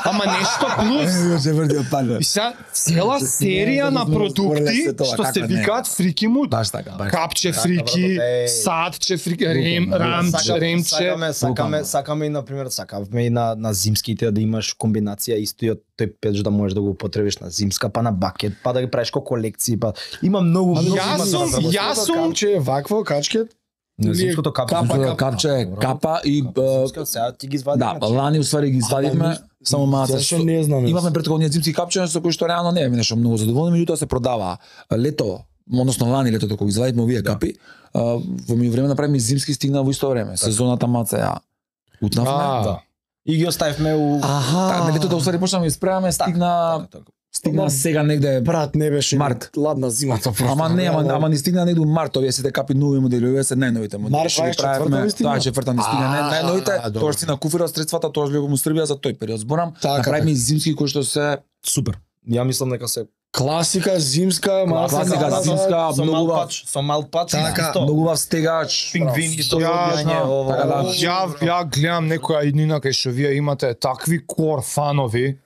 ама нешто плюс. Четвртиот пат. И сега цела серија на продукти што се викаат freaky mood. Баш така. Капче фрики, Еј. садче фрики, рем, рамче, Сакам- ремче. Сакаме, сакаме, сакаме и на пример, сакаме и на на зимските да имаш комбинација истојот тој печ да можеш да го употребиш на зимска, па на бакет, па да ги правиш ко колекции, па има многу многу Јас има за сум- разработка. јас сум- Капче е вакво, качкет. На зимското капче. Капа, Капа, капче е добро. капа и Зимска, сега ти ги извадиме. да, лани уствари ги извадивме, само малку. Зашо не знам. Имавме претходни зимски капчиња со кои што реално не е нешто многу задоволни, меѓутоа се продава лето, односно лани летото кога извадивме овие капи, а, во меѓувреме направиме зимски, стигна во исто време. Сезоната маце ја утнавме. А, Да. И ги оставивме у Така, на летото уствари почнавме испреме, стигна Така, така. стигна сега негде. Брат, не беше Март. ладна зимата просто. Ама не, ама, ама ни стигна негде у март, овие сите капи нови модели, овие се најновите модели. Март Што ги дваесет и четврта правевме, ни стигна? тоа четврта ни стигна, А, не- најновите, добро. тоа си на куфира средствата, тоа што му Србија за тој период зборам. Така, Направиме и зимски кои што се Супер. Ја мислам дека се Класика, зимска, малка Класика, зимска, зимска, со многу мал вав- пач, со мал пач, Така, исто. многу вав стегач, Пингвини, со Ја одјање, знам. ово. Така да, ово. Ја, ја гледам некоја иднина кај што вие имате такви кор фанови,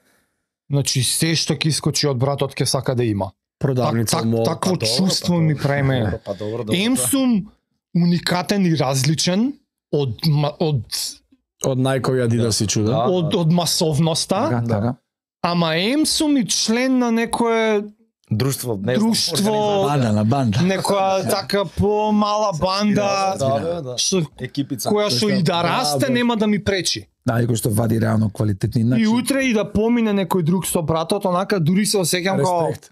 значи се што ќе искочи од братот ќе сака да има. Так, продавница, так, мол. такво Па добро, чувство па ми добро, прави мене. добро, Па добро, добро. Ем сум уникатен и различен од ма- од Од најкој Адидас си чуда. Да. од од масовноста, така, така. ама ем сум и член на некое Друштво, не знам, Друштво, организација. Банда на банда. некоја така помала банда Да, да, да. што Екипица. која што и да расте да. нема да ми пречи. Да, и кој што вади реално квалитетни И начини. утре и да помине некој друг со братот, онака дури се осеќам како Респект.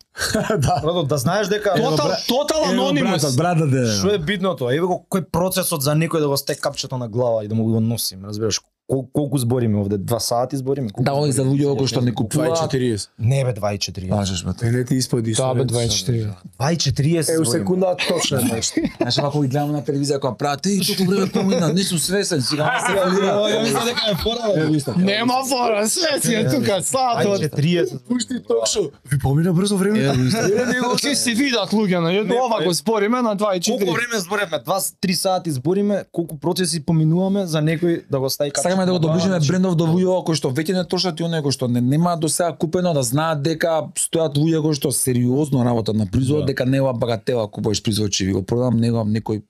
Да. Брато, да знаеш дека тотал тотал анонимус. брата де. Што е битното? Еве го кој процесот за некој да го стек капчето на глава и да му го носим, разбираш? Кол, колку збориме овде? Два сати збориме? Колку Да, овој за луѓе кои што не купуваат. дваесет и четириесет. Не бе, два и четириесет. Лажеш ме. Е, не ти испади. Да, бе, дваесет и четири. два и четириесет Е, у збориме. секунда точно е нешто. Знаеш, ако ги гледам на телевизија кога прават, и толку време помина, не сум свесен, сега не се Ја мислам дека е фора. Нема фора, све си е тука, два и сатот. четириесет. Пушти ток-шоу. Ви помина брзо време. Ќе се видат луѓе, на ова го спориме на два и Колку четири. време зборевме? два три сати збориме, колку процеси поминуваме за некој да го стави капчето. Сакаме да го на глава, доближиме значи, брендов до луѓе кои што веќе не трошат и оние кои што не немаат до сега купено, да знаат дека стојат луѓе кои што сериозно работат на производот, дека не е ова багатела купуваш производ, че ви го продам, него некој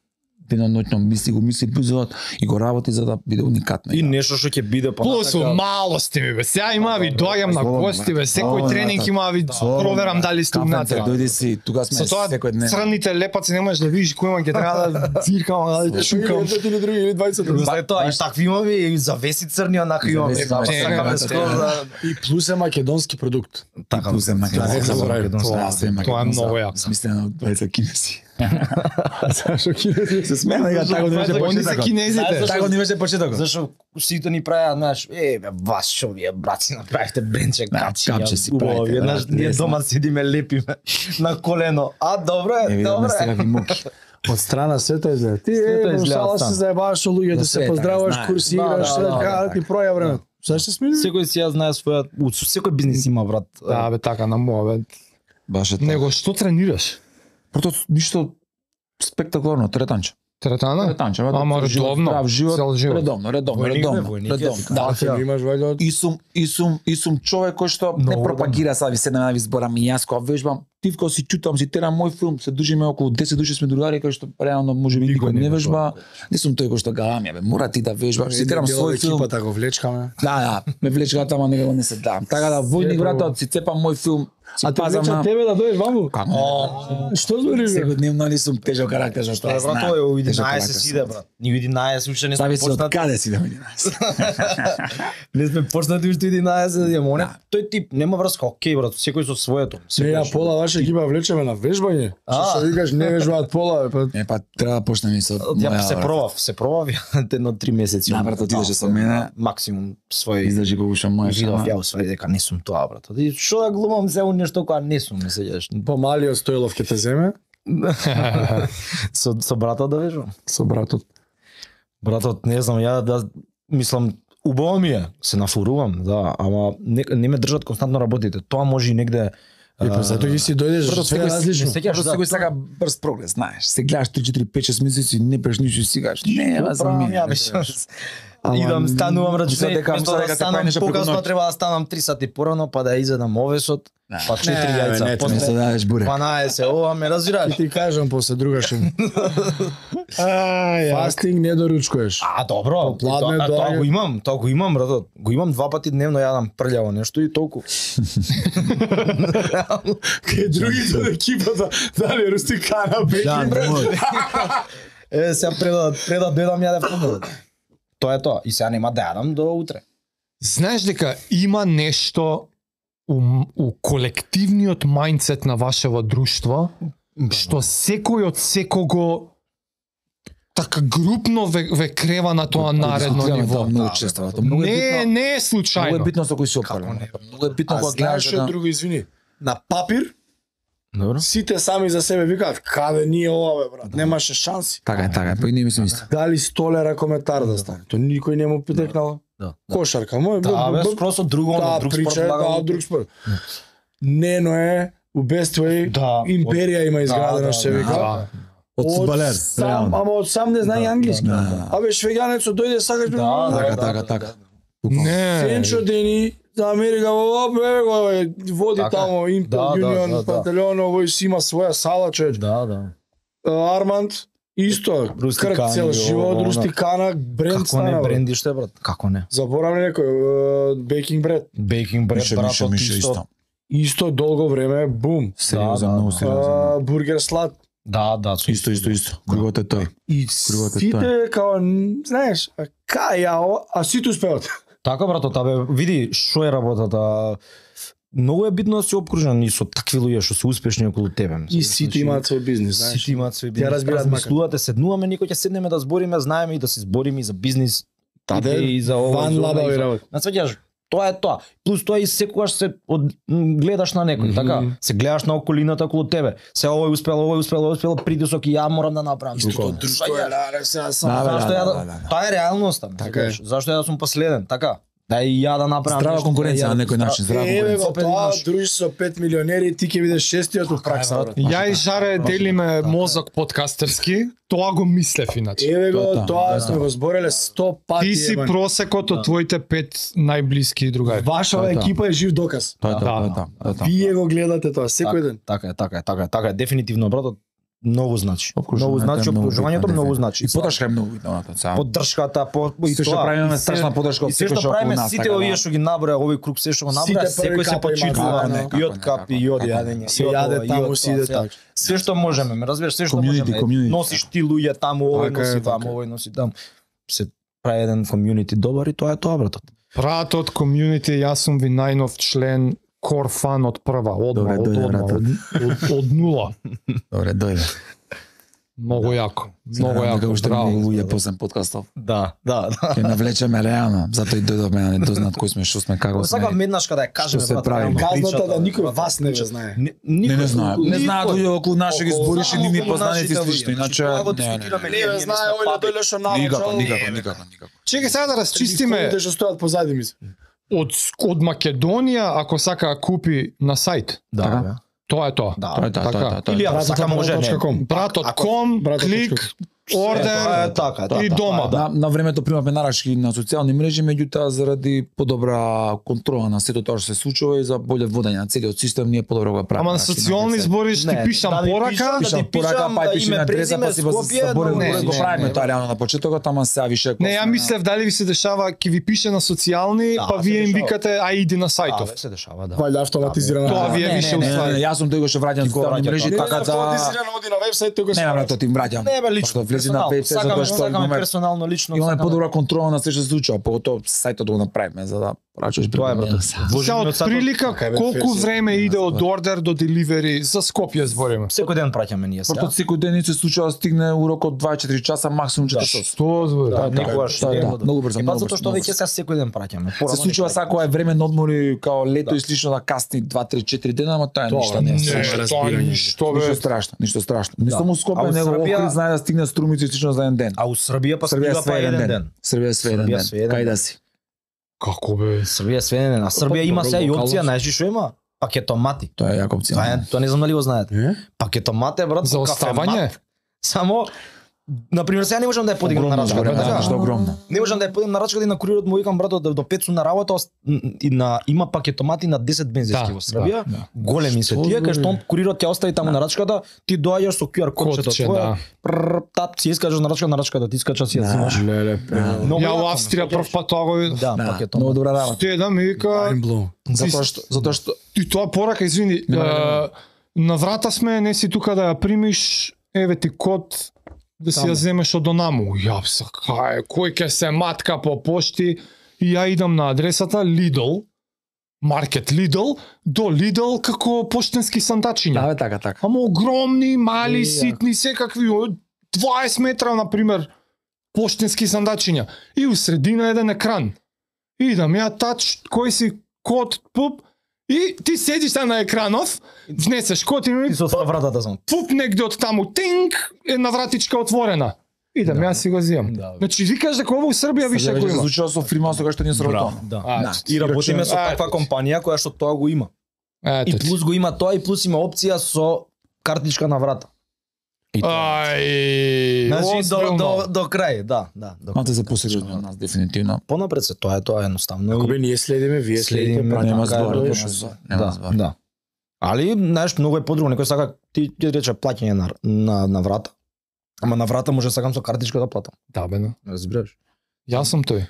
деноноќно мисли го мисли производот и го работи за да биде уникатно. И нешто што ќе биде Плюс понатака. малости ми бе. Сега има ви доаѓам на Слободно, гости бе. Секој Слободно, тренинг да. има ви проверам дали сте Кафенце, унатре. дојди си, тука сме Со тоа секој ден. црните лепаци не можеш да видиш кој има, ќе треба да циркам, да чукам. или други или дваесет. След тоа и такви имаме и завеси црни онака имаме. Завеси, Да, да, сакаме да, скоро да. да И плюс е македонски продукт. така. Плюс е македонски. Да, забравив. македонски. Тоа е многу јако. Смислено од дваесет кинеси. Зашо кинези? Се смеа дека тако не беше Они се почетокот. кинезите. Тако не беше почетокот. Зашо сите ни правеа, знаеш, е бе, вас што вие браци направихте брендче капчи. капче ја, си убаво, правите, Еднаш да, ние лесно. дома седиме лепиме на колено. А добро Е, е, видаме добро сега е. ви муки. Од страна сето изгледа. Ти Сето е, изгледа шала од се страна. заебаваш со луѓето, Да, се се е така, поздравуваш, знаеш. курсираш, Да, да, да, така да, ти проја време. Зашто смени? Секој си ја знае својот, у секој бизнис има брат. Да бе, така на моја бе. Баш е тоа. Него што тренираш? Прото ништо спектакуларно, теретанче. Теретана? Теретанче, Ама редовно, здрав живот, цел живот. редовно, редовно, Војник, бе, редовно, војник е, редовно. вика. Да. Да, имаш вајде. И сум и сум и сум човек кој што не Много пропагира сега ви седнеме да ви зборам и јас кога вежбам, тивко си чутам, си терам мој филм, се дружиме околу десет души сме другари кои што реално можеби никој не вежба. Не сум тој кој што галам, бе, мора ти да вежбаш, си терам свој филм. Екипата го влечкаме. Да, да, ме влечка тама него не се дам. Така да војник братот си цепам мој филм, си А те пазам влеча на тебе да дојдеш ваму? Како? Што збори бе? Секојдневно ли сум тежок карактер што Што е знаам. брат, тоа е у Тежок единаесет карактер сиде сум. брат. Ни у единаесет уште не сме Зависи од почнати. каде си да ми единаесет. Не сме почнати уште единаесет, ја моне. Да. Тој тип нема врска, окей брат, секој со своето. Не, Секој ја што- пола ваша екипа влечеме на вежбање. Што А. се викаш не вежбаат пола, бе, па Е па треба да почнем и со Ја моја, се брат. пробав, се пробав ја едно три месеци. Да, брат, отидеше со мене. Максимум свој Издржи колку што можеш. видов ама- ја усвари дека не сум тоа брат. И што да глумам се у нешто кога не сум, не сеќаш. помалиот Стојлов ќе те земе со со братот да вежбам. со братот. Братот, не знам, ја да мислам убаво ми е, се нафурувам, да, ама не, не ме држат константно работите. Тоа може и негде И па затоа ги си дојдеш Брато, све секој- различно. секој- Просто секој сака брз прогрес, знаеш. Се гледаш три четири пет шест месеци, не преш ништо и си кажеш, не, ма за мене. ја беше. Идам, станувам Мисля рачунај, дека- место мисля да дека те станам прави нешто преку покасно, ноќ. треба да станам три сати порано, па да изедам овесот, па четири Не, бе, не, јајца, не, Не се после дадеш буре. дванаесет, ова ме разбираш. Ти кажам после другаш. Ај, Фастинг не доручкуваш. А, добро, Попладне тоа, тоа доаѓа- го имам, тоа го имам, брато. Го имам два пати дневно, јадам прљаво нешто и толку. Кај другите од екипата, дали рустикана беки брат. Е, сега пред да пред да дојдам јадев помалку. Тоа е тоа. И сега нема да јадам до утре. Знаеш дека има нешто у, у колективниот мајндсет на вашево друштво, што секој од секого така групно ве, ве крева на тоа наредно Дискутираме ниво. тоа многу често. брато. Многу е Не, битно- не е Многу е случајно. битно со кој се опалено. Многу е битно А кога знаеш гледаш што да друго, извини? На папир Добро. сите сами за себе викаат каде ние ова бе брат, немаше шанси. Така е, така е, па и не мислам исто. Дали столера коментар да стане. Тоа никој не му потекнало. Да. Кошарка, мој Да, бе, скроз од друго, да, од друг спорт прича, да, лагам. од друг спорт. Нено е у Best Way, Да, империја има изградено да, се да, вика. Да. Од фудбалер, сам, реално. ама од сам не знае Да, англиски. да, да. Абе швеѓанецот дојде сакаш бе. Да, да, Така, да, така, да, така. да. Не. Сенчо Дени за Америка во бе, го е, води Така. тамо Импел Да, да, Юнион да, да. Пантелеон, овој си има своја сала, човеч. Да, да. Арманд исто, Рустикани, крк цел живот, ово, рустикана, бренд Како не стана. бре. брендиште, брат? Како не? Заборавам некој, бейкинг бред. Бейкинг бред, Мише, брат, мише, од мише исто. исто. Исто долго време, бум. Сериозен, Да, многу да. сериозен. А, бургер слад. Да, да, со Исто, исто, исто. Кругот е тој. И Кругот е сите, као, знаеш, а кај ја, ова, а сите успеат. Така, брато, табе, види што е работата. Многу е битно да си обкружен и со такви луѓе што се успешни околу тебе. И сите имаат свој бизнес, знаеш. Сите имаат свој Ја бизнес. разбираат Размислувате, седнуваме, никој ќе седнеме да збориме, знаеме и да се збориме и за бизнис, Таде, идеи, за ова, ван за она, лабави и за- работи. Насваќаш, тоа е тоа. Плюс тоа и секогаш се од, м, гледаш на некој, така? Се гледаш на околината околу тебе. Се овој успел, овој успел, овој успел, притисок и ја морам да направам. Истото друштво е, да, сега сам. Да, бе, Зашто ја да, да, да, да. тоа е реалноста. Така е. Зашто ја да сум последен, така? Да и ја да направам. Здрава нешто, конкуренција да ја- на некој начин, здрава Еве конкуренција. го Опет тоа, имаш. дружиш со пет милионери, ти ќе бидеш шестиот у пракса, брат. Ја и Жаре делиме мозок подкастерски, тоа го мислев иначе. Еве го, Тоа, тоа да. сме го збореле сто пати. Ти си ебан. просекот од твоите пет најблиски другари. Вашава Тоа, екипа е жив доказ. Тоа е тоа, Да. тоа е тоа, тоа е тоа. Вие го гледате тоа секој ден. Така е, така е, така е, така е, дефинитивно, брато, многу значи. Обкружувањето Многу е значи, многу обкружувањето битно, многу дефинитивно. значи. И поддршка е многу битна, оната, сега. Поддршката, по и Се што тоа. правиме И се- страшна поддршка од и се секој што што околу правиме нас, сите така да. овие што ги наброја, овој круг се што го Сите наброја, први секој се капа имаат, почитува како не, и како од не, капи, и како од не, јадење, Се и од јаде ова, и таму, од се тоа, иде сега. така. Се што можеме, ме разбираш, се што Community, можеме. community. Носиш ти луѓе таму, овој Така е, носи таму, така е. овој носи таму. Се прави еден комјунити добар и тоа е тоа, братот. Пратот, комјунити, јас сум ви најнов член, core fan од прва, одма, Добре, од, дојде, одма, брате. од, од, од нула. Добре, дојде. Многу јако, многу Дека јако, уште браво. многу луѓе посем подкастов. Да, да, да. Ќе навлечеме реално, затоа и дојдовме да не дознат кој сме, што сме, како сме. Сакам еднаш када ја кажеме, се брат, прави? реално Казната причата, да никој брат, вас не причата. знае. Не, Не, не знаат. Не знаат никој. луѓе околу наши ги Околу збориш и само нивни околу познаници нашите слично, луѓе. иначе Значи, тоа го не, не, дискутираме, не. ние, Не ние знае, сме ој папи. дојде што Никако, навечер. никако, никако, никако. Чекај сега да расчистиме Ликовите што стојат позади ми. од, од Македонија, ако сака да купи на сајт. Да, Така? бе. Тоа е тоа. Да. Тоа е тоа, тоа е тоа, тоа е Или тоа. ако сака може, не. .com. Братот ком, Братот клик, Тоа е ордер така, така, и така, дома. да. На, на времето примавме нарачки на социјални мрежи, меѓутоа заради подобра контрола на сето тоа што се случува и за боле водење на целиот систем, ние подобро го правиме. Ама на Значи, социјални на збори ти Не, пишам да ви порака, пишам, пишам ти порака, пишам, па да, и пишеме име, адреса, па си презиме, го Скопје, заборавме, не, го не, правиме не, тоа не. реално на почетокот, ама сега више Не, ја мислев дали ви се дешава ќе ви пише на социјални, Да, па се вие им дешава. викате ај иди на Да, сајтов. бе, се дешава, да. Вајде автоматизирано. Тоа ви е Не, више не, Не, не, уствари. не, јас сум тој што враќам Ти го социјални враќа мрежи, тоа. така да... автоматизирано оди на вебсајт и го Не, брато, ти им враќам. Не, бе, лично. Што влези на персонално. пет Сакаме, затоа што сакаме имаме персонално, лично. имаме сакаме. подобра контрола на се што се случува, поготово сајтот го направиме за да прачуваш Тоа е, брато. Сега од прилика Така е, бе, колку ферси. време иде од ордер до деливери за Скопје збориме? Секој ден праќаме ние сега. Портот секој ден се случува да стигне у рок од дваесет и четири часа, максимум четири часа. Што збори? Да, така е, никогаш тоа е, не да, го- многу брзо, Е, па многу затоа брзо, што многу веќе сега секој ден праќаме. Се Порано случува не сега кога е време на одмори као лето Да. и слично да касни два три четири дена, ама тоа е Тоа, ништо не е не, страшно. Не, тоа ништо бе. Ништо страшно, ништо страшно. Не Да. само А Скопје, у него Србија- Охрид знае да стигне Струмица и слично за еден ден. А у Србија па Србија стига све па еден еден ден. ден. Србија све еден Србија ден. све еден Кај ден. да си? Како бе? Србија све еден ден. А Србија има добро, сега и локално опција, си. знаеш ли што има? Пакетомати. Тоа е јака опција. Тоа е, тоа не знам дали го знаете. Е? Пакетомат е брат За оставање? кафемат. Само на пример сега не можам да ја подигнам на рачка. Огромна, така? да, што огромна. Не можам да ја подигнам на рачка и на курирот му викам брат до, до пет сум на работа ост- и на има пакетомати на десет бензински Да, во Србија. да, да. Големи се тие кај што он курирот ќе остави таму на рачката, ти доаѓаш со ку ар кодчето Кодче, твое. да. прр, Тап си искажаш на рачка на рачката, ти искачаш си ја взимаш. Леле, Многу Ја јако, во Австрија прв пат тоа го видов. Да, Да, пакетомат. многу добра работа. Те да ми вика, mind blown. Затоа што затоа што ти тоа порака, извини, е, на врата сме, не си тука да ја примиш, еве ти код да си ја земеш од онаму. Ја се кај, кој ќе се матка по пошти и ја идам на адресата Lidl, маркет Lidl, до Lidl како поштенски сандачиња. Да, бе, така, така. Ама огромни, мали, Е, ситни, секакви, од дваесет метра, например, поштенски сандачиња. И у средина еден екран. Идам ја тач, кој си код, пуп, и ти седиш там на екранов, внесеш код и Ти се отвора вратата само. пуп негде од таму, тинг, една вратичка отворена. Идам, јас си го зијам. Да, бе. Значи, викаш дека ова у Србија више го Веќе се има. случува со фримаусот кога што ние сработуваме. Да. А, Да. И работиме со Ето. таква компанија која што тоа го има. И Ето ти. плюс го има тоа и плюс има опција со картичка на врата. И тоа. Ај, Значи до озбилно. до до крај, да, да. До Малце се посередни од нас дефинитивно. понапред се тоа е тоа е едноставно. Ако бе ние следиме, вие следите, Следиме, пратиме. Нема така е, збор, да, нема да. збор, нема Да, збор. да. Али знаеш многу е подруго, некој сака ти ти рече плаќање на на на врата. Ама на врата може сакам со картичка да платам. Да, бе, да. Разбираш? Јас сум тој.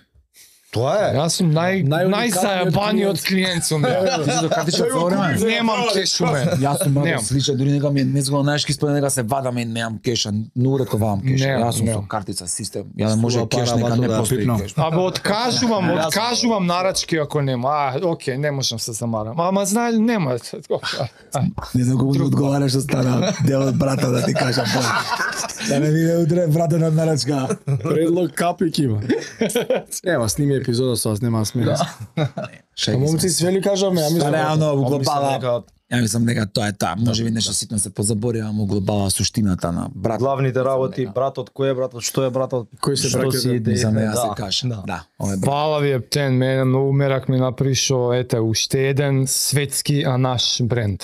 Тоа е. Јас сум нај Најуникатниот најзаебаниот клиент сум. ја. Ти си до картичка за време. Немам кеш у мене. Јас сум брат Немам. слича, дури нека ми незго знаеш ки спомен дека се вадаме и немам кеша, ну рековам кеша. Немам, Јас сум со немам. картица систем. Ја да може Стува кеш пара, нека бато, не да постои пипнам. кеш. Абе, откажувам, Јас- откажувам нарачки ако нема. А, окей, не можам се замарам. Ама знаеш, нема. Ај. Не знам колку ми одговараш што стана дел од брата да ти кажам. Да не виде утре брата на нарачка. Предлог капик има. Нема, сними епизода со вас, нема смеја. А момци све ли кажаме, ја Па мислам. реално во Помислам глобала. дека Ја мислам дека тоа е тоа. Може би нешто ситно се позабори, ама во глобала суштината на брат. главните работи, братот, кој е братот, што е братот, Кој се што браќа, си да. идеите, За неа се да, каже. да. Да, ова е брат. Фала ви Ептен, мене многу мерак ми напришо, ете, уште еден светски, а наш бренд.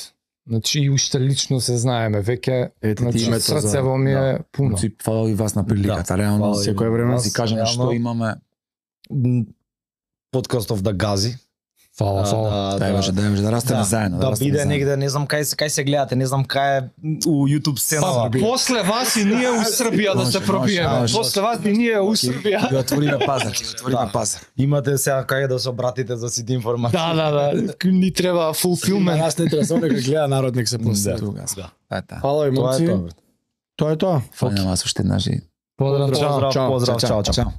Значи, и уште лично се знаеме, веќе, Ете ти значи, името за- срцево ми е пуно. Значи, фала и вас на приликата. Реално, фала и секој вас. време си кажеме Реално. што имаме. Подкастов да гази. Фала, А, фала. Да, може да може да растеме да, заедно, да растеме биде заедно. негде, не знам кај се кај се гледате, не знам кај е у YouTube Па, сценава. после вас и ние у Србија да Може, се може, пробиеме. може. После вас и ние у Србија. Ќе отвориме пазар, ќе отвориме Да. пазар. Имате сега кај да се обратите за сите информации. Да, да, да. Ни треба Има фулфилмент. нас не треба само дека гледа народ нек се после. Тука сме. Тоа е тоа. Фала и Тоа е момци. тоа. бе. Тоа е тоа. Фала на вас уште еднаш и Поздрав, чао. Поздрав, Чао, поздрав, чао, чао, чао. чао.